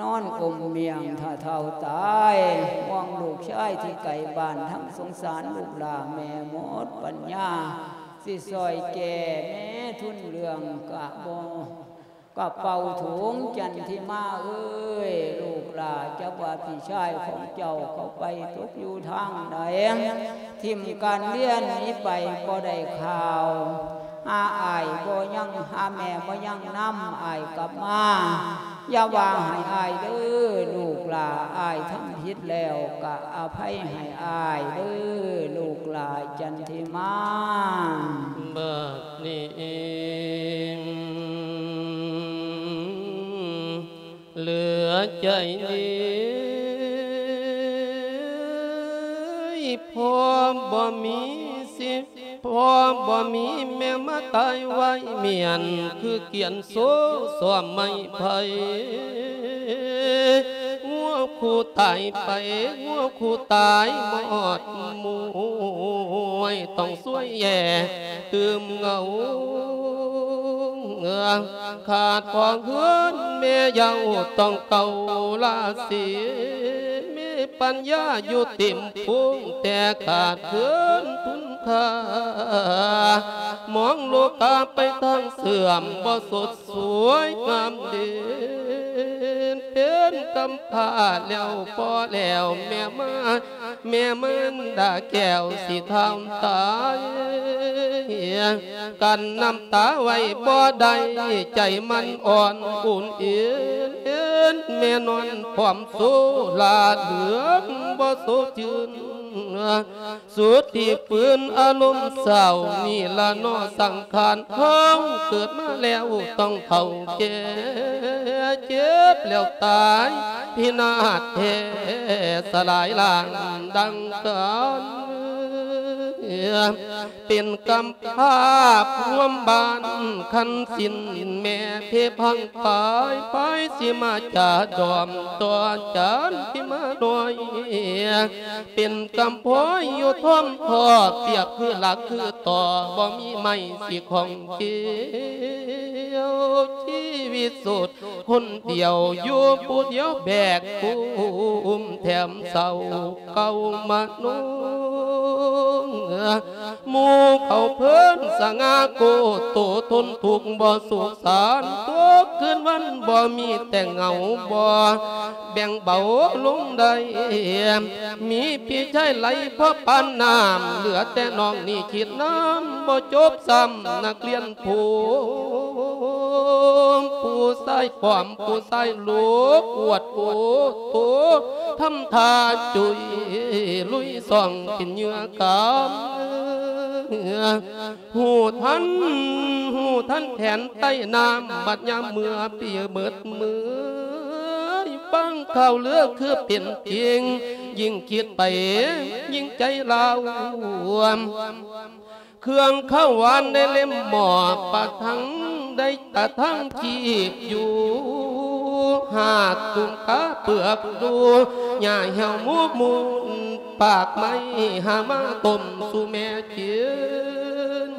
ນອນອົມມ້ຽງຖ້າເຖົ້າຕາຍ ຫ່ວງລູກຊາຍທີ່ໄກບ້ານ ທັງສົງສານລູກຫຼ້າແມ່ໝົດປັນຍາ ຊິຊ່ອຍແກ່ແມ່ທຶນເລື່ອງກະບໍ່ ກະເປົາຖົງຈັນທິມາເອີຍ ລູກຫຼ້າ ຈັກວ່າພີ່ຊາຍຂອງເຈົ້າເຂົາໄປຕົກຢູ່ທາງໃດ ຖິ້ມການຮຽນໜີໄປບໍ່ໄດ້ຂ່າວ ຫາອ້າຍບໍ່ຍັງ ຫາແມ່ບໍ່ຍັງນຳອ້າຍກັບມາ ຢ່າວ່າໃຫ້ອ້າຍເດີລູກຫຼ້າ ອ້າຍທຳຜິດແລ້ວກະອະໄພໃຫ້ອ້າຍເດີລູກຫຼ້າ ຈັນທິມາ. ບາດນີ້ເຫຼືອໃຈນີ້ ພໍ່ບໍ່ມີສິດ ພໍ່ບໍ່ມີແມ່ມາຕາຍໄວ້ ມ້ຽນຄືກຽນໂຊຊ້ອມໄມ້ໄຜ່ ງົວຄູ່ຕາຍໄປ ງົວຄູ່ຕາຍມອດມວຍ ຕ້ອງຊ່ວຍແຍ່ຕື່ມເຫງົາ ຂາດພໍ່ເຮືອນແມ່ເຍົາຕ້ອງເກົາລາສີ ມີປັນຍາຢູ່ເຕັມພູງ ແຕ່ຂາດເຂີນຄຸນຄ່າ ມອງໂລກາໄປທາງເສື່ອມ ບໍ່ສົດສວຍງາມເດັ່ນ ເປັນ ນກຳພ້າແລ້ວພໍແລ້ວ ແມ່ມາ ແມ່ມານດາແກ້ວຊິທຳຕາຍ ກັ້ນນ້ຳຕາໄວ້ບໍ່ໄດ້ ໃຈມັນອ່ອນອຸ່ນເອນ ແມ່ນອນພ້ອມໂຊລາເຫຼືອງບໍ່ໂຊຊື່ນ ສຸດທີ່ຟື້ນອາລົມເສົ້າ ນີ້ລະເນາະສັງຂານເຮົາ ເກີດມາແລ້ວຕ້ອງເຖົ້າແກ່ ເຈັບແລ້ວຕາຍພິນາດແທ້ ສະຫຼາຍລ້າງດັ່ງກັນ ເປັນກຳພ້າພວມບ້ານຄັນສິນ ແມ່ເພພັງປາຍ ປາຍຊິມາຈາດອມຕໍ່ຈານທີ່ມານ້ອຍ ເປັນກຳພ້ອຍຢູ່ທ້ອມພໍ່ ປຽບຄືຫຼັກຄືຕໍ່ ບໍ່ມີໄມ້ຊິຂ້ອງກ່ຽວ ຊີວິດໂສດຄົນດຽວ ຢູ່ຜູ້ດຽວແບກກຸ້ມ ແຖມເສົ້າເກົ່າມະໂນ ໝູ່ເຂົາເພິ່ນສະຫງ່າໂກໂຕ ທົນທຸກບໍ່ສຸກສານ ທຸກຄືນວັນບໍ່ມີແຕ່ເຫງົາ ບໍ່ແບ່ງເບົາລົງໄດ້ ມີພີ່ຊາຍໄຫຼພໍປານນ້ຳ ເຫຼືອແຕ່ນ້ອງນີ້ຄິດນຳບໍ່ຈົບຊ້ຳ ນັກຮຽນຜູ້ ຜູ້ຊາຍປ້ອມ ຜູ້ຊາຍໂລກ ອວດໂອໂຕ ທຳທ່າຈຸຍລຸຍຊ່ອງ ເປັນເຫຍື່ອກຳ ຮູ້ທັນ ຮູ້ທັນແຜນໃຕ້ນ້ຳ ບັດຍາມເມື່ອປີເໝິດເມື່ອຍ ຟັງຂ່າວລືຄືເປັນຈິງ ຍິ່ງຄິດໄປຍິ່ງໃຈລາວ ເຄື່ອງເຂົ້າຫວານໃນເຫຼັ້ມໝໍ້ ປະທັງໄດ້ຕະທັງຄີບຢູ່ ຫາດຕຸງກາເປືອກດູ ຫຍ້າແຫ້ວໝູມູນ ປາກໄມ້ຫາມາຕົ້ມສູ່ແມ່ກິນ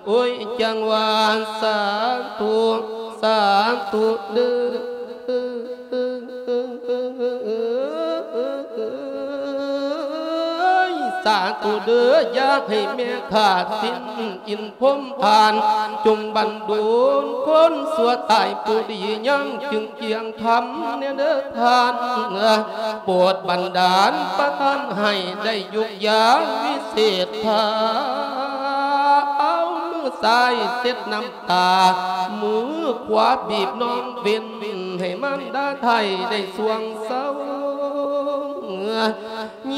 ໂອ້ຍ ຈັ່ງວ່າສາທຸ ສາທຸເດີ້ ສາທຸເດີ້ ຢ່າໃຫ້ແມ່ຂາດສິນ ອິນພົມຜ່ານ ຈົ່ງບັນດົນຄົນຊົ່ວຕາຍ ຜູ້ດີຍັງຈຶ່ງກຽງທຳແດ່ເດີ້ທ່ານ ໂປດບັນດານປະທານໃຫ້ໄດ້ຢຸກຢາມວິເສດ ຖ້າເອົາມືຊ້າຍເຊັດນ້ຳຕາ ມືຂວາບີບນ້ອງເວັນ ໃຫ້ມານດາໄທໄດ້ຊ່ວງເຊົາ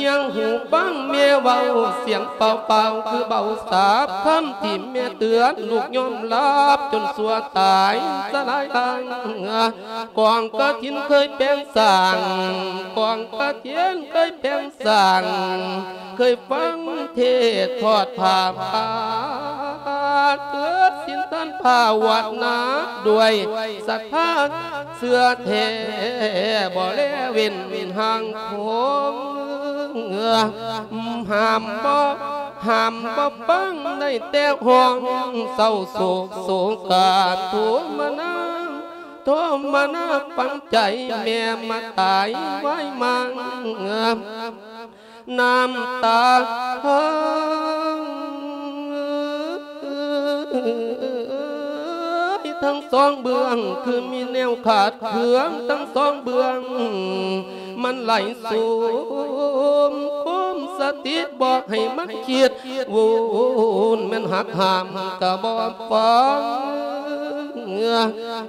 ຍຽງຫູຟັງແມ່ເວົ້າສຽງເປົ່າໆ ຄືເບົາສາບ ຄຳທີ່ແມ່ເຕືອນລູກຍອມຮັບ ຈົນຊົ່ວຕາຍສະຫຼາຍທາງ ກອງກະຖິນເຄີຍແປງສ້າງ ກອງກະຖິນເຄີຍແປງສ້າງ ເຄີຍຟັງເທດທອດຜ້າປ່າ ເກີດສິນທານພາວະນາ ດ້ວຍສັດທາເຊື່ອແທ້ ບໍ່ແລເວັ້ນຫ່າງຂອງ ຫ້າມບໍ່ ຫ້າມບໍ່ຟັງ ໄດ້ແຕ່ຮ້ອງເສົ້າໂສກໂສກາ ໂທມະນາ ໂທມະນາຝັງໃຈ ແມ່ມາຕາຍໄວມາງ ນ້ຳຕາທັງສອງເບື້ອງ ຄືມີແນວຂາດເຄືອງທັງສອງເບື້ອງ ມັນໄຫຼໂສມ ຄຸມສະຕິບໍ່ໃຫ້ມັນຄິດ ວຸ່ນແມ່ນຫັກຫ້າມກະບໍ່ຟັງ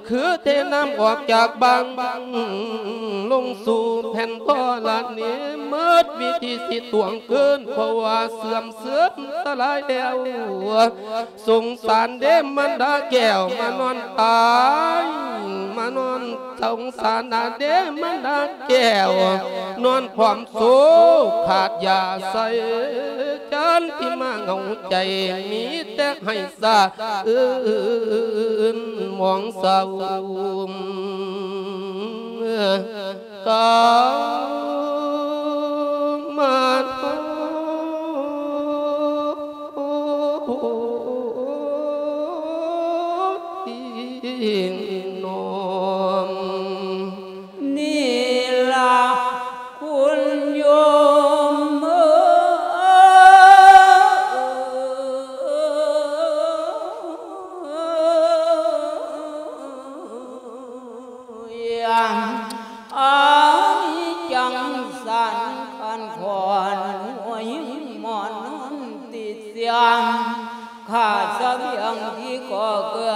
ຄືເທນ້ຳອອກຈາກບັງ ລົງສູ່ແຜ່ນທໍລະນີ ໝົດວິທີຊິຕວງຄືນ ເພາະວ່າເສື່ອມເສື່ອມສະຫຼາຍແລ້ວ ສົງສານເດ້ມານດາແກ້ວ ມານອນຕາຍ ມານອນ ສົງສານນາເດ້ມານດາແກ້ວ ນອນພ້ອມໂສ ຂາດຢາໃສ ຈັນທິມາເຫງົາໃຈ ມີແຕ່ໄຫ້ສະອື່ນໝອງເສົ້າ ກາມາໂທນອມ ນີ້ລະຄຸນໂຍມເອີຍ. ເພື່ອ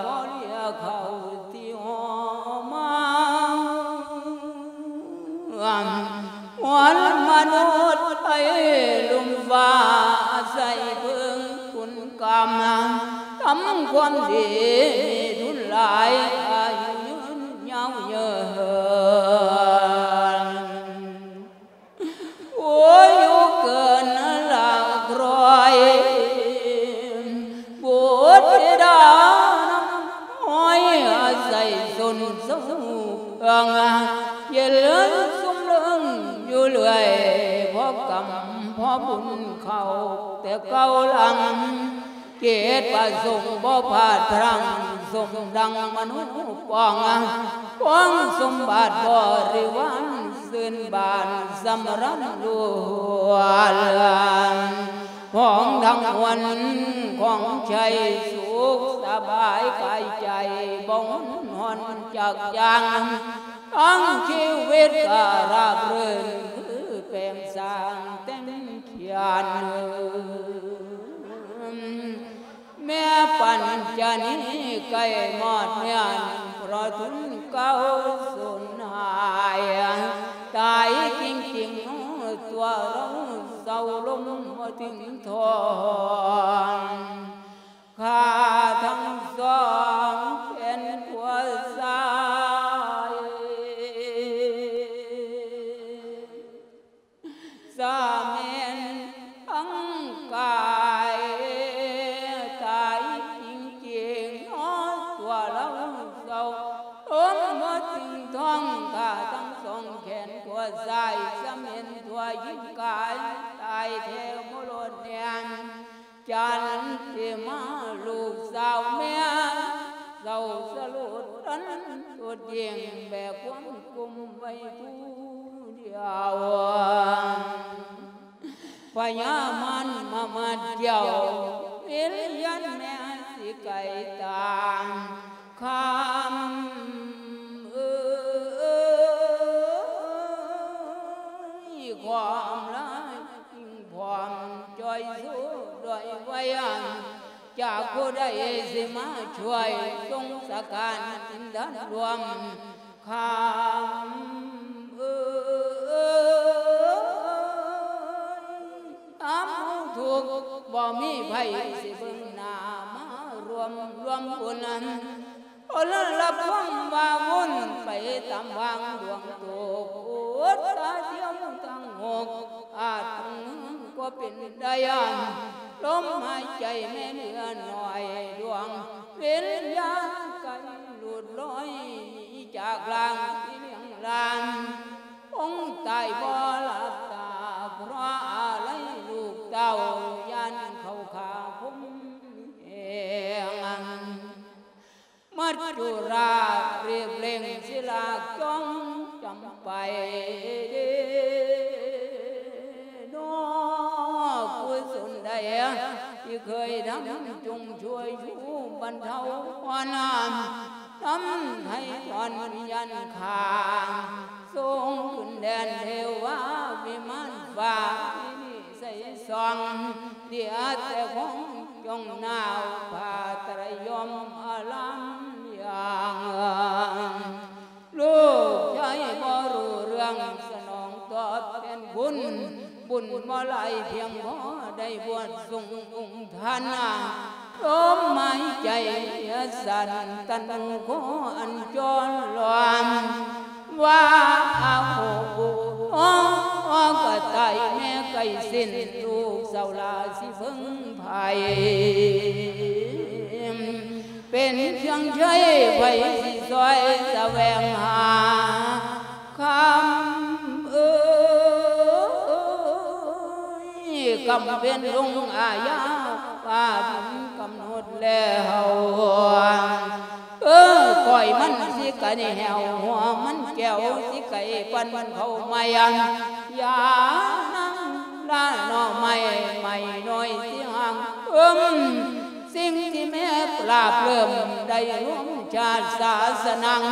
ບໍ່ເລຍເຂົ້າທີ່ຫໍມາ ມວນມະນຸດໄທລຸ່ມຟ້າ ອາໄສເພິ່ງຄຸນກຳ ທຳຄວາມດີມີທຶນຫຼາຍ ອາຍຸຍືນຍາວເຍີນ. ໂອ້ຍ ຢູ່ເກີນຫຼັກຮ້ອຍ ບຸດທິດານຳຫ້ອຍ ອາໄສຊົນເຊົາເມືອງ ເຢັນເລີນຊຸ່ມເລິງຢູ່ເລື້ອຍ ພໍກຳພໍບຸນເຂົ້າແຕ່ເກົ່າຫຼັງ ເກດປະສົງບໍ່ພາດພລັງ ສົມດັ່ງມະໂນປອງ ຄວາມສົມບັດບໍລິວານ ຊື່ນບານສຳລານລວນ ຂອງທັງມວນຂອງໄຊ ສຸກສະບາຍກາຍໃຈ ບໍ່ຮຸນຮອນຈັກຢ່າງ ທັງຊີວິດກະລາບລື່ນ ຄືແປງສ້າງແຕ່ງຂຽນ. ແມ່ປັນຈະນີໃກ້ມອດເມຍນ ເພາະທຸນເກົ່າສູນຫາຍ ຕາຍຈິງໆ ຕົວເຮົາເສົ້າລົມບໍ່ເຖິງທ່ອນ ຂ້າທັງສອງແຂນຂວາຊ້າຍ ສາແມ່ນທັງກາຍ ຕາຍຈິງໆ ເນາະ ຕົວເຮົາເສົ້າລົມບໍ່ເຖິງທ່ອນ ຂ້າທັງສອງແຂນຂວາຊ້າຍ ສາແມ່ນຕົວຍິງກາຍ ຕາຍແທ້ບໍ່ລົດແລ່ນ ຈັນທິມາລູກສາວແມ່ ເສົ້າສະຫຼົດຕັນສຸດຍິ່ງ ແບກຄວາມກຸ້ມໄວ້ຜູ້ດຽວ ພະຍາມານມາມັດກ່ຽວ ວິນຍານແມ່ຊິໄກຕາມ ຄຳເອີຍ ຄວາມລາຍ ພອມຈ່ອຍຊູດ້ວຍໄວອັນ ຈາກຜູ້ໃດຊິມາຊ່ວຍ ສົງສະການອິນທະລວມ ຄຳເອີຍ ອຳເຮົາທຸກ ບໍ່ມີໃຜຊິເບິ່ງໜ້າ ມາລວມລວມບຸນ ຄົນລະພວມວ່າວຸ່ນໄປຕາມຫວ່າງດວງໂຕ ໂອດຕາດຽວທັງຫົກ ອາດເຖິງກໍເປັນໄດ້ ລົມຫາຍໃຈແມ່ເຫຼືອໜ້ອຍດວງ ວິນຍານໄກຫຼຸດລອຍໜີຈາກຮ່າງທີ່ລ້ຽງລານ ຄົງຕາຍບໍ່ຫຼັບຕາ ເພາະອາໄລລູກເຕົ້າ ຢ້ານເຂົາຂ້າຄົມແຫງ ມັດຈຸລາ ເລບເລັ່ງສິລາກ ຈ້ອງຈຳໄປເດ ນອກກຸສົນໃດ ທີ່ເຄີຍທຳ ຈົ່ງຊ່ວຍຊູບັນເທົາ ພອນນຳ ນຳໄຖ່ຖອນວິນຍານຂ້າ ສົ່ງຂຶ້ນແດນເທວາວິມານຟ້າ ທີ່ນີ້ໃສສ່ອງ ເຫຼືອແຕ່ຂອງ ຈົ່ງໜາວຜ້າໄຕຣຍົມອາລາມຢ່າງ ລູກຊາຍບໍ່ຮູ້ເລື່ອງສະໜອງຕອບແທນຄຸນ ບຸນບໍ່ຫຼາຍພຽງພໍໄດ້ບວດສົງອົງທ່ານນາ ລົມຫາຍໃຈເຫື່ອສັ່ນ ຕັນຫູຂໍອັນຈອນລອມ ວ່າອາໂຫ ໂອ ກະຕາຍແມ່ໄກ່ສິ້ນ ລູກສາວຫຼ້າຊິເພິ່ງໃຜ ເປັນເຄື່ອງໃຊ້ໃຜຊິຊ່ອຍສະແຫວງຫາ ຄຳເອີຍ ກຳເວັນລົງອາຍາ ຟ້າດິນກຳນົດແລ້ວ ເອີ ກ້ອຍມັນຊິໄກແຫ້ວ ຫົວມັນແກ້ວຊິໄກປັນເຂົ້າໃໝ່ ຢ່ານາງລາໜໍ່ໄມ້ ໄມ້ນ້ອຍຊິຫ່າງເອີມ ສິ່ງທີ່ແມ່ປາບເລີ່ມໄດ້ຮ່ວມຊາດສາສະໜັງ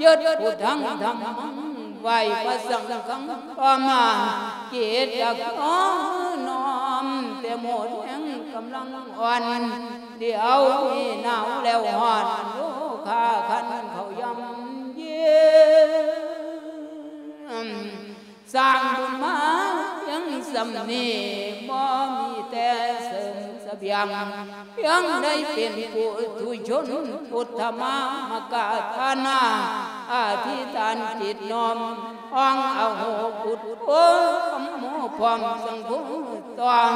ຍຶດພຸດທັງທຳມັງ ໄຫວ້ພະສັງຄັງ ຕໍ່ມາເກດຈັກນ້ອມ ແຕ່ໝົດແຮງ ກຳລັງອ່ອນ ດຽວນີ້ໜາວແລ້ວຮ້ອນ ໂອຄາຄັນເຂົ້າຢ່ຳເຢັນ. ສ້າງບຸນມາພຽງສ່ຳນີ້ ບໍ່ມີແຕ່ເສີມສະບຽງ ພຽງໄດ້ເປັນປຸຖຸຊົນ ພຸດທະມາມະກະຖານາ ອະທິຖານຈິດນ້ອມ ອ້ອງອະໂຫ ພຸດໂທ ທຳໂມ ພ້ອມສັງໂຄ ຕ້ອງ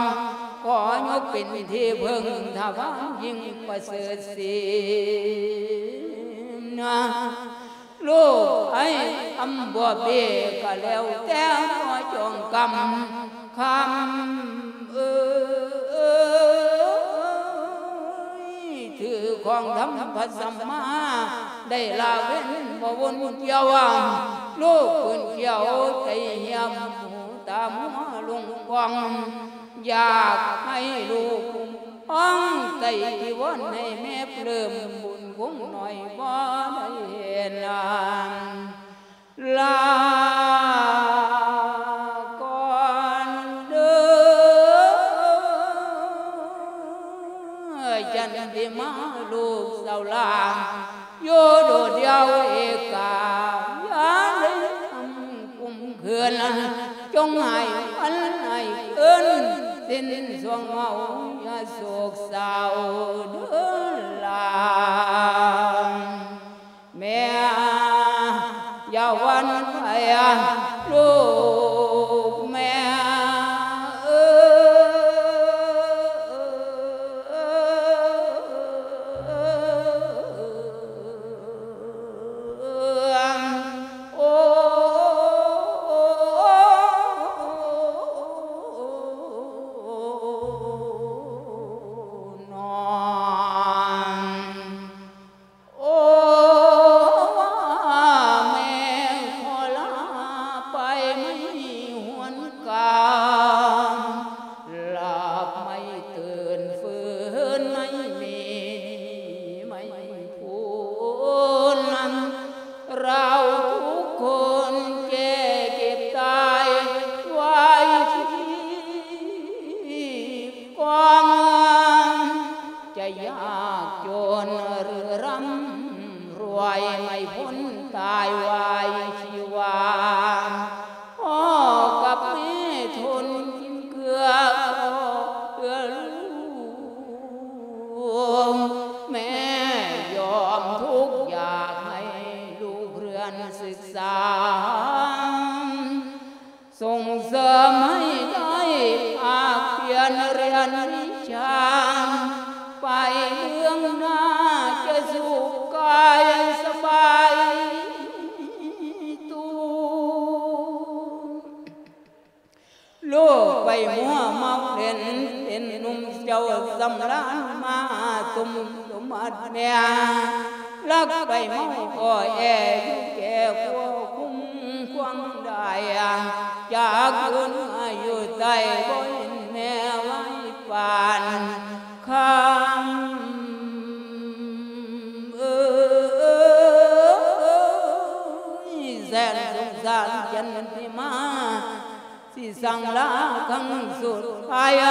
ຂໍຍົກເປັນທີ່ເພິ່ງ ຖະວາຍຍິ່ງປະເສີດສີນາ. ລູກໄອ້ອຳບົວເບກະແລ້ວແຕ່ ຂໍຈອງກຳຄຳເອີຍ ຖືຂອງທຳພະສຳມາ ໄດ້ລະເວັ້ນບໍ່ວົນກ່ຽວ ລູກປືນກ່ຽວໃຈຫ້ຽມ ຫູຕາມົວລົງກອງ ຢາກໃຫ້ລູກອ້ອງໃຈທີ່ວອນໃຫ້ແມ່ປະເລີ່ມ ບຸນຄົງໜ້ອຍບໍ່ໄດ້ເຫັນ ລາກ່ອນເດີ ຈັນທິມາລູກສາວຫຼ້າ ຢູ່ໂດດດ່ຽວເອກາ ຢ່າໄດ້ທຳກຸມເຂືອນ ຈົ່ງໃຫ້ວັນໃຫ້ຄືນສິ້ນຊ່ວງເຮົາ ຢ່າໂສກເສົ້າເດີຫຼ້າ ແມ່ຢ່າຫວັ່ນໄຫວ ລູກແມ່ເອີຍ. ໂອ້ ແມ່ຂໍລາໄປໃໝ່ຫວນກາ ຫຼັບໃໝ່ຕື່ນຟື້ນໃໝ່ມີໃໝ່ພູນ ເຮົາທຸກຄົນແກ່ເຈັບຕາຍໄວ້ທີ່ກອງ ຈະຍາກຈົນຫຼືຮ່ຳລວຍ ໄມ່ພົ້ນຕາຍວາຍຊີວາ ພໍ່ກັບແມ່ທົນກິນເກືອ ເພື່ອລູກ ແມ່ຍອມທຸກຢາກໃຫ້ລູກເຮືອນສຶກສາ ສົ່ງເສີມໃຫ້ໄດ້ພາກພຽນຮຽນວິຊາ ໄປເບື້ອງໜ້າຈະສຸກກາຍສະບາຍໂຕ. ໂລກໄປມົວເມົາເຫຼັ້ນ ເປັນໜຸ່ມເຈົ້າສຳລານມາ ສົມສົມບັດແມ່ ລັກໄປເມົາກໍແອ ຢູ່ແກ່ຄົວຄຸ້ມຄວາງໄດ້ ຈາກຄືນມາຢູ່ໃຕ້ ບໍ່ເຫັນແມ່ໄວ້ປານຄຳເອີຍ ແສນສົງສານຈັນທິມາ ຊິສັ່ງລາຄັ້ງສຸດທ້າຍ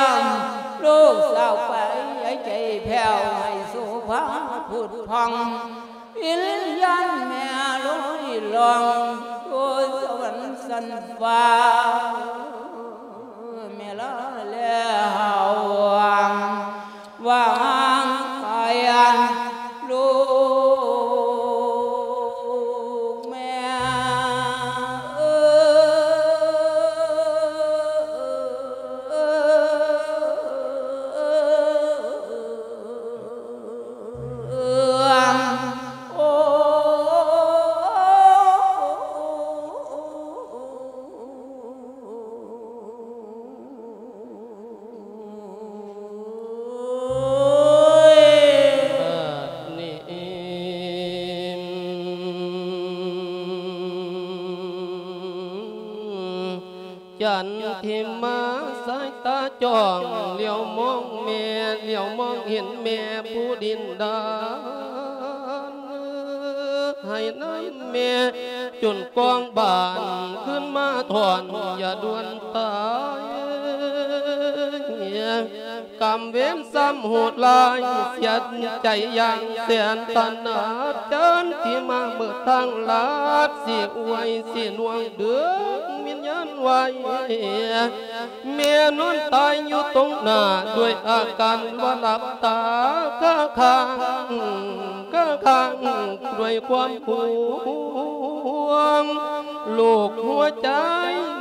ລູກສາວໄປໃຫ້ໃຈແຜ່ວ ໃຫ້ໂສພາຜຸດຜ່ອງ ວິນຍານແມ່ລອຍລ່ອງໂຕສະຫວັນຊັ້ນຟ້າ ແມ່ລາແລ້ວວ່າງໄປ ລູກແມ່ເອີຍ. ຈັນທິມາສາຍຕາຈ້ອງ ຫຼຽວມອງແມ່ ຫຼຽວມອງເຫັນແມ່ຜູ້ດິນດານ ໃຫ້ນຳແມ່ຈົນກອງບານ ຄືນມາທ້ອນຢ່າດ່ວນຕາຍ. ກຳເວນຊ້ຳໂຫດຮ້າຍ ສຽດໃຈຢ່າງແສນຕະໜາດ ຈັນທິມາເບີດທາງລາດ ຊິອວຍຊິໜ່ວງເດືອງວິນຍານໄວ້ ແມ່ນອນຕາຍຢູ່ຕົງໜ້າ ດ້ວຍອາການວ່າຫຼັບຕາ ກະຄ້າງ ກະຄ້າງ ດ້ວຍຄວາມຫ່ວງ ໂລກຫົວໃຈ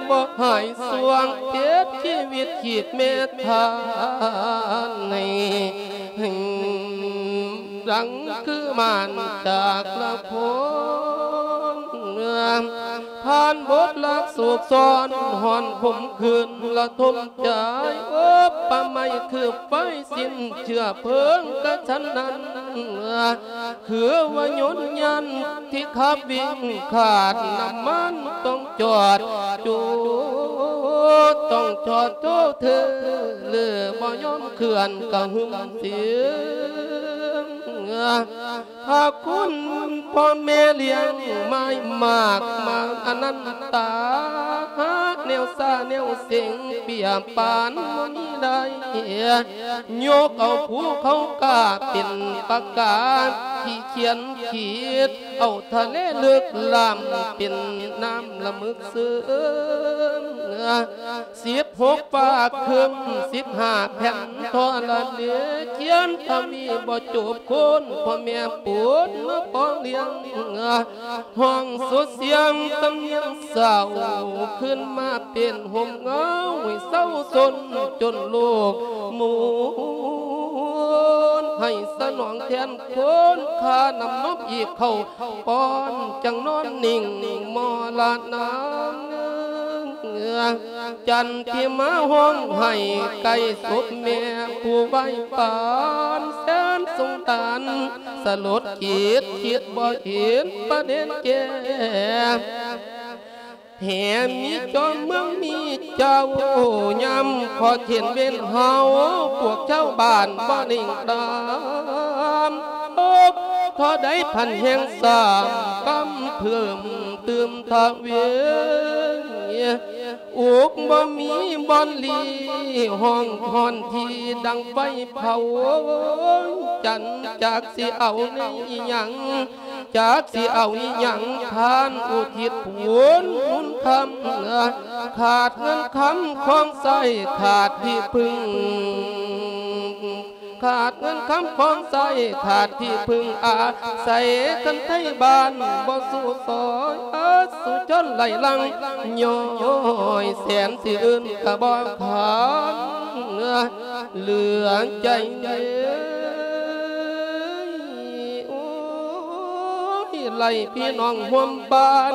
ບໍ່ຫາຍສວງ ເຈັບຊີວິດຂີດແມ່ທານໃຫ້ ດັ່ງຄືມານຈາກລະຄົນ ຜ່ານບົດລັກໂສກຊ້ອນ ຮ້ອນຂົມຂືນລະທົມໃຈ ອົບປະໄມຄືໄຟສິ້ນເຊື້ອເພີງ ກະຊັ້ນນັ້ນ ຄືວ່າຍົນຍານທີ່ຂັບວິ່ງຂາດນ້ຳມັນ ຕ້ອງຈອດໂຈ ຕ້ອງຈອດໂຈເທີ ຫຼືບໍ່ຍອມເຄື່ອນກະຫຶ່ມເສຍ ພະຄຸນພໍ່ແມ່ລ້ຽງມາຍມາກມາອະນັນຕາ ຫາແນວຊາແນວເສັງ ເປຍປານບໍ່ມີໄດ້ ຍົກເອົາພູເຂົາກ້າເປັນປາກາ ທີ່ຂຽນຂີດ ເອົາທະເລເລິກລ້ຳເປັນນ້ຳລະເມີກເຊິ່ງ ສິບຫົກຟ້າຄຶ້ມ ສິບຫ້າແຜ່ນທໍລະເນ ຂຽນທະວີບໍ່ຈົບ ຄົນພໍ່ແມ່ປູນມາປ້ອນລ້ຽງ ຮ້ອງສົດສຽງສຳນຽງເສົ້າ ຂຶ້ນມາເປັນຮົ່ມເງົາໃຫ້ເຊົາຊົນ ຈົນໂລກໝູນ ໃຫ້ສະໜອງແທນຄຸນຄ່ານຳນົບອີກເຂົ້າ ປ້ອນຈັ່ງນອນນິ່ງມໍລະນາ ຈັນທິມາຮ້ອງໄຫ້ໃກ້ສົບແມ່ຜູ້ໄວປານ ແສນສົງສານສະຫຼົດຈິດ ຄິດບໍ່ເຫັນປະເດັນແກ່ ແທ້ມີຈອມເມືອງມີເຈົ້າ ຍາມຂໍເຂັນເວນເຮົາ ພວກຊາວບ້ານບໍ່ເລັ່ງຕາມ ໂອກທໍ່ໃດພັນແຮງສ້າງກຳເພີ່ມຕື່ມທະວີ ອຸກບໍ່ມີບ່ອນຫຼີ ຫ້ອງຮ້ອນທີ່ດັ່ງໄຟເຜົາ ຈັນຈັກຊິເອົາໃນອີ່ຫຍັງ ຈັກຊິເອົາອີ່ຫຍັງ ທ່ານອຸທິດຜູນບຸນຄຳ ຂາດເງິນຄຳຂອງໃຊ້ ຂາດທີ່ເພິ່ງ ຂາດເງິນຄຳຂອງໃຊ້ ຂາດທີ່ເພິ່ງອາໄສ ຄັນໄທບ້ານບໍ່ສູ້ຊ່ອຍ ອາສຸຊົນໄຫຼຫຼັງ ຍ້ອຍແສນຊິອື່ນກະບໍ່ຄານ ເຫຼືອໃຈເດ ໂອ້ຍ ໄລ່ພີ່ນ້ອງຮ່ວມບ້ານ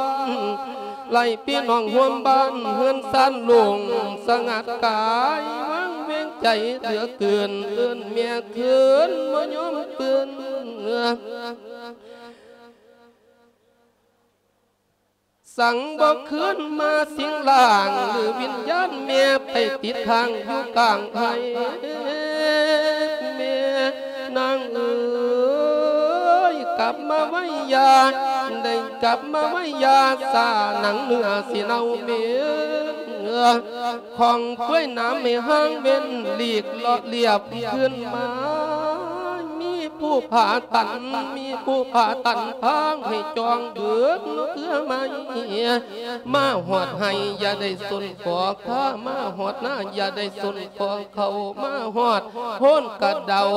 ໄລ່ພີ່ນ້ອງຮ່ວມບ້ານ ເຮືອນຊານໂລ່ງສະຫງັດກາຍ ວັງເວງໃຈເຫຼືອເກີນ ເອີ້ນແມ່ຄືນບໍ່ຍອມຕື່ນ ສັງບໍ່ຄືນມາສິງຮ່າງ ຫຼືວິນຍານແມ່ໄປຕິດຄ້າງຢູ່ກາງໄພ ແມ່ນາງເອີຍ ກັບມາໄວຢ່າ ໄດ້ກັບມາໄວຢ່າ ຊາໜັງເນື້ອຊິເນົ່າເໝັນ ຂອງເປື່ອຍໜາມໃຫ້ຫ່າງເວັ້ນ ຫຼີກເລາະລຽບຄືນມາ ມີຜູ້ຜ່າຕັນ ມີຜູ້ຜ່າຕັນທາງໃຫ້ຈອງເບີກເພື່ອໄມ້ ມາຮອດໄຮ່ຢ່າໄດ້ສົນຂໍຂ້າ ມາຮອດນາຢ່າໄດ້ສົນຂໍເຂົ້າ ມາຮອດໂພນກະເດົາ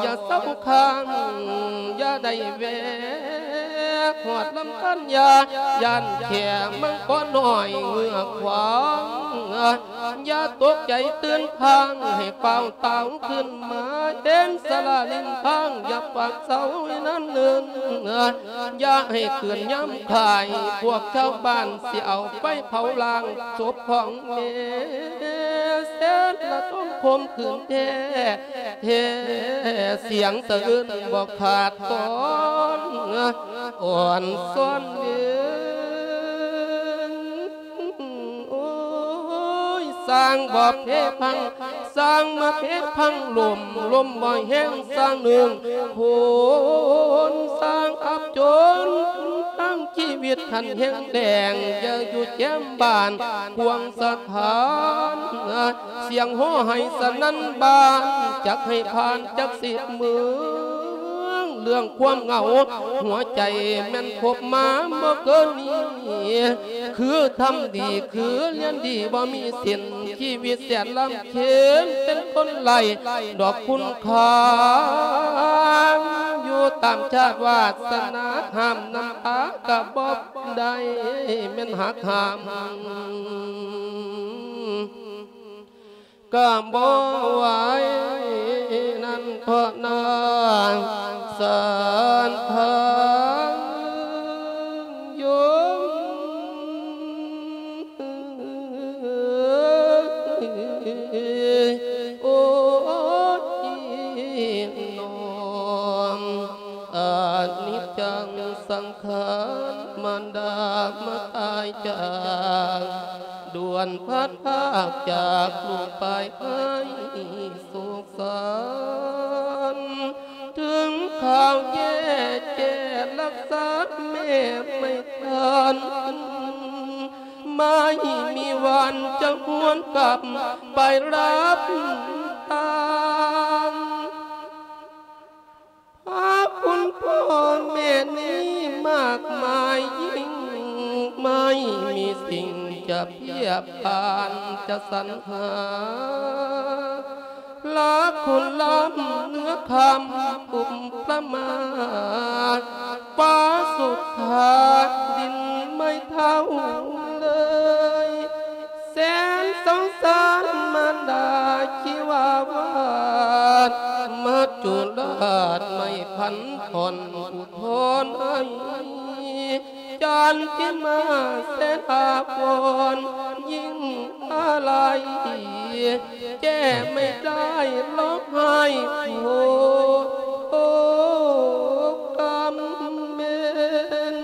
ຢ່າເຊົາຄ້າງ ຢ່າໄດ້ແວະ ຮອດລຳທານຢ່າຢ້ານແຂ້ມັງກອນ້ອຍເງືອຂວາງ ຢ່າຕົກໃຈຕື່ນພາງ ໃຫ້ຟ້າວຕາວຂຶ້ນມາ ເຫັນສາລາລິມທາງ ຢ່າປາກເຊົາໃຫ້ນານເນີນ ຢ່າໃຫ້ເກີນຍາມຄ້າຍ ພວກຊາວບ້ານຊິເອົາໄຟເຜົາລ້າງສົບຂອງແມ່ ແສນລະທົນຄົມຂືນແທ້ແທ້ ສຽງສະເອື້ອນບໍ່ຂາດຕອນ ອ່ອນຊອນເອີຍ ໂອ້ຍ ສ້າງບໍ່ເພພັງ ສ້າງມາເພພັງລົ້ມ ລົມບໍ່ແຮງສ້າງໜຶ່ງໂພນ ສ້າງອັບຈົນ ງຊີວິດຫັ້ນແຫ້ງແລ້ງ ຢ່າຢູ່ແຈມບ້ານຂວາງສະຖານ ສຽງໂຫ່ໄຫ້ສະໜັ່ນບ້ານ ຈັກໃຫ້ຜ່ານຈັກສິບເມືອງ ເລື່ອງຄວາມເຫງົາຫົວໃຈແມ່ນພົບມາບໍ່ເກີນນີ້ ຄືທຳດີຄືລຽນດີບໍ່ມີສິ້ນ ຊີວິດແສນລຳເຄັນ ເປັນຄົນໄຮ້ດອກຄຸນຄ່າ ຢູ່ຕາມຊາດວາສະໜາ ຫ້າມນ້ຳຕາກະບໍ່ໄດ້ ແມ່ນຫັກຫ້າມກະບໍ່ໄຫວ ນັ້ນເພາະນາງສັນທາງຍົມ. ໂອ້ຍ ນ້ອງ ອະນິດຈັງສັງຂານ ມານດາມາຕາຍຈາກ ດ່ວນພັດພາກຈາກລູກໄປໃຫ້ໂສກສັນ ເຖິງຄາວແຍ່ແກ່ລັກສາແມ່ໄມ່ທັນ ໄມ່ມີວັນຈະຫວນກັບໄປຮັບຕາ ພາຄຸນພໍ່ແມ່ນີ້ມາກມາຍ ຍິ່ງໄມ່ມີສິ່ງຈະປຽບປານຈະສັນຫາ ລາຄຸນລ້ຳເໜືອຄຳອຸປະມາ ຟ້າສຸດທາດດິນໄມ່ເທົ່າເລີຍ ແສນສົງສານມານດາທີ່ວ່າວາດ ມະຈຸລາດໄມ້ພັນທ່ອນອຸທອນໄອ ຈັນທິມາແສນອາວອນ ຍິ່ງອາໄລ ແກ້ໄມ່ໄດ້ຮ້ອງໄຫ້ໂຮກຳເມັນ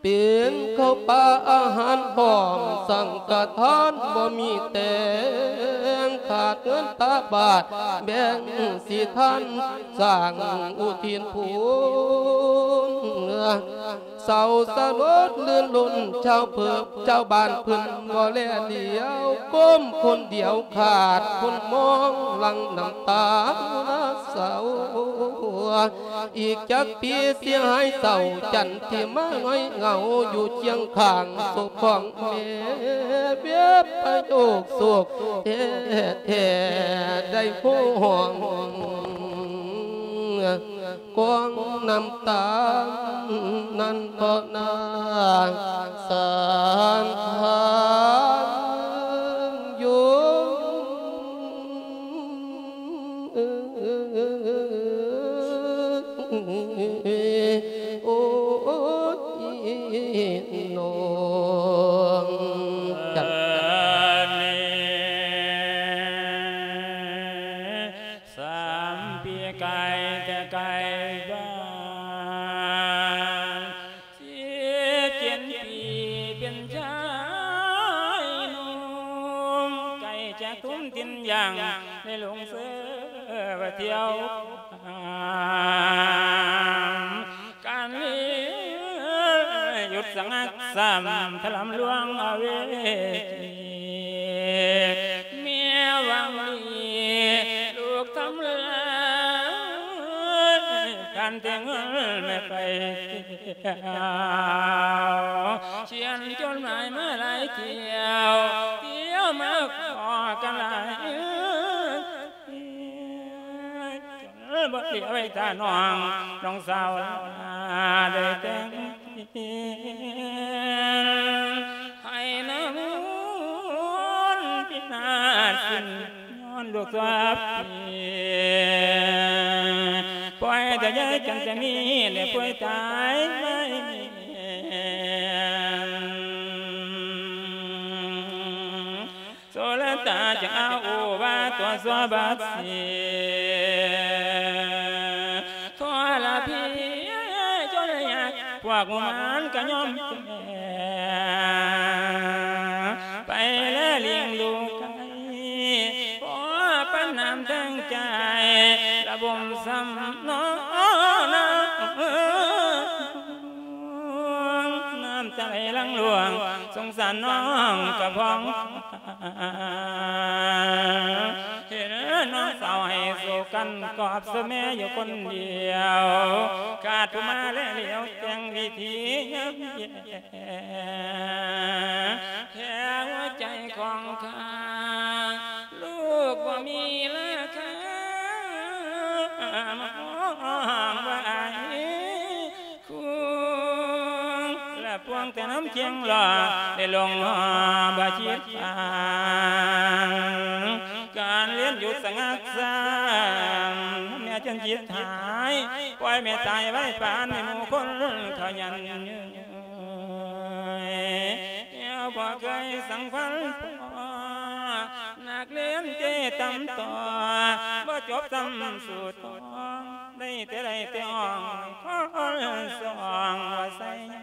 ເປັນເຂົ້າປາອາຫານພ້ອມສັງກະທານ ບໍ່ມີແຕ່ງຂາດເງິນຕາບາດ ແບ່ງສິທານ ສ້າງອຸທິນຄຸນ ເສົ້າສະຫຼົດລື່ນລົນ ຊາວເພີບຊາວບ້ານເພິ່ນບໍ່ແລຫຼຽວ ກົ້ມຄົນດຽວຂາດຄົນມອງ ຫຼັ່ງນ້ຳຕາເສົ້າ ອີກຈັກປີເສຍຫາຍເສົ້າ ຈັນທິມາຫງອຍເຫງົາ ຢູ່ຄຽງຂ້າງສົບຂອງແມ່ ເວບປະໂຍກໂສກແທ້ໆ ໄດ້ໂພຮ້ອງ ກອງນ້ຳຕານັ້ນເພາະນາງສັນທາງຍົມ ໂອ້ຍ ນ້ອງຈັນ ສາມປີກາຍແຕ່ໄກບ້ານ ສິບເຈັດປີເປັນຊາຍໜຸ່ມ ໃກ້ຈະທຸ່ມຖິ້ມຢາງ ໄດ້ຫຼົງເສືອວ່າທ່ຽວ ການເວ ຢຸດສະງັກຊ້ຳ ທະລຳລວງອະເວຈີ ເມຍຫວັງດີລູກທຳລາຍ ການແຕ່ງງານແມ່ໄປທ່ຽວ ຂຽນຈົດໝາຍມາຫຼາຍທ່ຽວ ທ່ຽວມາຂໍກັນຫຼາຍ ບໍ່ເຫຼືອໄວ້ຖ້ານ້ອງ ນ້ອງສາວລາໄດ້ແຕ່ງ ໃຫ້ນາບຸນພິນາດສິ້ນ ຍ້ອນລູກສາວເປຍ ປ່ອຍແຕ່ຍາຍຈັນຈະມີ ແລະປ່ວຍຕາຍໄວ້ແມ່ນ ໂສລະຕາຈະອາໂອວາຕົວຊົ່ວບາດເສຍ ທໍລະພີຈົນຍາກ ພວກງຸມມານກະຍອມແກ່ ໄປແລລ້ຽງລູກໄກ່ ພໍປານນ້ຳແຕງໃຈ ລະບົມຊ້ຳນອນາ. ຫຼັງຫຼວງ ສົງສານນ້ອງກະພອງ ເຫັນນ້ອງສາວໃຫ້ໂສກັນ ກອບສະແມຢູ່ຄົນດຽວ ຂາດຜູ້ມາແລະຫຼຽວ ແຕ່ງວິທີຍາມແຍ່ ແທ້ຫົວໃຈຂອງຂ້າ ລູກບໍ່ມີລາຄາ ມາຮ້ອງວ່າອ້າຍ ຄູນ ລະພວງແຕ່ນຳຄຽງຫຼໍ່ ໄດ້ລົງຫໍ່ບໍ່ຄິດຟັງ ການລຽນຢຸດສະງັກສາງ ແມ່ຈົນຈິດຫາຍ ປ່ອຍແມ່ຕາຍໄວປານໃຫ້ໝູ່ຄົນເຂົາຍັນຍືມ ແນວບໍ່ເຄີຍສັງພັນພໍ ນັກຮຽນເຈຕຳຕໍ່ ບໍ່ຈົບຊ້ຳສູ້ຕໍ່ ໄດ້ແຕ່ໄດ້ແຕ່ຮ້ອງ ຂໍສອງວ່າໃສ່ໃຍ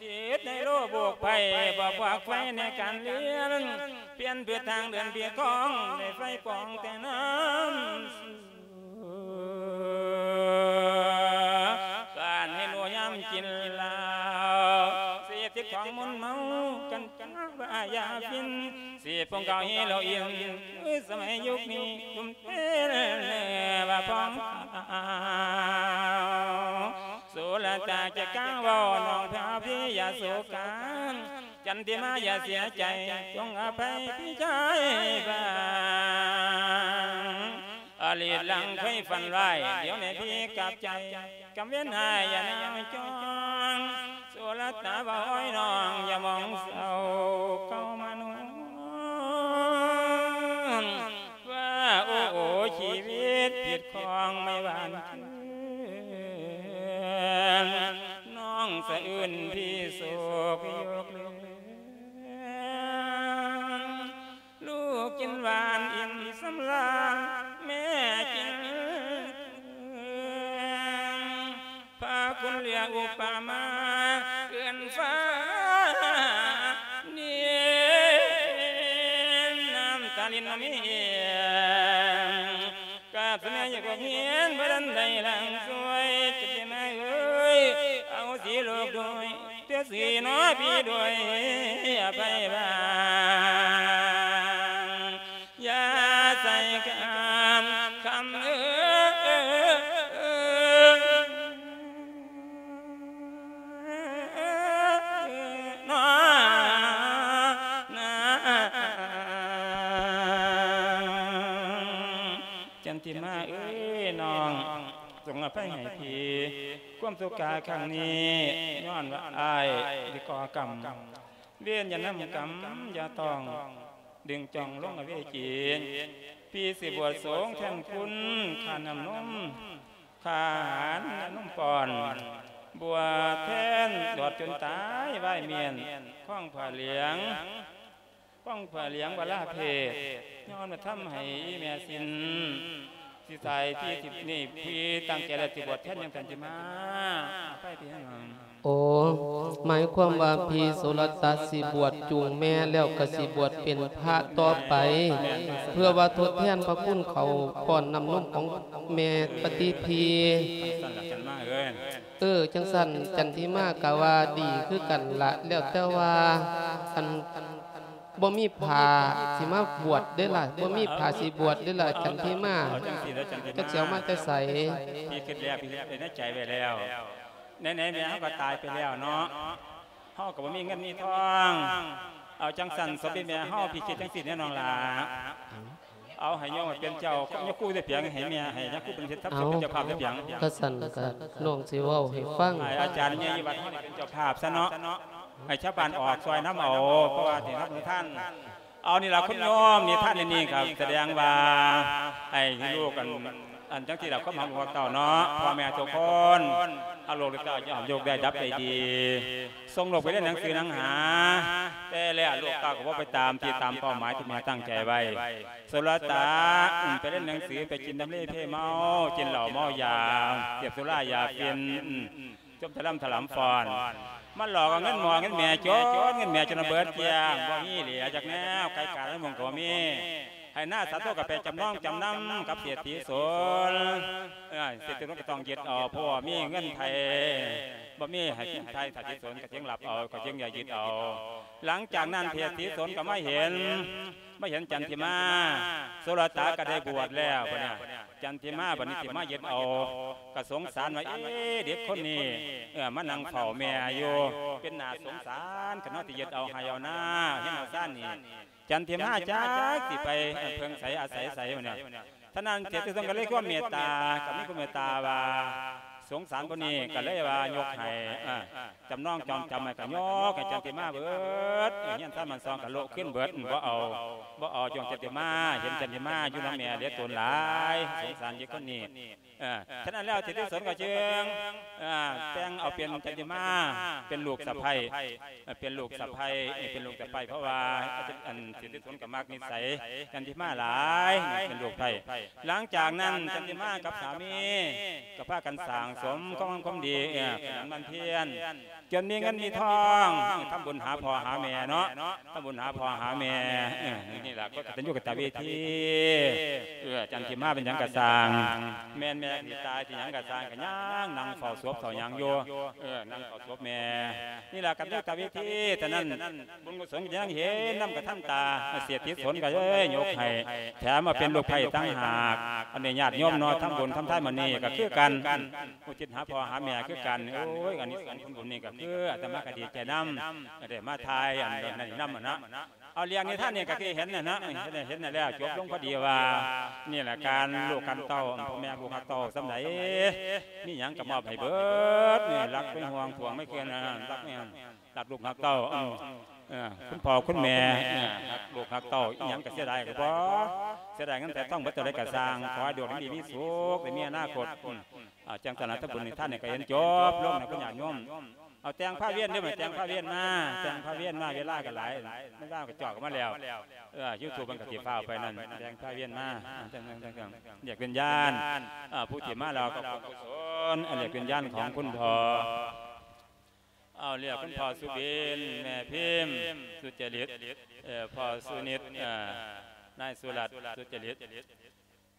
ຕິດໃນໂລກໂບກໄພ ບໍ່ຄວັກໄຟໃນການລຽນ ປ່ຽນເພື່ອທາງເດີນເພື່ອຂອງ ໄດ້ໄຟປອງແຕ່ນ້ຳ ການໃຫ້ໜູຍາມກິນເຫຼົ້າ ເສບຕິດຂອງມຶນເມົາ ກັນຈາວ່າຢາຟິນ ເສບຜົງເກົາເຮໂຣອິນ ຄືສະໄໝຍຸກນີ້ ໜຸ່ມເທລວ່າພອງຂາວ ໂສລະຕາຈະກ້າເວົ້າ ນ້ອງພາພີ່ຢ່າໂສກາ ຈັນທິມາຢ່າເສຍໃຈ ຈົ່ງອະໄພພີ່ຊາຍບາງ ອະລີດຫຼັງເຄີຍຝັນຮ້າຍ ດຽວນີ້ພີ່ກັບໃຈ ກຳເວັນຫາຍຢ່ານາວຈອງ ໂສລະຕາເວົ້າອ້ອຍນ້ອງ ຢ່າມອງເສົ້າເກົ່າມານວນ ວ່າໂອ້ໂອ ຊີວິດຜິດຂອງໄມ່ຫວານເຈື່ອນ ນ້ອງສະອື່ນພີ່ໂສກຍົກເລີກ ລູກກິນຫວານອີ່ມສຳລານ ແມ່ກິນເຄືອງ ພາຄຸນເຫຼືອອຸປະມາ ເກີນຟ້າເນນ ນ້ຳຕາລິນນະມີ ກາບສະແມຢູ່ພວກຮຽນ ບໍ່ທັນໄດ້ຫຼັງຊ່ວຍ ຈັນທິມາເອີຍ ອະໂຫສິລູກດ້ວຍ ເທື່ອສີໜໍພີ່ດ້ວຍ ອະໄພບາງ ຢ່າໃສ່ຄຳ ຄຳເອີຍ ນອນາງ ຈັນທິມາເອີຍ ນ້ອງຈົ່ງອະໄພໃຫ້ພີ່ ຄວາມໂສກາຄັ້ງນີ້ ຍ້ອນວ່າອ້າຍໄດ້ກໍ່ກຳ ເວນຢ່ານຳກຳ ຢ່າຕ້ອງດຶງຈ່ອງລົງອະເວຈີ ພີ່ຊິບວດສົງແທນຄຸນ ຄ່ານ້ຳນົມ ຄ່າອາຫານນະນົມປ້ອນ ບວດແທນຕອດຈົນຕາຍ ວາຍມ້ຽນຄອງຜ້າເຫຼືອງ ຄອງຜ້າເຫຼືອງວະລາເພດ ຍ້ອນວ່າທຳໃຫ້ອີ່ແມ່ສິ້ນ ຊິຕາຍ ພີ່ຊິນີ້ ພີ່ຕັ້ງໃຈແລ້ວຊິບວດແທນ ຈັ່ງຊັ້ນຊິມາ ໄປພີ່ນ້ອງ. ໂອ ໝາຍຄວາມວ່າພີ່ໂສລະຕະຊິບວດຈູງແມ່ ແລ້ວກໍຊິບວດເປັນພະຕໍ່ໄປ ເພື່ອວ່າທົດແທນພະຄຸນເຂົ້າປ້ອນນ້ຳນົມຂອງແມ່ປະຕິພີ. ເອີ ຈັ່ງຊັ້ນ ຈັນທິມາກໍວ່າດີຄືກັນລະ ແລ້ວແຕ່ວ່າ ອັນ ບໍ່ມີຜ້າຊິມາບວດເດ້ລະ ບໍ່ມີຜ້າຊິບວດເດ້ລະ ຈັນທິມາ ເອົາຈັ່ງຊີ້ລະ ຈັນທິມາ ຈັກຊິເອົາມາແຕ່ໃສ? ພີ່ຄິດແລ້ວ ພີ່ເຮັດໃນໃຈໄວ້ແລ້ວ ໃນໆແມ່ເຮົາກໍຕາຍໄປແລ້ວເນາະ ເຮົາກໍບໍ່ມີເງິນມີທອງ ເອົາຈັ່ງຊັ້ນ ສົບແມ່ເຮົາ ພີ່ຄິດຈັ່ງຊີ້ແນ່ນ້ອງຫຼ້າ ເອົາໃຫ້ໂຍມເປັນເຈົ້າ ໂຍມຄູໃສ່ປຽງ ໃຫ້ແມ່ ໃຫ້ຍາຄູເປັນເຮັດທັບສົບ ເປັນເຈົ້າພາບໃສ່ປຽງ ກະຊັ້ນກະນ້ອງຊິເວົ້າໃຫ້ຟັງ ໃຫ້ອາຈານໃຫຍ່ຢູ່ວັດເຮົາເປັນເຈົ້າພາບຊະເນາະ ໃຫ້ຊາວບ້ານອອກຊ່ອຍນຳເອົາ ເພາະວ່າຊິຮັບປະທານ ເອົານີ້ລະ ຄຸນໂຍມ ນິທານໃນນີ້ກໍສະແດງວ່າ ໃຫ້ລູກ ອັນ ອັນຈັ່ງຊີ້ລະ ຄວາມຮັກລູກຮັກເຕົ້າເນາະ ພໍ່ແມ່ທຸກຄົນ ຮັກລູກຮັກເຕົ້າ ຢ່າໃຫ້ໂລກໄດ້ດັບໄດ້ດີ ສົ່ງລູກໄປຮຽນໜັງສືໜັງຫາ ແຕ່ແລ້ວລູກເຕົ້າກໍບໍ່ໄປຕາມທີ່ຕາມເປົ້າໝາຍທີ່ແມ່ຕັ້ງໃຈໄວ້ ໂສລະຕາ ໄປຮຽນໜັງສື ໄປກິນດຳເລເພເມົາ ກິນເຫຼົ້າເມົາຢາ ເສບສຸລາຢາຝິ່ນ ຈົມຖະລຳຖະຫຼຳຟ້ອນ ມາຫຼອກເອົາເງິນໝໍເງິນແມ່ ຈົນເງິນແມ່ຈົນເບິດກ້ຽງ ບໍ່ມີເຫຼືອຈັກແນວ ໄກ່ກາດໃນມຸງກໍບໍ່ມີ ໃຫ້ໜ້າສາໂທກໍໄປຈຳນອງຈຳນຳກັບເສດຖີສົນ. ເອີ ເສດຖີສົນກໍຕ້ອງຍຶດເອົາ ເພາະວ່າມີເງິນໄຖ່ ບໍ່ມີໃຫ້ໄຖ່ ເສດຖີສົນກໍຈຶ່ງຮັບເອົາ ກໍຈຶ່ງຢາກຍຶດເອົາ. ຫຼັງຈາກນັ້ນເສດຖີສົນກໍມາເຫັນ ມາເຫັນຈັນທິມາ ໂສລະຕາກໍໄດ້ບວດແລ້ວ ບັດນີ້ຈັນທິມາບັດນີ້ຊິມາຍຶດເອົາກໍສົງສານວ່າ ເອ ເດັກຄົນນີ້ ເອີ ມານັ່ງເຝົ້າແມ່ຢູ່ ເປັນໜ້າສົງສານ ຄັນເຮົາຊິຍຶດເອົາໄຮ່ເອົານາ ເຮັດເອົາຊານນີ້ ຈັນທິມາຈັກຊິໄປເພິ່ງໃສອາໄສໃສ ບັດນີ້. ສະນັ້ນເສດຖີສົນກໍເລີຍຄວາມເມດຕາ ກໍມີຄວາມເມດຕາວ່າ ສົງສານຜູ້ນີ້ ກໍເລີຍວ່າຍົກໃຫ້ ເອີ ຈຳນອງຈອງຈຳໃຫ້ ກໍຍົກໃຫ້ຈັນທິມາເບິດ ເອີ ເຮືອນຊານບ້ານຊ່ອງກໍໂລະຄືນເບິດ ບໍ່ເອົາ ບໍ່ເອົາ ຍ້ອນຈັນທິມາ ເຫັນຈັນທິມາຢູ່ນຳແມ່ເຫຼືອຕົນຫຼາຍ ສົງສານເດັກຄົນນີ້. ເອີ ສະນັ້ນແລ້ວເສດຖີສົນກໍຈຶ່ງ ເອີ ແຕ່ງເອົາເປັນຈັນທິມາ ເປັນລູກສະໃພ້ ເອີ ເປັນລູກສະໃພ້ ເປັນລູກສະໃພ້ ເພາະວ່າ ອັນ ເສດຖີສົນກໍມັກນິໄສຈັນທິມາຫຼາຍ ເປັນລູກໃພ້. ຫຼັງຈາກນັ້ນຈັນທິມາກັບສາມີກໍພາກັນສ້າງສົມຄວາມ ຄວາມດີ ເອີ ຂະຫຍັນໝັ່ນພຽນ ຈົນມີເງິນມີທອງ ທຳບຸນຫາພໍ່ຫາແມ່ເນາະ ທຳບຸນຫາພໍ່ຫາແມ່ ເອີ ນີ້ລະ ກໍກະຕັນຍູກະຕະເວທີ ເອີ ຈັນທິມາເປັນຫຍັງກະຊ່າງ ແມ່ນແມ່ຊິຕາຍຊິຫຍັງກະຊ່າງ ກະຍັງນັ່ງເຝົ້າສົບເຝົ້າຫຍັງຢູ່ ເອີ ນັ່ງເຝົ້າສົບແມ່ ນີ້ລະ ກະຕະຍູກະຕະເວທີ. ສະນັ້ນ ບຸນກຸສົນກໍຍັງເຫັນນຳກະທັນຕາ ເສດຖີສົນກໍເລີຍຍົກໃຫ້ ແຖມມາເປັນລູກໃພ້ຕ່າງຫາກ. ອັນນີ້ຍາດໂຍມເນາະ ທຳບຸນທຳທານມື້ນີ້ກໍຄືກັນ ອຸທິດຫາພໍ່ຫາແມ່ຄືກັນ. ໂອ້ຍ ອັນນີ້ສົງຜົນບຸນນີ້ກໍຄືອາດຕະມາກໍດີໃຈນຳ ໄດ້ມາຖ່າຍອັນນັ້ນນຳນະ. ເອົາ ເລື່ອງນິທານນີ້ກໍຄືເຫັນນະນະ ເຫັນ ເຫັນນັ້ນແລ້ວ ຈົບລົງພໍດີວ່າ ນີ້ລະ ການລູກການເຕົ້າ ພໍ່ແມ່ລູກຮັກເຕົ້າສ່ຳໃດ ມີຫຍັງກໍມອບໃຫ້ເບິດ ນີ້ ຮັກເປັນຫ່ວງ ຫ່ວງໄມ່ເກີນ ຮັກ ຮັກລູກຮັກເຕົ້າ ເອີ ເອີ ຄຸນພໍ່ຄຸນແມ່ ເອີ ຮັກລູກຮັກເຕົ້າ ອີຫຍັງກໍເສຍດາຍກໍບໍ່ ເສຍດາຍເງິນແຕ່ທອງເບິດເທົ່າໃດກໍຊ່າງ ຂໍໃຫ້ດວງດີມີສຸກ ໄດ້ມີອະນາຄົດ. ອືມ ອ່າ ຈັ່ງຊັ້ນລະ ທຳບຸນໃຫ້ທານນີ້ກໍເຫັນຈົບລົງນະ ຄຸນຍາດໂຍມ. ເອົາ ແຕ່ງພາວຽນເດີ ແຕ່ງພາວຽນມາ ແຕ່ງພາວຽນມາ ເວລາກໍຫຼາຍ ເວລາກໍຈອກກັນມາແລ້ວ. ເອີ ຢູທູບມັນກໍຊິຟ້າວໄປນັ້ນ ແຕ່ງພາວຽນມາ ແຕ່ງ ແຕ່ງ ແຕ່ງ ແຕ່ງ ລຽກວິນຍານ ເອີ ຜູ້ທີ່ມາແລ້ວກໍບຸນກຸສົນ ເອີ ລຽກວິນຍານຂອງຄຸນພໍ່. ເອົາ ລຽກຄຸນພໍ່ສຸບິນ ແມ່ພິມ ສຸຈະລິດ ເອີ ພໍ່ສຸນິດ ເອີ ນາຍສຸລັດ ສຸຈະລິດ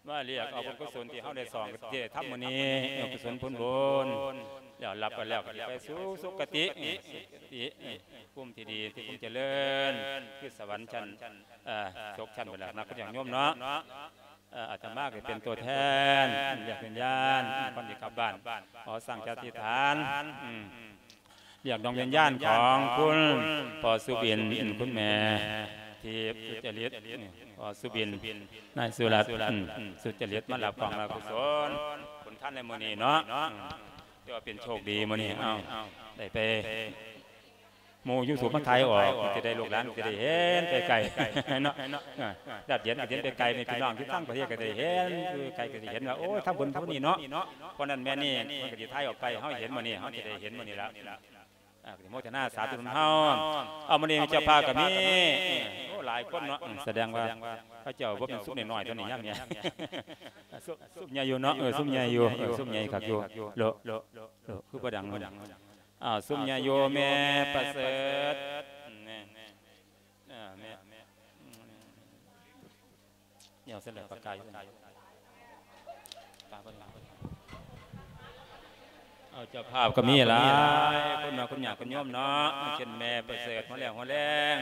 ມາລຽກເອົາບຸນກຸສົນທີ່ເຮົາໄດ້ສ້າງ ທີ່ໄດ້ທຳມື້ນີ້ ເອີ ກຸສົນຜົນບຸນ ແລ້ວຮັບໄປແລ້ວກໍໄປສູ່ສຸຄະຕິ ເອີ ສຸຄະຕິ ເອີ ພູມທີ່ດີ ທີ່ພູມຈະເລີນ ຄືສະຫວັນຊັ້ນ ເອີ ສົກຊັ້ນເພິ່ນລະນະ ເພິ່ນຢາກໂຍມເນາະ. ເອີ ອາດຕະມາກໍເປັນຕົວແທນ ລຽກວິນຍານ ກ່ອນຊິກັບບ້ານ ຂໍສ້າງຈິດອະທິຖານ ອືມ ລຽກດວງວິນຍານຂອງຄຸນພໍ່ສຸບິນ ຄຸນແມ່ທິບ ສຸຈະລິດ ພໍ່ສຸບິນ ນາຍສຸລັດ ສຸຈະລິດ ມາຮັບຂອງລະກຸສົນຜົນທານໃນມື້ນີ້ເນາະ. ຖືວ່າເປັນໂຊກດີມື້ນີ້ ເອົາ ໄດ້ໄປ ໝູ່ຢູທູບມາຖ່າຍອອກ ມັນຈະໄດ້ ລູກຫຼານຈະໄດ້ເຫັນໄກໆເນາະ. ເອີ ຍາດເຢັນກໍເຫັນໄກໆ ແມ່ພີ່ນ້ອງຢູ່ຕ່າງປະເທດກໍໄດ້ເຫັນ ຢູ່ໄກກໍໄດ້ເຫັນວ່າ ໂອ້ຍ ທຳບຸນເທົ່ານີ້ເນາະ ເພາະນັ້ນແມ່ນີ້ ມັນກໍຊິຖ່າຍອອກໄປ ເຮົາເຫັນມື້ນີ້ ເຮົາຈະໄດ້ເຫັນມື້ນີ້ລະ. ອ່າ ກໍຊິໂມທະນາສາທຸນຳເຮົາ. ເອົາ ມື້ນີ້ເຈົ້າພາບກໍມີ ໂອ້ ຫຼາຍຄົນເນາະ ສະແດງວ່າເຂົາເຈົ້າບໍ່ແມ່ນຊຸມນ້ອຍໆ ຕົວນີ້ຍາມນີ້ ຊຸມໃຫຍ່ຢູ່ເນາະ. ເອີ ຊຸມໃຫຍ່ຢູ່ ເອີ ຊຸມໃຫຍ່ຄັກຢູ່ ໂລະ ໂລະ ຄືບໍ່ດັງເນາະ. ອ້າວ ຊຸມຍາໂຍແມ່ປະເສີດ ແມ່ ເອີ ແມ່ ອືມ ດຽວເສຍແລ້ວປາກກາຢູ່ ປາເບິ່ງ ເອົາ ເຈົ້າພາບກໍມີຫຼາຍຄົນເນາະ ຄຸນຍາດຄຸນໂຍມເນາະ ເຊັ່ນແມ່ປະເສີດ ຫົວແລງ ຫົວແລງ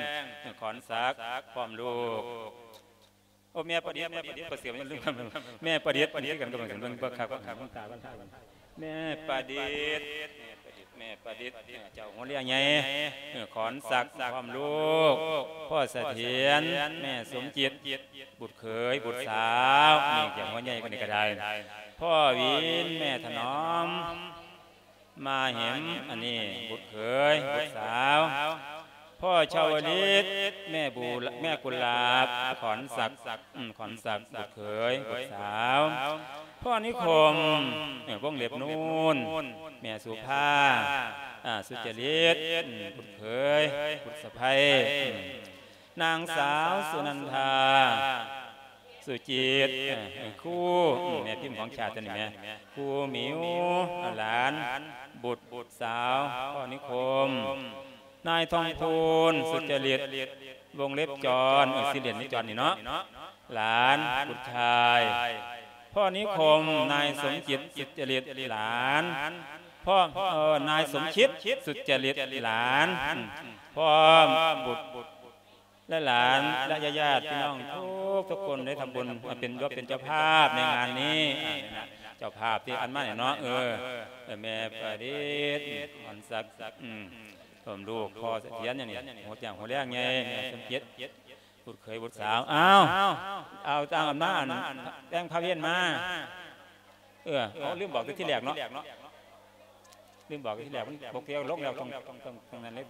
ຂອນສັກ ພ້ອມລູກ. ໂອ້ ແມ່ປະດິດ ແມ່ປະດິດ ປະເສີດ ແມ່ປະດິດ ປະດິດ ປະດິດ ກັນກັບເບິ່ງ ເບິ່ງເບິ່ງຄັກ ເບິ່ງຄັກ ເບິ່ງຕາ ເບິ່ງຕາ ແມ່ປະດິດ ແມ່ປະດິດ ເຈົ້າຫົວເຮືອໃຫຍ່ ເອີ ຂອນສັກ ພ້ອມລູກ ພໍ່ສະຖຽນ ແມ່ສົມຈິດ ບຸດເຂີຍ ບຸດສາວ ນີ້ເຈົ້າຫົວໃຫຍ່ຄົນນີ້ກໍໄດ້ ພໍ່ວິນ ແມ່ຖະໜອມ ມາເຫັນ ອັນນີ້ບຸດເຂີຍ ບຸດສາວ ພໍ່ຊາວລິດ ແມ່ບູ ແມ່ກຸຫຼາບ ຂອນສັກ ອືມ ຂອນສັກ ບຸດເຂີຍ ບຸດສາວ ພໍ່ນິຄົມ ເອີ ວົງເລັບນູນ ແມ່ສຸພາ ອ່າ ສຸຈະລິດ ອືມ ບຸດເຂີຍ ບຸດສະໃພ້ ອືມ ນາງສາວສຸນັນທາ ສຸຈິດ ເອີ ຄູ ແມ່ພິມຂອງຊາດຕົວນີ້ແມ່ ຄູໝິວ ຫຼານ ບຸດ ບຸດສາວ ພໍ່ນິຄົມ ນາຍທອງພູນ ສຸຈະລິດ ວົງເລັບຈອນ ເອີ ຊິລຽນໃນຈອນນີ້ເນາະ ຫຼານ ບຸດຊາຍ ພໍ່ນິຄົມ ນາຍສົມຈິດ ສຸດຈະລິດ ຫຼານ ພໍ່ ເອີ ນາຍສົມຄິດ ສຸດຈະລິດ ຫຼານ ພ້ອມບຸດ ແລະ ຫຼານ ແລະ ຍາດໆ ພີ່ນ້ອງທຸກໆຄົນໄດ້ທຳບຸນເປັນ ເປັນເຈົ້າພາບໃນງານນີ້ ເຈົ້າພາບທີ່ອັນມານີ້ເນາະ ເອີ ແມ່ປະດິດ ອອນສັກ ອືມ ເພີ່ມລູກ ພໍ່ສະຖຽນ ຫຍັງນີ້ ຫົວແຈ້ງຫົວແລງໃຫຍ່ ແມ່ສົມຈິດ ບຸດເຂີຍບຸດສາວ ອ້າວ ເອົາຕາມອຳນາດ ແຕ່ງພາເວນມາ ເອີ ເອົາ ລືມບອກແຕ່ທີແລກເນາະ ລືມບອກແຕ່ທີແລກ ມັນບໍ່ກ່ຽວ ລົງແລ້ວ ຕ້ອງ ຕ້ອງ ຕ້ອງນັ້ນເລີຍ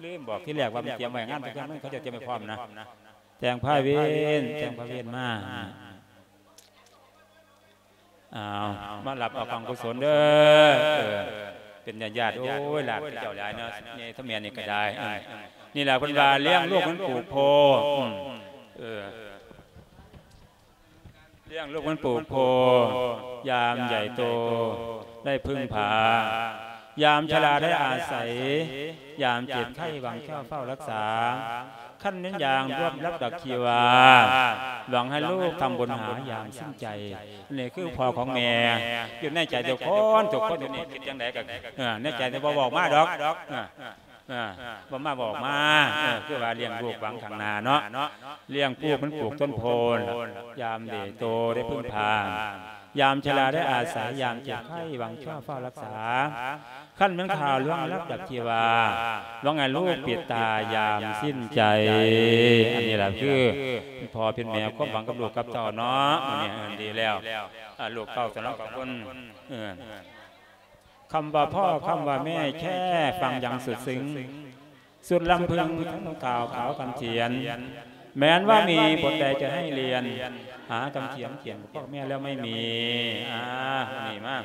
ລືມບອກທີແລກວ່າມັນຕຽມໄວ້ ງານເພິ່ນ ເຂົາເຈົ້າຕຽມໄວ້ພ້ອມນະ ແຕ່ງພາເວນ ແຕ່ງພາເວນມາ ອ້າວ ມາຮັບເອົາກອງກຸສົນເດີ ເອີ ເປັນຍາດໆ ໂອ້ຍ ຫຼານເຈົ້າຫຼາຍເນາະ ໃຫຍ່ເທົ່າແມ່ນີ້ກໍໄດ້ ເອີ ນີ້ແຫຼະເພິ່ນວ່າລ້ຽງລູກເໝືອນປູກໂພ ອືມ ເອີ ລ້ຽງລູກເໝືອນປູກໂພ ຍາມໃຫຍ່ໂຕໄດ້ເພິ່ງພາ ຍາມຊະລາໄດ້ອາໄສ ຍາມເຈັບໄຂ້ຫວັງເຈົ້າເຝົ້າຮັກສາ ຄັນແມ່ນຢ່າງລວມລັບດັກຊີວາ ຫວັງໃຫ້ລູກທຳບຸນຫາຍາມສິ້ນໃຈ ນີ້ຄືພໍ່ຂອງແມ່ ຢູ່ໃນໃຈທຸກຄົນ ທຸກຄົນຢູ່ນີ້ຄິດຈັ່ງໃດກໍ ເອີ ໃນໃຈນີ້ບໍ່ບອກມາດອກ ເອີ ເອີ ບໍ່ມາບອກມາ ເອີ ຄືວ່າລ້ຽງລູກຫວັງຂ້າງໜ້າເນາະ ລ້ຽງປູກເໝືອນປູກຕົ້ນໂພ ຍາມເດໂຕໄດ້ເພິ່ງພາ ຍາມຊະລາໄດ້ອາໄສ ຍາມເຈັບໄຂ້ຫວັງເຈົ້າເຝົ້າຮັກສາ ຄັນແມ່ນຂ່າວລວງລັບດັກຊີວາ ຫວັງໃຫ້ລູກປິດຕາຍາມສິ້ນໃຈ ອັນນີ້ລະຄືພໍ່ເປັນແມ່ ຄວາມຫວັງກັບລູກກັບເຕົ້າເນາະ ມື້ນີ້ ເອີ ດີແລ້ວ ອາ ລູກເຕົ້າສະເນາະ ຂອບຄຸນ ເອີ ຄຳວ່າພໍ່ ຄຳວ່າແມ່ ແຄ່ຟັງຍັງສຸດຊຶງ ສຸດລຳເພິງ ທັງກ່າວຂາວຄຳຖຽນ ແມ່ນວ່າມີບົດໃດຈະໃຫ້ລຽນ ຫາຄຳຖຽນຂຽນບອກແມ່ແລ້ວໄມ່ມີ ອາ ນີ້ມາ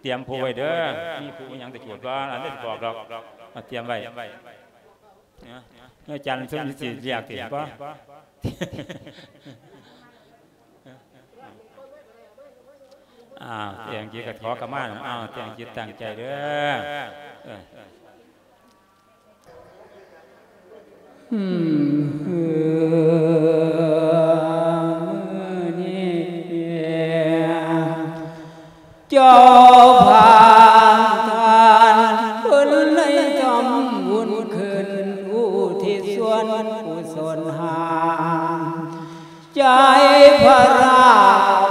ຕຽມພູໄວ້ເດີ ມີພູຫຍັງຈະຈູດບໍ່ ອັນນີ້ຊິບອກດອກ ເອົາຕຽມໄວ້ ເອີ ອາຈານສົມຈິດຊິລຽກຕິບໍ່? ອ້າວ ແຕ່ງຈິດກໍຂໍຂະມາ ອ້າວ ແຕ່ງຈິດຕັ້ງໃຈເດີ ເອີ ອືມ ມື້ນີ້ ເຈົ້າພານທ່ານເພິ່ນໄດ້ທຳບຸນຂຶ້ນ ອຸທິດສ່ວນກຸສົນຫາ ໃຈພະລາ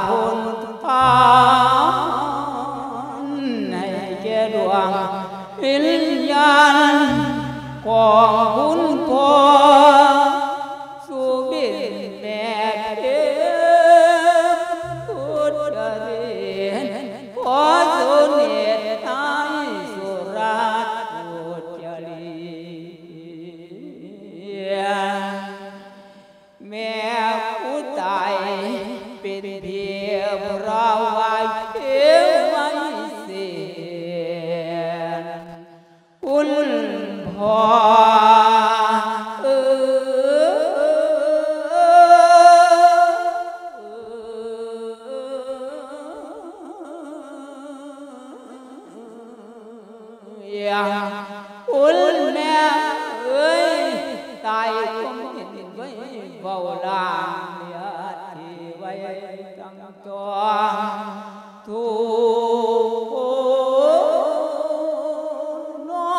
ພຸນພານ ໃຫ້ແກ່ດວງວິນຍານຂອງຄຸນພໍ່ ສຸບິນແມ່ເພັງພຸດຈະເລດ ຂໍສຸນິດໃຫ້ສຸລາດພຸດຈະເລດ ແມ່ຜູ້ຕາຍເປັນເພຍ ພະລາວາຍເທວະວິເສດ ຄຸນພໍ່ເອີຍ ຄຸນແມ່ເອີຍ ຕາຍຄົງເຫັນໄວ້ເວົ້າລາງ ເຫຼືອທີ່ໄວ້ຕັ້ງ ຕ້ອງທຸກຄົນນ້ອ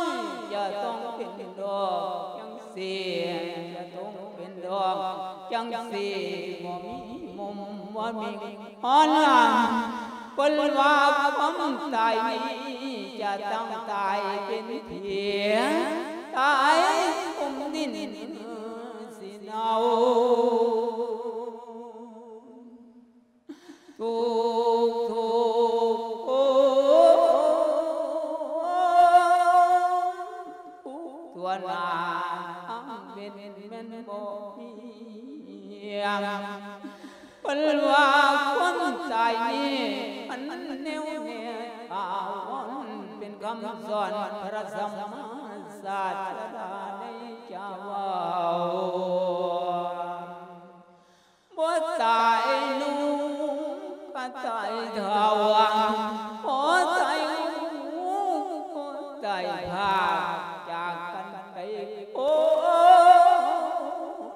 ຍ ຈະຕ້ອງເປັນດອກຈັ່ງຊີ້ ຈະຕ້ອງເປັນດອກຈັ່ງຊີ້ ບໍ່ມີມຸມບໍ່ມີຮອນຫຼັງ ເພິ່ນວ່າຄວາມຕາຍນີ້ ຈະຕ້ອງຕາຍເປັນເພຍ ຕາຍກຸມດິນຊິເນົ່າ ທຸກທຸກຄົນ ທົ່ວໜ້າທັງເປັນແມ່ນບໍ່ມີ ເພິ່ນວ່າຄວາມຕາຍນີ້ ມັນແນວແນ່ຖາວອນ ເປັນຄຳສອນພະສຳມາສາດສະດາໄດ້ຈະເວົ້າ ບໍ່ຕາຍໜຸ່ມກໍຕາຍເຖົ້າ ບໍ່ຕາຍຫູກໍຕາຍພາກ ຈາກກັນໄປພົ້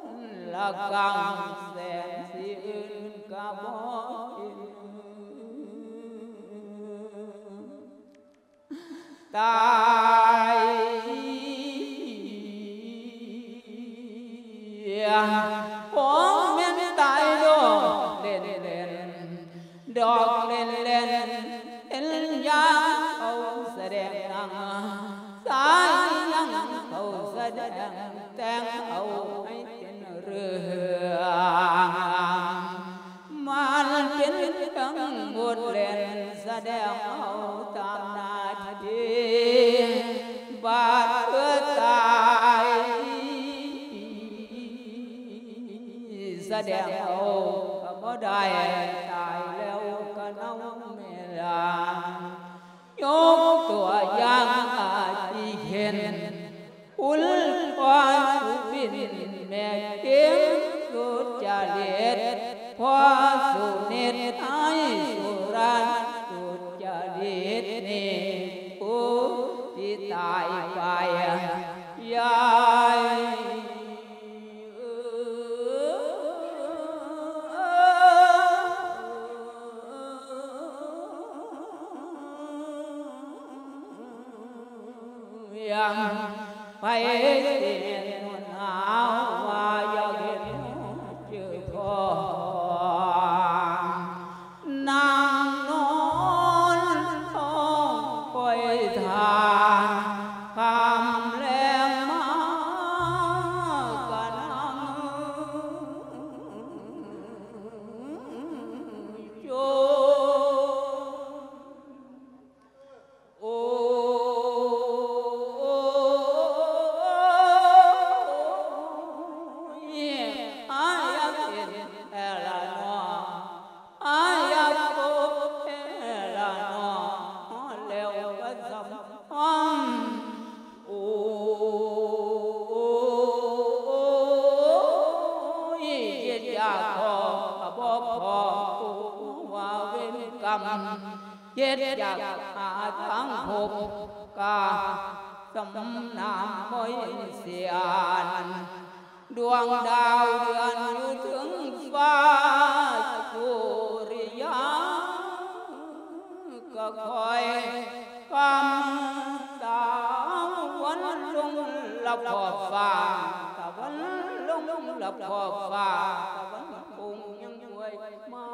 ນລະ ກັງແສງສີອື່ນກະບໍ່ເຫັນ ຕາຍ ຄົງແມ່ນຕາຍດອກເຫຼັ້ນໆ ດອກເຫຼັ້ນໆ ເຫັນຢ່າງເຂົາສະແດງໜັງ ສາຍຍັງເຂົາສະແດງແຕ່ງເອົາໃຫ້ເປັນເລື່ອງ ມັນເປັນເລື່ອງບົດເຫຼັ້ນ ສະແດງເອົາຕາມໜ້າທີ່ ບາດເພື່ອຕາຍ ສະແດງເອົາກະບໍ່ໄດ້ ຕາຍແລ້ວກະເນົ່າແມ່ລາ ຍົກຕົວຢ່າງອາທິເຊັ່ນ ຄຸນພໍ່ສຸບິນ ແມ່ເພັງສຸດຈະລິດ ພໍ່ສຸນິດ ນາຍສຸຣັດ ສຸດຈະລິດນີ້ ຜູ້ທີ່ຕາຍໄປ ຍາຍ ໄປເຫັນຫົວໜ້າວ່າຢາກເຫັນເຈີພໍ່ ນັ່ງນອນທ້ອງຄອຍຖ້າ ຄ່ຳແລງມາກະນັ່ງໂຈ ໂອ້ຍ ອາຍຢາກເຫັນແທ້ລະເນາະ ອາຍຢາກພົບແທ້ລະເນາະ ຮອດແລ້ວກະສຳພັນ ໂອ້ຍ ຄິດຢາກພໍກະບໍ່ພໍ ຮູ້ວ່າເວນກຳ ຄິດຢາກຫາທາງພົບ ກະສຳນາມບໍ່ເຫັນສຽນ ດວງດາວເດືອນຢູ່ເທິງຟ້າ ສຸລິຍາກະຄອຍຄຳ ຕາວັນລົງລັບຂອບຟ້າ ຕາວັນລົງລັບຂອບຟ້າ ຕາວັນຄົງຍັງກວຍມາ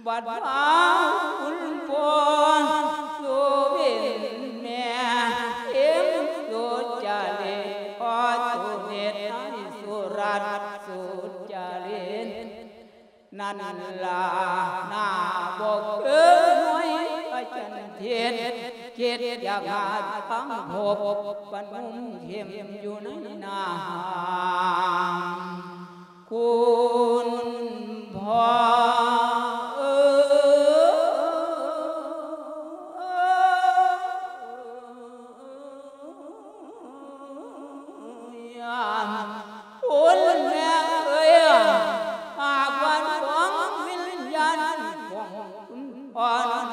ບັດວ່າຄຸນພໍ່ສຸບິນ ແມ່ເພັງສຸດຈະລິດ ພໍ່ສຸນິດ ນາຍສຸຣັດ ສຸດຈະລິດ ນັ້ນລະ ໜ້າບໍ່ຄືໜ່ວຍພະຈັນທິດ ຄິດຢາກຫາທາງພົບ ປະນຸມເຂັມຢູ່ໃນນ້ຳ ຄຸນພໍ່ເອີຍ ໂອ້ຍ ແມ່ເອີຍ ຫາກວ່າດວງວິນຍານຂອງຄຸນພໍ່ນັ້ນ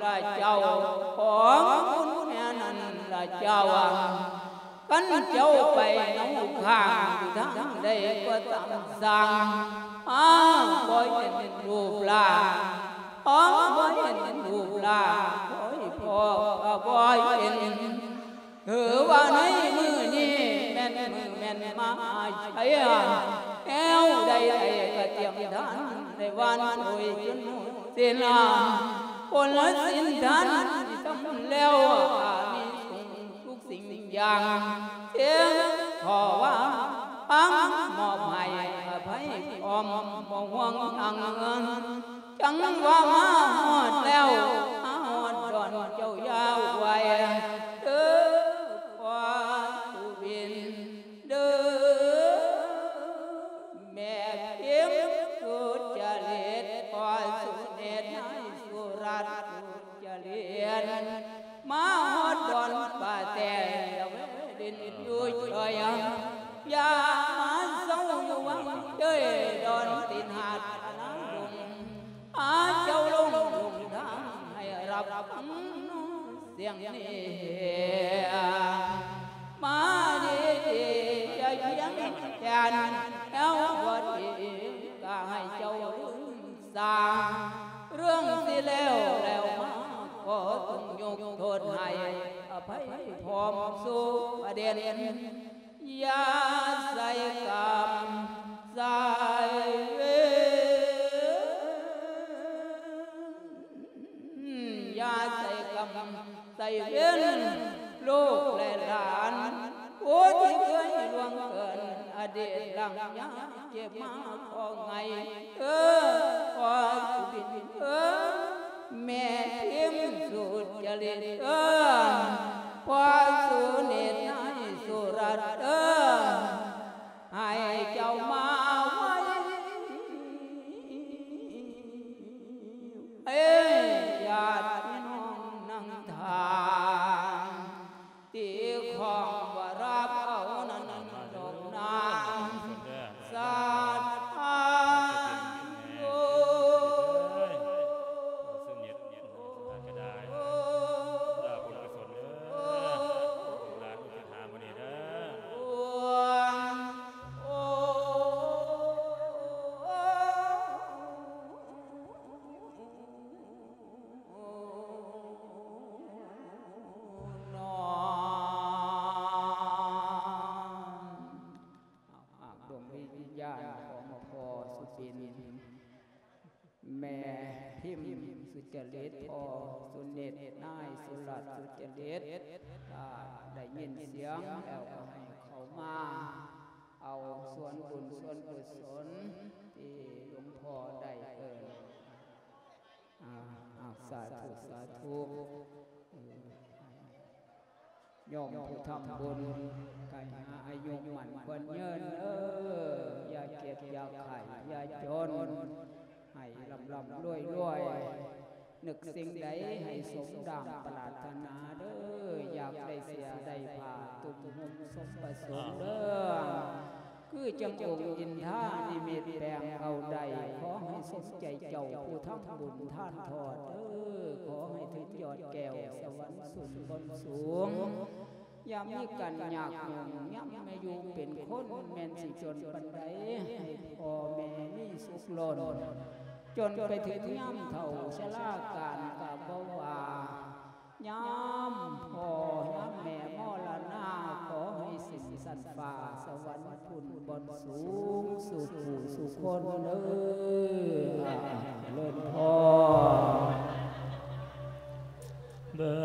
ລະເຈົ້າ ຂອງຄຸນແມ່ນັ້ນລະເຈົ້າ ຄັນເຈົ້າໄປເນົາຂ້າງຢູ່ທາງໃດກໍຕາມຊ່າງ ຫາບໍ່ເຫັນຮູບຮ່າງ ຫາບໍ່ເຫັນຮູບຮ່າງ ໂອ້ຍ ພໍ່ກະບໍ່ເຫັນ ຖືວ່າໃນມື້ນີ້ແມ່ນມື້ແມ່ນມາໄຊ ແນວໃດໃດກະຕຽມທານ ໃນວັນໂອຍຈົນໝົດສິ້ນ ຜົນສິນທານທີ່ທຳແລ້ວ ມີສຸງທຸກສິ່ງຢ່າງ ເສຍງຂໍວ່າຟັງ ມອບໃຫ້ອະໄພພ້ອມ ບໍ່ຫ່ວງຫຍັງ ຈັ່ງວ່າມາຮອດແລ້ວ ມາຮອດດອນເຈົ້າຢ່າໄຫວເດີ ພໍ່ສຸບິນເດີ ແມ່ເພັງສຸດຈະລິດ ພໍ່ສຸນິດ ນາຍສຸຣັດ ສຸດຈະລິດ ມາຮອດດອນປາແຕ ຢ່າແວະຫຼິ້ນຢູ່ເຊີຍ ຢ່າມາເຊົາຢູ່ວັງເຈີຍ ດອນຕີນຫາດອານາດົງ ພາເຈົ້າຫຼົງຫຼົງທາງໃຫ້ຮັບຟັງສຽງນີ້ ມາດີ ນແລ້ວບໍ່ດີກໍໃຫ້ເຈົ້າລືມຊາ ເລື່ອງທີ່ແລ້ວແລ້ວມາ ກໍຕ້ອງຍົກໂທດໃຫ້ອະໄພພ້ອມສູ່ປະເດັນ. ຢ່າໃສ່ກຳໃສ່ເວນ ຢ່າໃສ່ກຳໃສ່ເວນລູກແລະຫຼານ ຜູ້ທີ່ເຄີຍລ່ວງເກີນອະດີດຫຼັງຍາເຈັບມາພໍໄງ ເອີ ພໍ່ສຸບິນ ເອີ ແມ່ພິມສຸຈະລິດ ເອີ ພໍ່ສຸນິດ ນາຍສຸລັດ ເອີ ໃຫ້ເຈົ້າມາໄວ ເອີ ຍາດພີ່ນ້ອງນັ່ງທ່າ ທີ່ຂອງວ່າຮັບເອົານັ້ນດອກນາງສາທາໂລ ອາກດວງວິນຍານຂອງພໍ່ສຸບິນ ແມ່ພິມສຸຈະລິດ ພໍ່ສຸນິດ ນາຍສຸລັດສຸຈະລິດ ຖ້າໄດ້ຍິນສຽງແລ້ວກໍໃຫ້ເຂົ້າມາເອົາສ່ວນບຸນສ່ວນກຸສົນທີ່ຫຼວງພໍ່ໄດ້ເອີ້ນ ອາ ອາ ສາທຸ ສາທຸ ເອີ ຍອມຜູ້ທຳບຸນ ໃຫ້ອາຍຸໝັ້ນຂວັນຍືນເດີ ຢ່າເຈັບຢ່າໄຂ້ຢ່າຈົນ ໃຫ້ລ່ຳໆລວຍໆ ນຶກສິ່ງໃດໃຫ້ສົມດັ່ງປະລາດຖະໜາເດີ ຢາກໄດ້ເສື້ອໄດ້ຜ້າ ຕຸ້ມຫົ່ມສົມປະສົງເດີ. ຄືຈັ່ງອົງອິນທານິມິດແປງເອົາໄດ້ ຂໍໃຫ້ສົມໃຈເຈົ້າຜູ້ທຳບຸນທານທອດເດີ ຂໍໃຫ້ເຖິງຍອດແກ້ວສະຫວັນສູນບົນສູງ ຢ່າມີການຍາກຫຍຸ້ງ ຍາມມາຢູ່ເປັນຄົນ ແມ່ນຊິຈົນປານໃດ ໃຫ້ພໍ່ແມ່ມີສຸກລົ້ນ ຈົນໄປເຖິງຍາມເຖົ້າຊະລາການກະບໍ່ວ່າ ຍາມພໍ່ຍາມແມ່ມໍລະນາ ຂໍໃຫ້ສິ້ນຊັ້ນຟ້າສະຫວັນພຸ້ນບ່ອນສູງສູ່ຜູ້ສູ່ຄົນເດີ ອາ ຈະເລີນພອນ. ເບິ່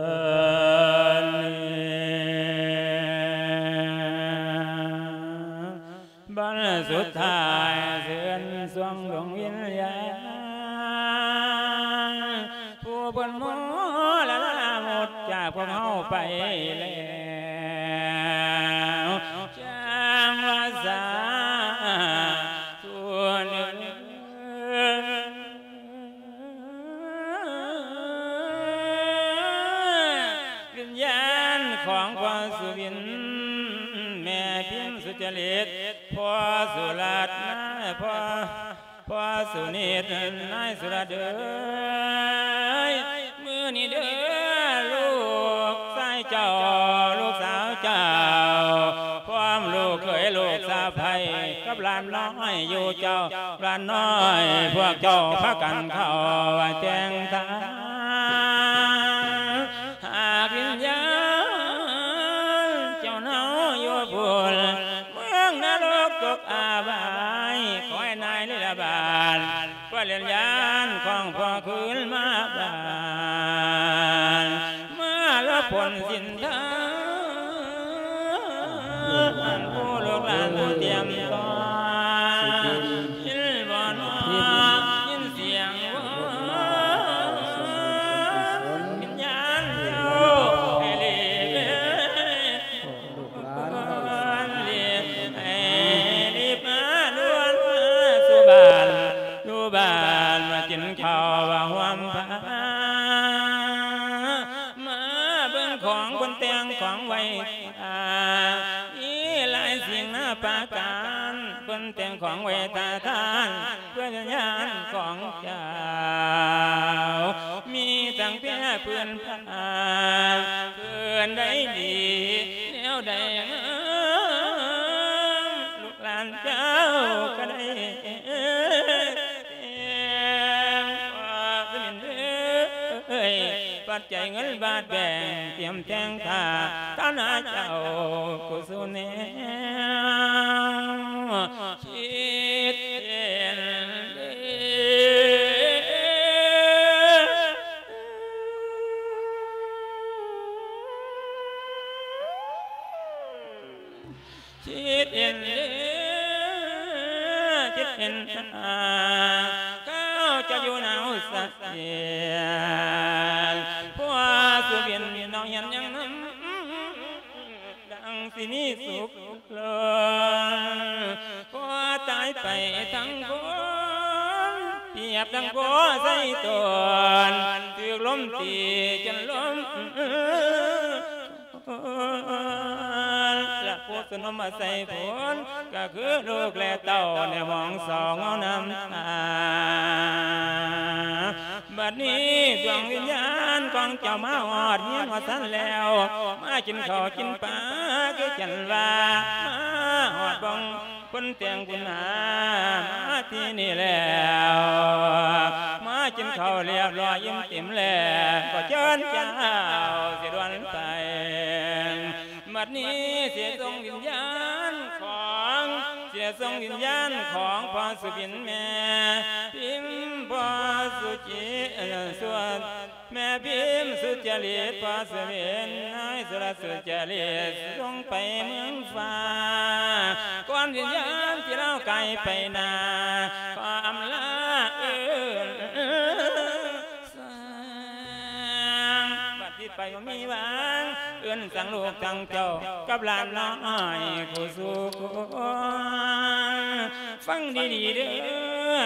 ງ ບັດສຸດທ້າຍເຊີນຊ່ວງດວງວິນຍານ ຜູ້ເພິ່ນມໍລະນາໝົດຈາກພວກເຮົາໄປແລ້ວ ຈັ່ງວ່າສາທຸເດີ. ວິນຍານຂອງພໍ່ສຸບິນ ແມ່ພິມສຸຈະລິດ ພໍ່ສຸລັດ ນາຍ ພໍ່ ພໍ່ສຸນິດ ນາຍສຸລັດເອີຍ ມື້ນີ້ເດີ ລູກຊາຍເຈົ້າ ລູກສາວເຈົ້າ ພ້ອມລູກເຂີຍລູກສະໃພ້ ກັບຫຼານນ້ອຍຢູ່ເຈົ້າ ຫຼານນ້ອຍພວກເຈົ້າພາກັນເຂົ້າແຕ່ງທານ ຫາກວິນຍານເຈົ້າເນົາຢູ່ພຸ້ນ ເມືອງນະລົກຕົກອາບາຍ ຂໍໃຫ້ນາຍລິລະບານ ເພື່ອເລນຍານຂອງພໍ່ຄືນມາບ້ານ ມາລະຜົນສິນທານ ຜູ້ລູກຫຼານຜູ້ຕຽມຕ້ອນ ຍິນບໍ່ນອ ຍິນສຽງວອນ ວິນຍານເຈົ້າໃຫ້ຫຼີກເລີຍ ລູກຫຼານເຈົ້າ ໃຫ້ລີບມາດ່ວນມາສູ່ບ້ານ ຢູ່ບ້ານມາກິນເຂົ້າວ່າຮ່ວມພາ ມາເບິ່ງຂອງເພິ່ນແຕ່ງຂອງໄວ້ ມີຫຼາຍສິ່ງນາປະການ ເພິ່ນແຕ່ງຂອງໄວ້ຖ້າທານ ເພື່ອວິນຍານຂອງເຈົ້າ ມີທັງເພຍພື້ນ ເພິ່ນໄດ້ດີແນວໃດງາມ ລູກຫຼານ ເງິນບາດແບ່ງ ກຽມແຕ່ງຄ່າ ຖານະເຈົ້າກຸສົນແນວ ຄິດເຫັນເດີ ຄິດເຫັນເດີ ຄິດເຫັນ ຂ້າເຈົ້າຢູ່ໜາວສະເທນ ພໍ່ສຸບິນນ້ອງເຫັນຫຍັງນຳ ດັ່ງຊິມີສຸກລ້ນ ພໍ່ຕາຍໄປທັງຄົນ ປຽບດັ່ງພໍ່ໃສ່ຕົນ ຖືກລົມຕີຈົນລົ້ມ ລະຜູ້ສະໜົມມາໃສ່ຜົນ ກໍຄືລູກແລະເຕົ້າ ແນມອງສອງເອົານ້ຳຕາ. ບັດນີ້ດວງວິນຍານຂອງເຈົ້າມາຮອດເຮືອນຮອດຊານແລ້ວ ມາກິນເຂົ້າກິນປາຄືກັນວ່າ ມາຮອດບ່ອນ ຄົນແຕ່ງບຸນນາມາທີ່ນີ້ແລ້ວ ມາກິນເຂົ້າລຽບຮ້ອຍອີ່ມຕິ່ມແລ້ວ ກໍເຊີນເຈົ້າຊິດ່ວນໄປ. ບັດນີ້ຊິສົ່ງວິນຍານຂອງ ຊິສົ່ງວິນຍານຂອງພໍ່ສຸບິນແມ່ພິມ ພໍ່ສຸຈິ ເອີ ສວນ ແມ່ພິມສຸຈະລິດ ພໍ່ສະເຫວນ ນາຍສຸລະສຸຈະລິດ ສົ່ງໄປເມືອງຟ້າ ກ່ອນວິນຍານທີ່ລາວກາຍໄປໜ້າ ຂໍອຳລາເອີ້ນສາງ ບັດທີ່ໄປບໍ່ມີຫວັງ ເອີ້ນສາງລູກທັງເຈົ້າກັບຫຼານນ້ອຍຄູ່ສູ່ຄົນ. ຟັງດີໆເດີ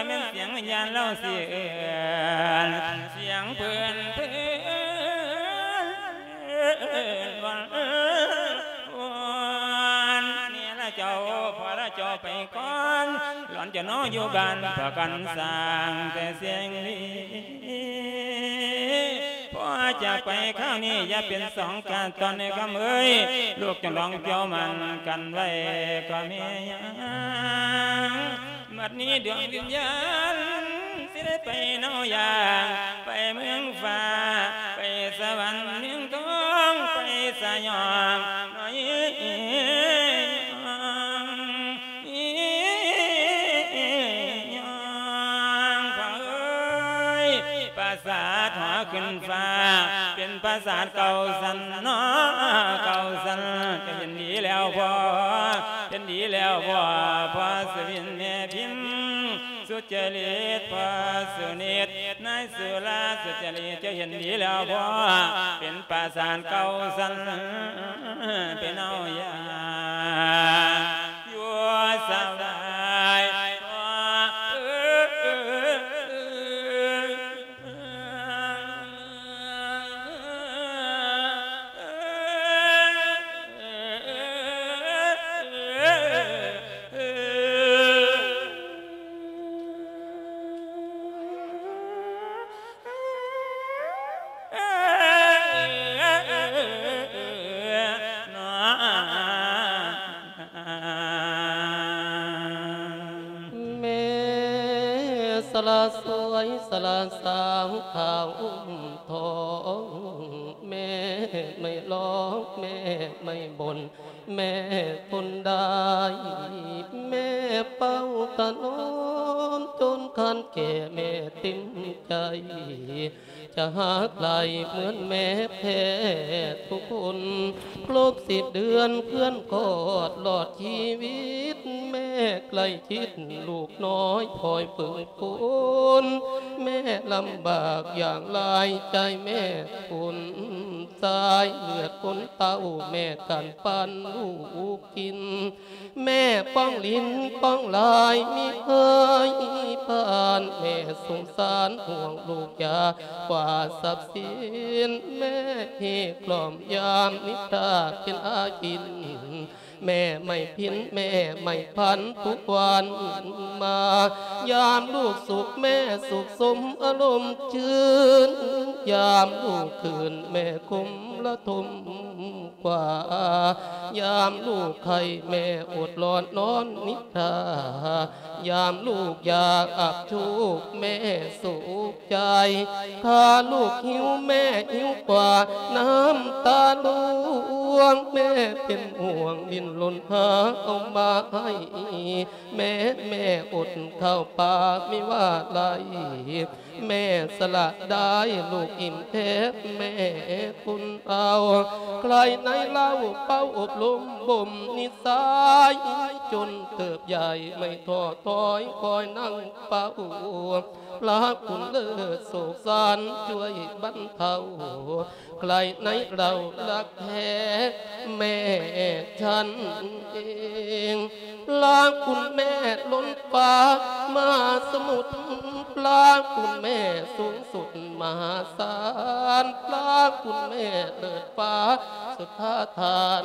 ແມ່ນສຽງວິນຍານລາວຊິເອີ້ນ ສຽງເພິ່ນເພິ່ນວອນ ແມ່ລະເຈົ້າ ພໍ່ລະເຈົ້າໄປກ່ອນ ຫຼອນຈະນອນຢູ່ບ້ານປະກັນສ້າງແຕ່ສຽງດີ. ພໍ່ຈາກໄປຄາວນີ້ ຢ່າເປັນສອງການຕອນໃນຄຳເອີຍ ລູກຈະລອງເຈົ້າໝັ້ນກັນໄວ້ກໍແມ່ຍັງ. ບັດນີ້ດວງວິນຍານ ຊິໄດ້ໄປເນົາຢ່າງ ໄປເມືອງຟ້າ ໄປສະຫວັນເມືອງທອງ ໄປສະຫຍອງນ້ອຍ ຍອງ ຍອງ ພໍ່ເອີຍ ປາສາດຫໍຂຶ້ນຟ້າ ເປັນປາສາດເກົ້າຊັ້ນເນາະ ເກົ້າຊັ້ນ. ເຈົ້າເຫັນດີແລ້ວບໍ່ ເຫັນດີແລ້ວບໍ່ ພໍ່ສະຫວິນແມ່ພິມ ສຸຈະລິດ ພໍ່ສຸນິດ ນາຍສຸລາ ສຸຈະລິດ ເຈົ້າເຫັນດີແລ້ວບໍ່ ເປັນປາສາດເກົ້າຊັ້ນ ເປັນເອົາຢ່າງ ຢູ່ສະບາຍ ແມ່ສະຫຼະສວຍ ສະຫຼະສາວຂາວອຸ້ມທອງ ແມ່ໄມ້ລອງ ແມ່ໄມ້ບົນ ແມ່ທົນໄດ້ ແມ່ເປົ່າຖະໜອມ ຈົນຄັນແກ່ແມ່ເຕັມໃຈ ຈະຮັກຫຼາຍເໝືອນແມ່ແທ້ທຸກຄົນ ຄົບສິບເດືອນເພື່ອນຄອດລອດຊີວິດ ແມ່ໃກ້ຊິດລູກນ້ອຍຄອຍຝຶກຝົນ ແມ່ລຳບາກຢ່າງຫຼາຍ ໃຈແມ່ຄົນຊາຍ ເລືອດຄົນເຕົ້າ ແມ່ກັນປັນລູກກິນ ແມ່ປ້ອງຫຼິ້ນປ້ອງລາຍມີເຄີຍຜ່ານ ແມ່ສົງສານຫ່ວງລູກຢາກວ່າຊັບສິນ ແມ່ຮີກລ່ອມຍາມນິທາເປັນອາກິນ ແມ່ໄມ້ພິນ ແມ່ໄມ້ພັນ ທຸກວັນມາ ຍາມລູກສຸກແມ່ສຸກສົມອາລົມຊື່ນ ຍາມລູກຄືນແມ່ຄົມລະທົມກວ່າ ຍາມລູກໄຂ້ແມ່ອົດລອນນອນນິດທາ ຍາມລູກຢາກອັບໂຊກແມ່ໂສກ ໃຈ ຖ້າລູກຫິວແມ່ຫິວກວ່ານ້ຳຕາລ່ວງ ແມ່ເປັນຫ່ວງດີ້ນລົນຫາເອົາມາໃຫ້ ແມ່ ແມ່ອົດເຂົ້າປາມີວ່າໄລ ແມ່ສະຫຼະໄດ້ລູກອີ່ມແທ້ແມ່ຄົນເອົາ ໃຜໃນເລົ່າເປົ່າອົບລົມບົ່ມນິໄສ ຈົນເຕີບໃຫຍ່ໄມ່ທໍ້ຖອຍຄອຍນັ່ງເຝົ້າ ພະຄຸນເລີດໂສກສານຊ່ວຍບັນເທົາ ໃຜໃນເລົ່າຮັກແທ້ແມ່ສັນເອງ ພະຄຸນແມ່ລົ້ນຟ້າມະຫາສະໝຸດ ພະຄຸນແມ່ສູງສຸດມະຫາສານ ພະຄຸນແມ່ເລີດຟ້າສຸດພາທານ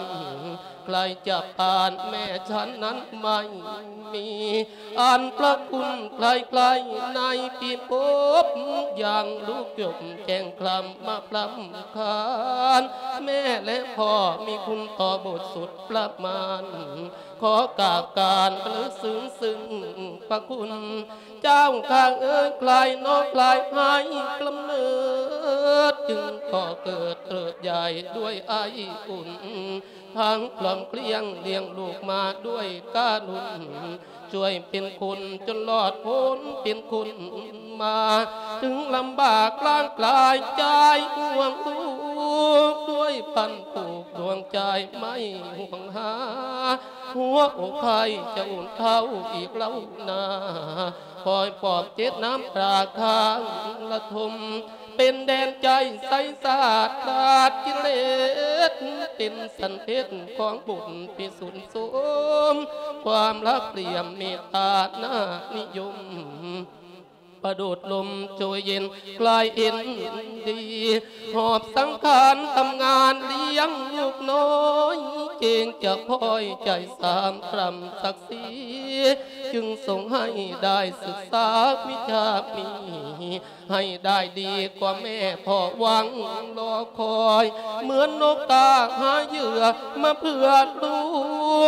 ໃຜຈະປານແມ່ສັນນັ້ນໄມ່ມີ ອັນພະຄຸນໃຜໆໃນພິພົບ ຢ່າງລູກຈົບແຈ້ງຄລຳມາພຣຳຄານ ແມ່ແລະພໍ່ມີຄຸນຕໍ່ບຸດສຸດປະມານ ຂໍກາບການລະລຶກເຊິ່ງ ເຊິ່ງພະຄຸນ ເຈົ້າຂ້າເອີຍ ໃຜເນາະໃຜໃຫ້ກຳເນີດ ຈຶ່ງກໍ່ເກີດເຕີບໃຫຍ່ດ້ວຍໄອອຸ່ນ ທັງຄອບຄົວລ້ຽງລູກມາດ້ວຍກາລຸນ ຊ່ວຍເປັນຄົນຈົນລອດພົ້ນເປັນຄົນມາ ເຖິງລຳບາກລ້າງກາຍໃຈຫ່ວງລູກ ດ້ວຍພັນຜູກດວງໃຈໄມ່ຫ່ວງຫາ ຫົວອົກໄພຈະອຸ່ນເທົ້າອີກເຫຼົ່ານາ ຄອຍປອບເຈັບນ້ຳຕາຄ້າງລະທົມ ເປັນແດນໃຈໃສສາດຂາດກິເລດ ເປັນສັນເພັດຂອງບຸນພິສຸນສົມ ຄວາມຮັກຫຼຽມເມດຕາໜ້ານິຍົມ ປະດຸດລົມໂຈຍເຢັນກາຍເຫັນດີ ຫອບສັງຂານທຳງານລ້ຽງລູກນ້ອຍ ເກງຈະພອຍໃຈສາມກຳສັກສີ ຈຶ່ງສົ່ງໃຫ້ໄດ້ສຶກສາວິຊາມີ ໃຫ້ໄດ້ດີກວ່າແມ່ພໍ່ຫວັງລໍຄອຍ ເໝືອນນົກກາຫາເຫຍື່ອມາເພື່ອລູ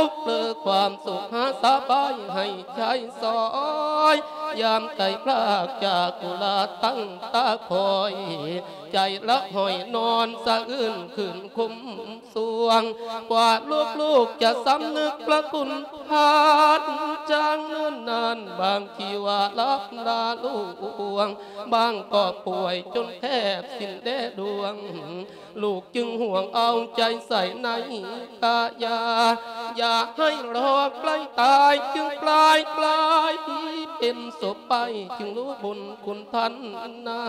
ກ ເພື່ອຄວາມສຸກຫາສະບາຍໃຫ້ໃຊ້ສອຍ ຍາມໄກພລາກຈາກຕຸລາຕັ້ງຕາຄອຍ ໃຈລະຫ້ອຍນອນສະອືນຂຶ້ນຄົມ ສ່ວງ ກວ່າລູກໆຈະສຳນຶກພະຄຸນພານ ຈາງເນີນນານບາງທີວ່າຫຼັບລາລ່ວງ ບາງກໍປ່ວຍຈົນແທບສິ້ນແດ່ດວງ ລູກຈຶ່ງຫ່ວງເອົາໃຈໃສ່ໃນກາຍາ ຢ່າໃຫ້ລໍໃກ້ຕາຍ ຈຶ່ງກາຍກາຍເປັນສົບໄປ ຈຶ່ງຮູ້ບຸນ ຄຸນທ່ານນາ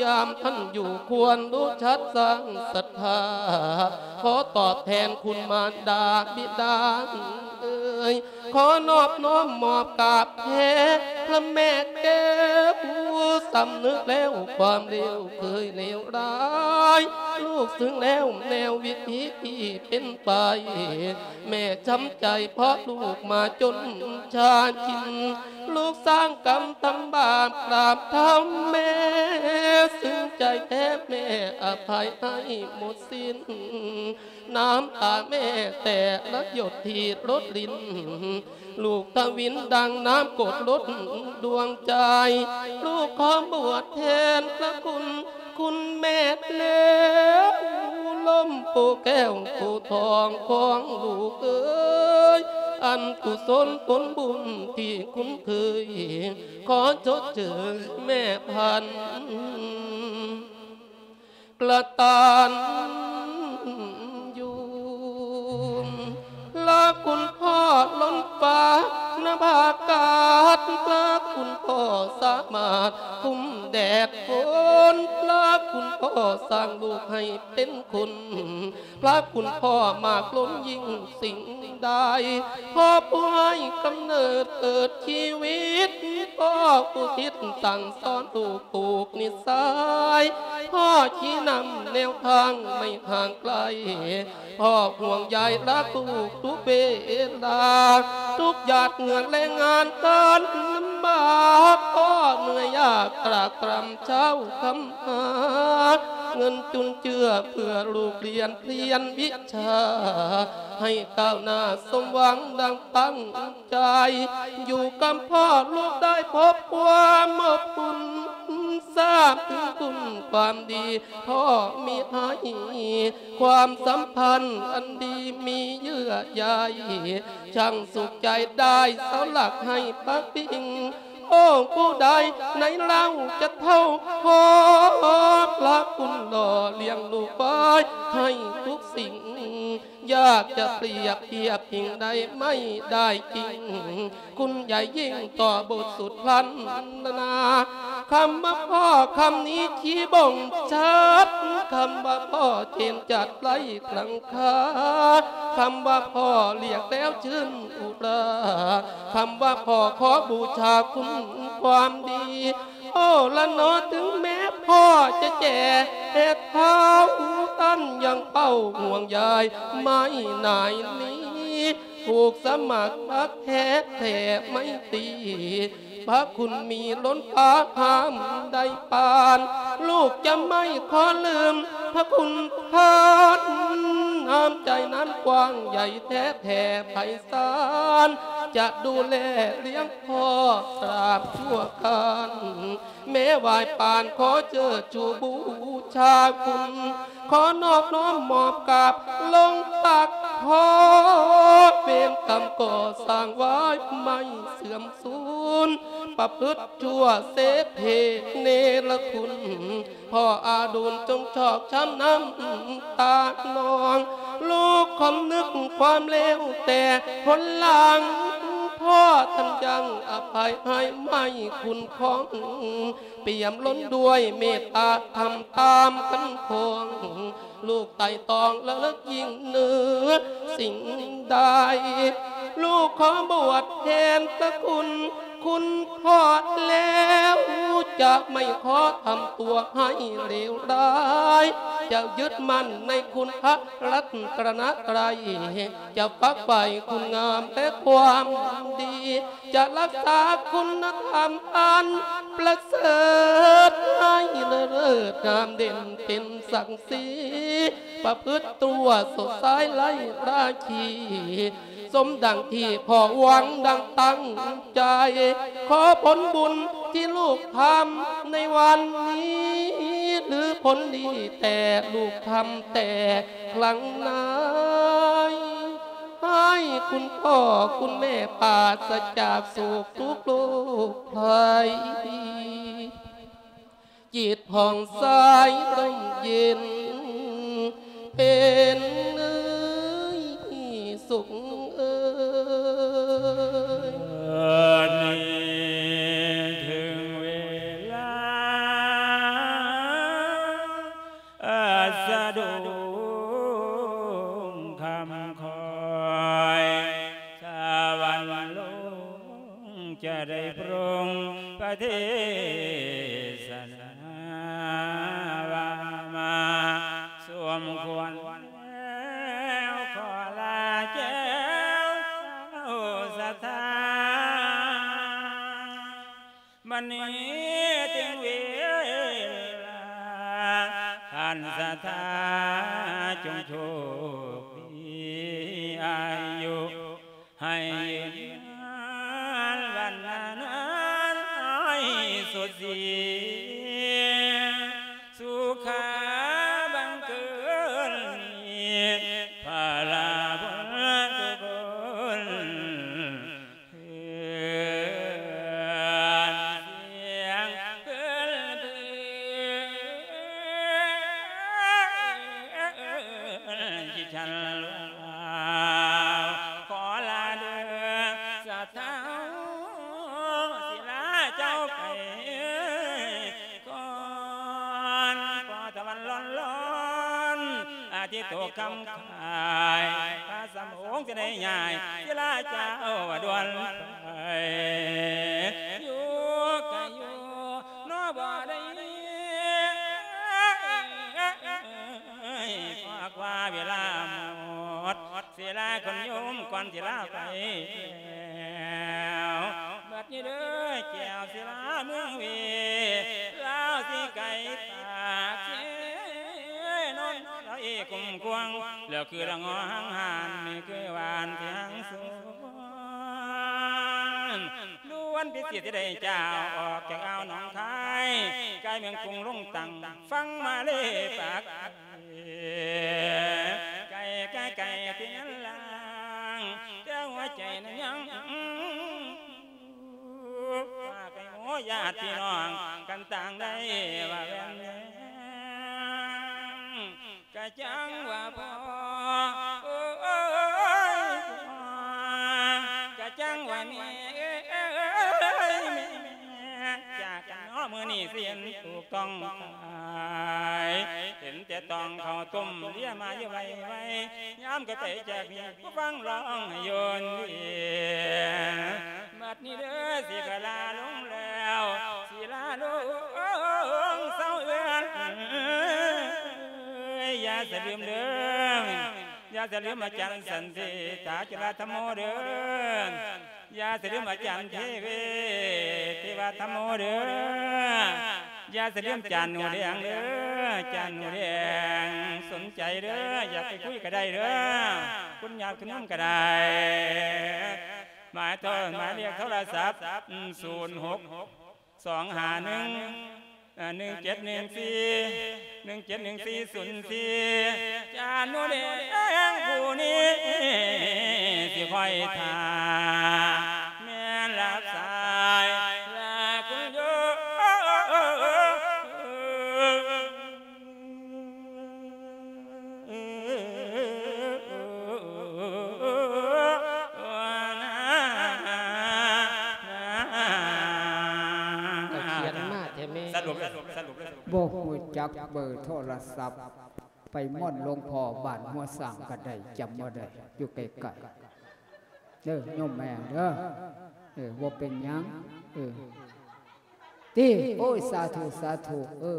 ຍາມທ່ານຢູ່ຄວນຮູ້ຈັກສ້າງສັດທາ ຂໍຕອບແທນຄຸນມານດາບິດາເອີຍ ຂໍນອບນ້ອມມອບກາບແດ່ພະແມ່ແກ້ວ ສຳນຶກແລ້ວຄວາມເລວເຄີຍເລວຮ້າຍ ລູກເຊິ່ງແລ້ວແນວວິຖີທີ່ເປັນໄປ ແມ່ຊ້ຳໃຈເພາະລູກມາຈົນຊາກິນ ລູກສ້າງກຳທຳບາບກາບເທົ້າແມ່ ເຊິ່ງໃຈແທ້ແມ່ອະໄພໃຫ້ໝົດສິ້ນ ນ້ຳຕາແມ່ແຕ່ລະຫຍົດທີ່ລົດລິນ ລູກທະວິນດັ່ງນ້ຳກົດລົດດວງໃຈ ລູກຂໍບວດແທນພະຄຸນ ຄຸນແມ່ແລ້ວ ລົມໂພແກ້ວໂພທອງຂອງລູກເອີຍ ອັນກຸສົນຜົນບຸນທີ່ຄຸ້ນເຄີຍ ຂໍຊົດເຊີຍແມ່ພັນກະຕັນ ຢູ່ ພະຄຸນພໍ່ລົ້ນຟ້ານະພາອາກາດ ພະຄຸນພໍ່ສາມາດຄຸມແດດຝົນ ພະຄຸນພໍ່ສ້າງລູກໃຫ້ເປັນຄົນ ພະຄຸນພໍ່ມາກລົ້ນຍິ່ງສິ່ງໃດ ພໍ່ຜູ້ໃຫ້ກຳເນີດເກີດຊີວິດ ພໍ່ອຸທິດສັ່ງສອນລູກຜູກນິໄສ ພໍ່ຊີ້ນຳແນວທາງໄມ່ຫ່າງໄກ ພໍ່ຫ່ວງໃຍຮັກລູກທຸກເວລາ ທຸກຫຍາດເຫື່ອແລງງານການລຳບາກ ພໍ່ເໜືອຍຍາກຕາກຕຣຳເຊົ້າຄ່ຳຫາ ເງິນຈຸນເຈືອເພື່ອລູກຮຽນພຽນວິຊາ ໃຫ້ກ້າວໜ້າສົມຫວັງດັ່ງຕັ້ງ ໃຈ ຢູ່ກັບພໍ່ລູກໄດ້ພົບຄວາມອົບອຸ່ນ ຊາບເຖິງຄຸນຄວາມດີພໍ່ມີໃຫ້ ຄວາມສຳພັນອັນດີມີເຍື່ອໃຍ ຊ່າງສຸກໃຈໄດ້ເຊົາຫຼັກໃຫ້ພັກພິງ ໂອ້ ຜູ້ໃດໃນເຫຼົ່າຈະເທົ່າ ຂໍພະຄຸນຫຼໍ່ລ້ຽງລູກໄວ້ໃຫ້ທຸກສິ່ງ ຢາກຈະປຽບທຽບພິງໄດ້ໄມ່ໄດ້ຈິງ ຄຸນໃຫຍ່ຍິ່ງຕໍ່ບົດສຸດພັນນາ ຄຳວ່າພໍ່ຄຳນີ້ຊີ້ບົ່ງຊັດ ຄຳວ່າພໍ່ເຈນຈັດໄລກລັງຄາ ຄຳວ່າພໍ່ລຽກແລ້ວຊື່ນອຸລາ ຄຳວ່າພໍ່ຂໍບູຊາຄຸນຄວາມດີ ໂອ້ລະໜໍ ເຖິງແມ້ພໍ່ຈະແກ່ເຖົ້າ ທ່ານຍັງເຝົ້າຫ່ວງໃຍໄມ້ນາຍນີ້ ຜູກສະໝັກຮັກແທ້ແທ້ໄມຕີ ພະຄຸນມີລົ້ນຟ້າຫ້າມໄດ້ປານ ລູກຈະໄມ່ຂໍລືມພະຄຸນທ່ານ ນ້ຳໃຈນັ້ນກວ້າງໃຫຍ່ແທ້ແຜ່ໄພສານ ຈະດູແລລ້ຽງພໍ່ຕາບຊົ່ວການ ແມ້ວາຍປານຂໍເຈີດຊູບູຊາຄຸນ ຂໍນອບນ້ອມມອບກາບລົງຕັກພໍ່ ເວນກຳກໍ່ສ້າງໄວ້ໄມ່ເສື່ອມສູນ ປະພຶດຊົ່ວເສເພເນລະຄຸນ ພໍ່ອາດຸນຈົ່ງຊອກຊ້ຳນ້ຳຕານອງ ລູກຄຳນຶກຄວາມເລວແຕ່ຜົນຫຼັງ ພໍ່ທ່ານຍັງອະໄພໃຫ້ໄມ້ຄຸ້ມຄອງ ປ່ຽມລົ້ນດ້ວຍເມດຕາທຳຕາມຄັນຄອງ ລູກໄຕ່ຕອງລະລຶກຍິ່ງເໜືອສິ່ງໃດ ລູກຂໍບວດແທນພະຄຸນ ຄຸນພໍ່ແລ້ວ ຈະໄມ່ຂໍທຳຕົວໃຫ້ເລວຮ້າຍ ຈະຍຶດໝັ້ນໃນຄຸນພະລັດຕະນະໄຕ ຈະຝັກໃຝ່ຄຸນງາມແລະຄວາມດີ ຈະລັກສາຄຸນນະທຳອັນປະເສີດ ໃຫ້ເລີດງາມເດັ່ນເປັນສັກສີ ປະພຶດຕົວສົດໃສໄຮ້ລາຄີ ສົມດັ່ງທີ່ພໍ່ຫວັງດັ່ງຕັ້ງໃຈ ຂໍຜົນບຸນທີ່ລູກທຳໃນວັນນີ້ ຫຼືຜົນດີແຕ່ລູກທຳແຕ່ຄັ້ງໃນ ໃຫ້ຄຸນພໍ່ຄຸນແມ່ປາສະຈາກໂສກທຸກໂລກໄພ ຈິດຜ່ອງໃສຮົ່ມເຢັນເປັນສຸກເອີຍ. ບັດນີ້ເຖິງເວລາ ອາ ສະດຸ້ງຄ່ຳຄ່ອຍ ສະຫວັນລົງຈະໄດ້ປຣົງປະເທດສະໜາ ວ່າມາສົມຄວນແລ້ວ ຂໍລາແກ້ວສາວສັດທາ. ບັດນີ້ເຖິງເວລາ ທ່ານສັດທາຈົ່ງໂຊກດີ ອາຍຸໃຫ້ຍືນນານ ວັນນານໃຫ້ສົດສີ ສຸຂາບັງເກີດມີ ພະລາບຸນທຸກຄົນ ເຮືອນສຽງເພິ່ນເພິ່ນ ທີ່ສັນລາວ ຂໍລາເດີສາວເຖົ້າ ສິລາເຈົ້າໄປ ກ່ອນ ພໍຕາເວັນລ້ອນໆ ອາທິດຕົກຄ່ຳຄາຍ ພະສຳໂຮງຈະໄດ້ຍ້າຍ ສິລາເຈົ້າດ່ວນໄປຢູ່ ເວລາຄົນໂຍມກ່ອນຊິລາໄປແລ້ວ ບັດນີ້ເດີແກ້ວສິລາເມືອງເວ ລາວຊິໄກປາກເຊ ນອນລອຍກຸ້ມກວາງ ແລ້ວຄືລະງໍຫາງຫານ ນີ້ຄືຫວານທີ່ຫາງສວນ ລວນພິເສດທີ່ໄດ້ເຈົ້າ ອອກຈາກອ່າວໜອງຄາຍ ກາຍເມືອງກຸງລົງຕັ້ງ ຝັ່ງມາເລປາກ ໄກ ໄກ ໄກທີ່ນັ້ນລາງ ແຕ່ຫົວໃຈນັ້ນຍັງ ຝາກໃຫ້ໂອຍາດພີ່ນ້ອງ ກັນຕ່າງໄດ້ວ່າແວ່ນແຍງ ກະຈັ່ງວ່າພໍ່ ໂອ້ຍ ກະຈັ່ງວ່າແມ່ ເອີຍ ແມ່ ຈາກກັນເນາະ ມື້ນີ້ຊິເຫັນຖືກຕ້ອງຕາຍ ເຫັນແຕ່ຕ້ອງເຂົ້າຕົ້ມ ເລຍມາຢູ່ໄວໆ ຍາມກະໄປຈາກນີ້ ຜູ້ຟັງຮ້ອງໃຫ້ໂຍນເວ ບັດນີ້ເດີ ຊິຂະລາລົງແລ້ວ ຊິລາລົງເຊົາເອື້ອນ ຢ່າສະລືມເດີ ຢ່າສະລືມອາຈານສັນຕິ ຕາຈຸລາທຳໂມເດີ ຢ່າສະລືມອາຈານເທເວ ເທວະທຳໂມເດີ ຢ່າສະລືມຈານໜູແດງເດີ ຈານໜູແດງ ສົນໃຈເດີ ຢາກໄປຄຸຍກະໄດ້ເດີ ຄຸນຍາດຄຸນໂຍມກະໄດ້ ໝາຍໂທ ໝາຍເລກໂທລະສັບ ສູນຫົກ ສອງຫ້າໜຶ່ງ ເອີ ໜຶ່ງເຈັດໜຶ່ງສີ່ ໜຶ່ງເຈັດໜຶ່ງສີ່ສູນສີ່ ຈານໜູແດງຜູ້ນີ້ ຊິຄອຍຖ້າ ແມ່ນຮັບສາຍລາຄຸນໂຍມ. ຂຽນມາແທ້ແມ່ ສະຫຼຸບ ສະຫຼຸບ ບໍ່ຮູ້ຈັກເບີໂທລະສັບ ໄປມ່ອນຫຼວງພໍ່ບ້ານຫົວຊ້າງກະໄດ້ ຈຳບໍ່ໄດ້ ຢູ່ໃກ້ໆ ເດີໂຍມແມ່ເດີ ເອີ ບໍ່ເປັນຫຍັງ ເອີ ຕິ ໂອ້ຍ ສາທຸ ສາທຸ ເອີ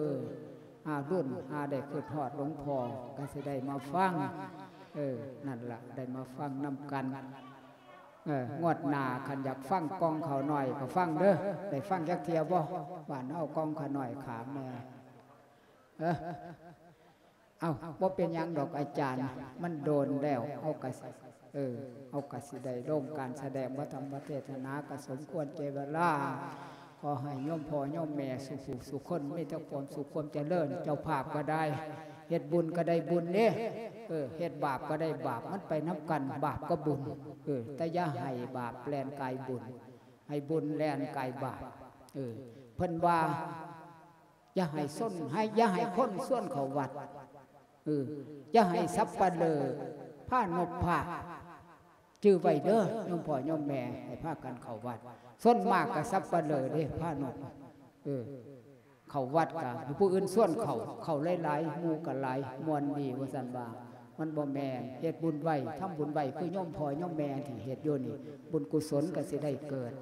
ຫາລຸ້ນ ຫາໄດ້ຄິດຮອດຫຼວງພໍ່ ກະຊິໄດ້ມາຟັງ ເອີ ນັ້ນລະ ໄດ້ມາຟັງນຳກັນ ເອີ ງວດໜ້າຄັນຢາກຟັງກ່ອງຂ້າວໜ້ອຍກະຟັງເດີ ໄດ້ຟັງຈັກເທື່ອບໍ່ ບ້ານເຮົາກ່ອງຂ້າວໜ້ອຍຂາມແນ່ ເອີ ເອົ້າ ບໍ່ເປັນຫຍັງດອກອາຈານ ມັນໂດນແລ້ວ ເຮົາກະ ເອີ ເຮົາກະຊິໄດ້ລົງການສະແດງ ພະທຳມະເທດສະໜາ ກະສົມຄວນແກ່ເວລາ ຂໍໃຫ້ໂຍມພໍ່ໂຍມແມ່ສູ່ຜູ້ສູ່ຄົນ ມີແຕ່ຄວາມສຸກຄວາມຈະເລີນ ເຈົ້າພາບກະໄດ້ ເຮັດບຸນກະໄດ້ບຸນເດ້ ເອີ ເຮັດບາບກະໄດ້ບາບ ມັນໄປນຳກັນ ບາບກັບບຸນ ເອີ ແຕ່ຢ່າໃຫ້ບາບແລ່ນກາຍບຸນ ໃຫ້ບຸນແລ່ນກາຍບາບ ເອີ ເພິ່ນວ່າ ຢ່າໃຫ້ຊົນ ໃຫ້ ຢ່າໃຫ້ຄົນຊວນເຂົ້າວັດ ເອີ ຢ່າໃຫ້ສັບປະເລີພານົບພາ ຈື່ໄວ້ເດີໂຍມພໍ່ໂຍມແມ່ ໃຫ້ພາກັນເຂົ້າວັດ ສ່ວນມາກກະສັບປະເລີເດ້ພານົບ ເອີ ເຂົ້າວັດກະໃຫ້ຜູ້ອື່ນຊວນເຂົ້າ ເຂົ້າຫຼາຍໆ ໝູ່ກະຫຼາຍ ມ່ວນດີວ່າຊັ້ນວ່າ ມັນບໍ່ແມ່ນ ເຮັດບຸນໄວ ທຳບຸນໄວ ຄືໂຍມພໍ່ໂຍມແມ່ທີ່ເຮັດຢູ່ນີ້ ບຸນກຸສົນກະຊິໄດ້ເກີດ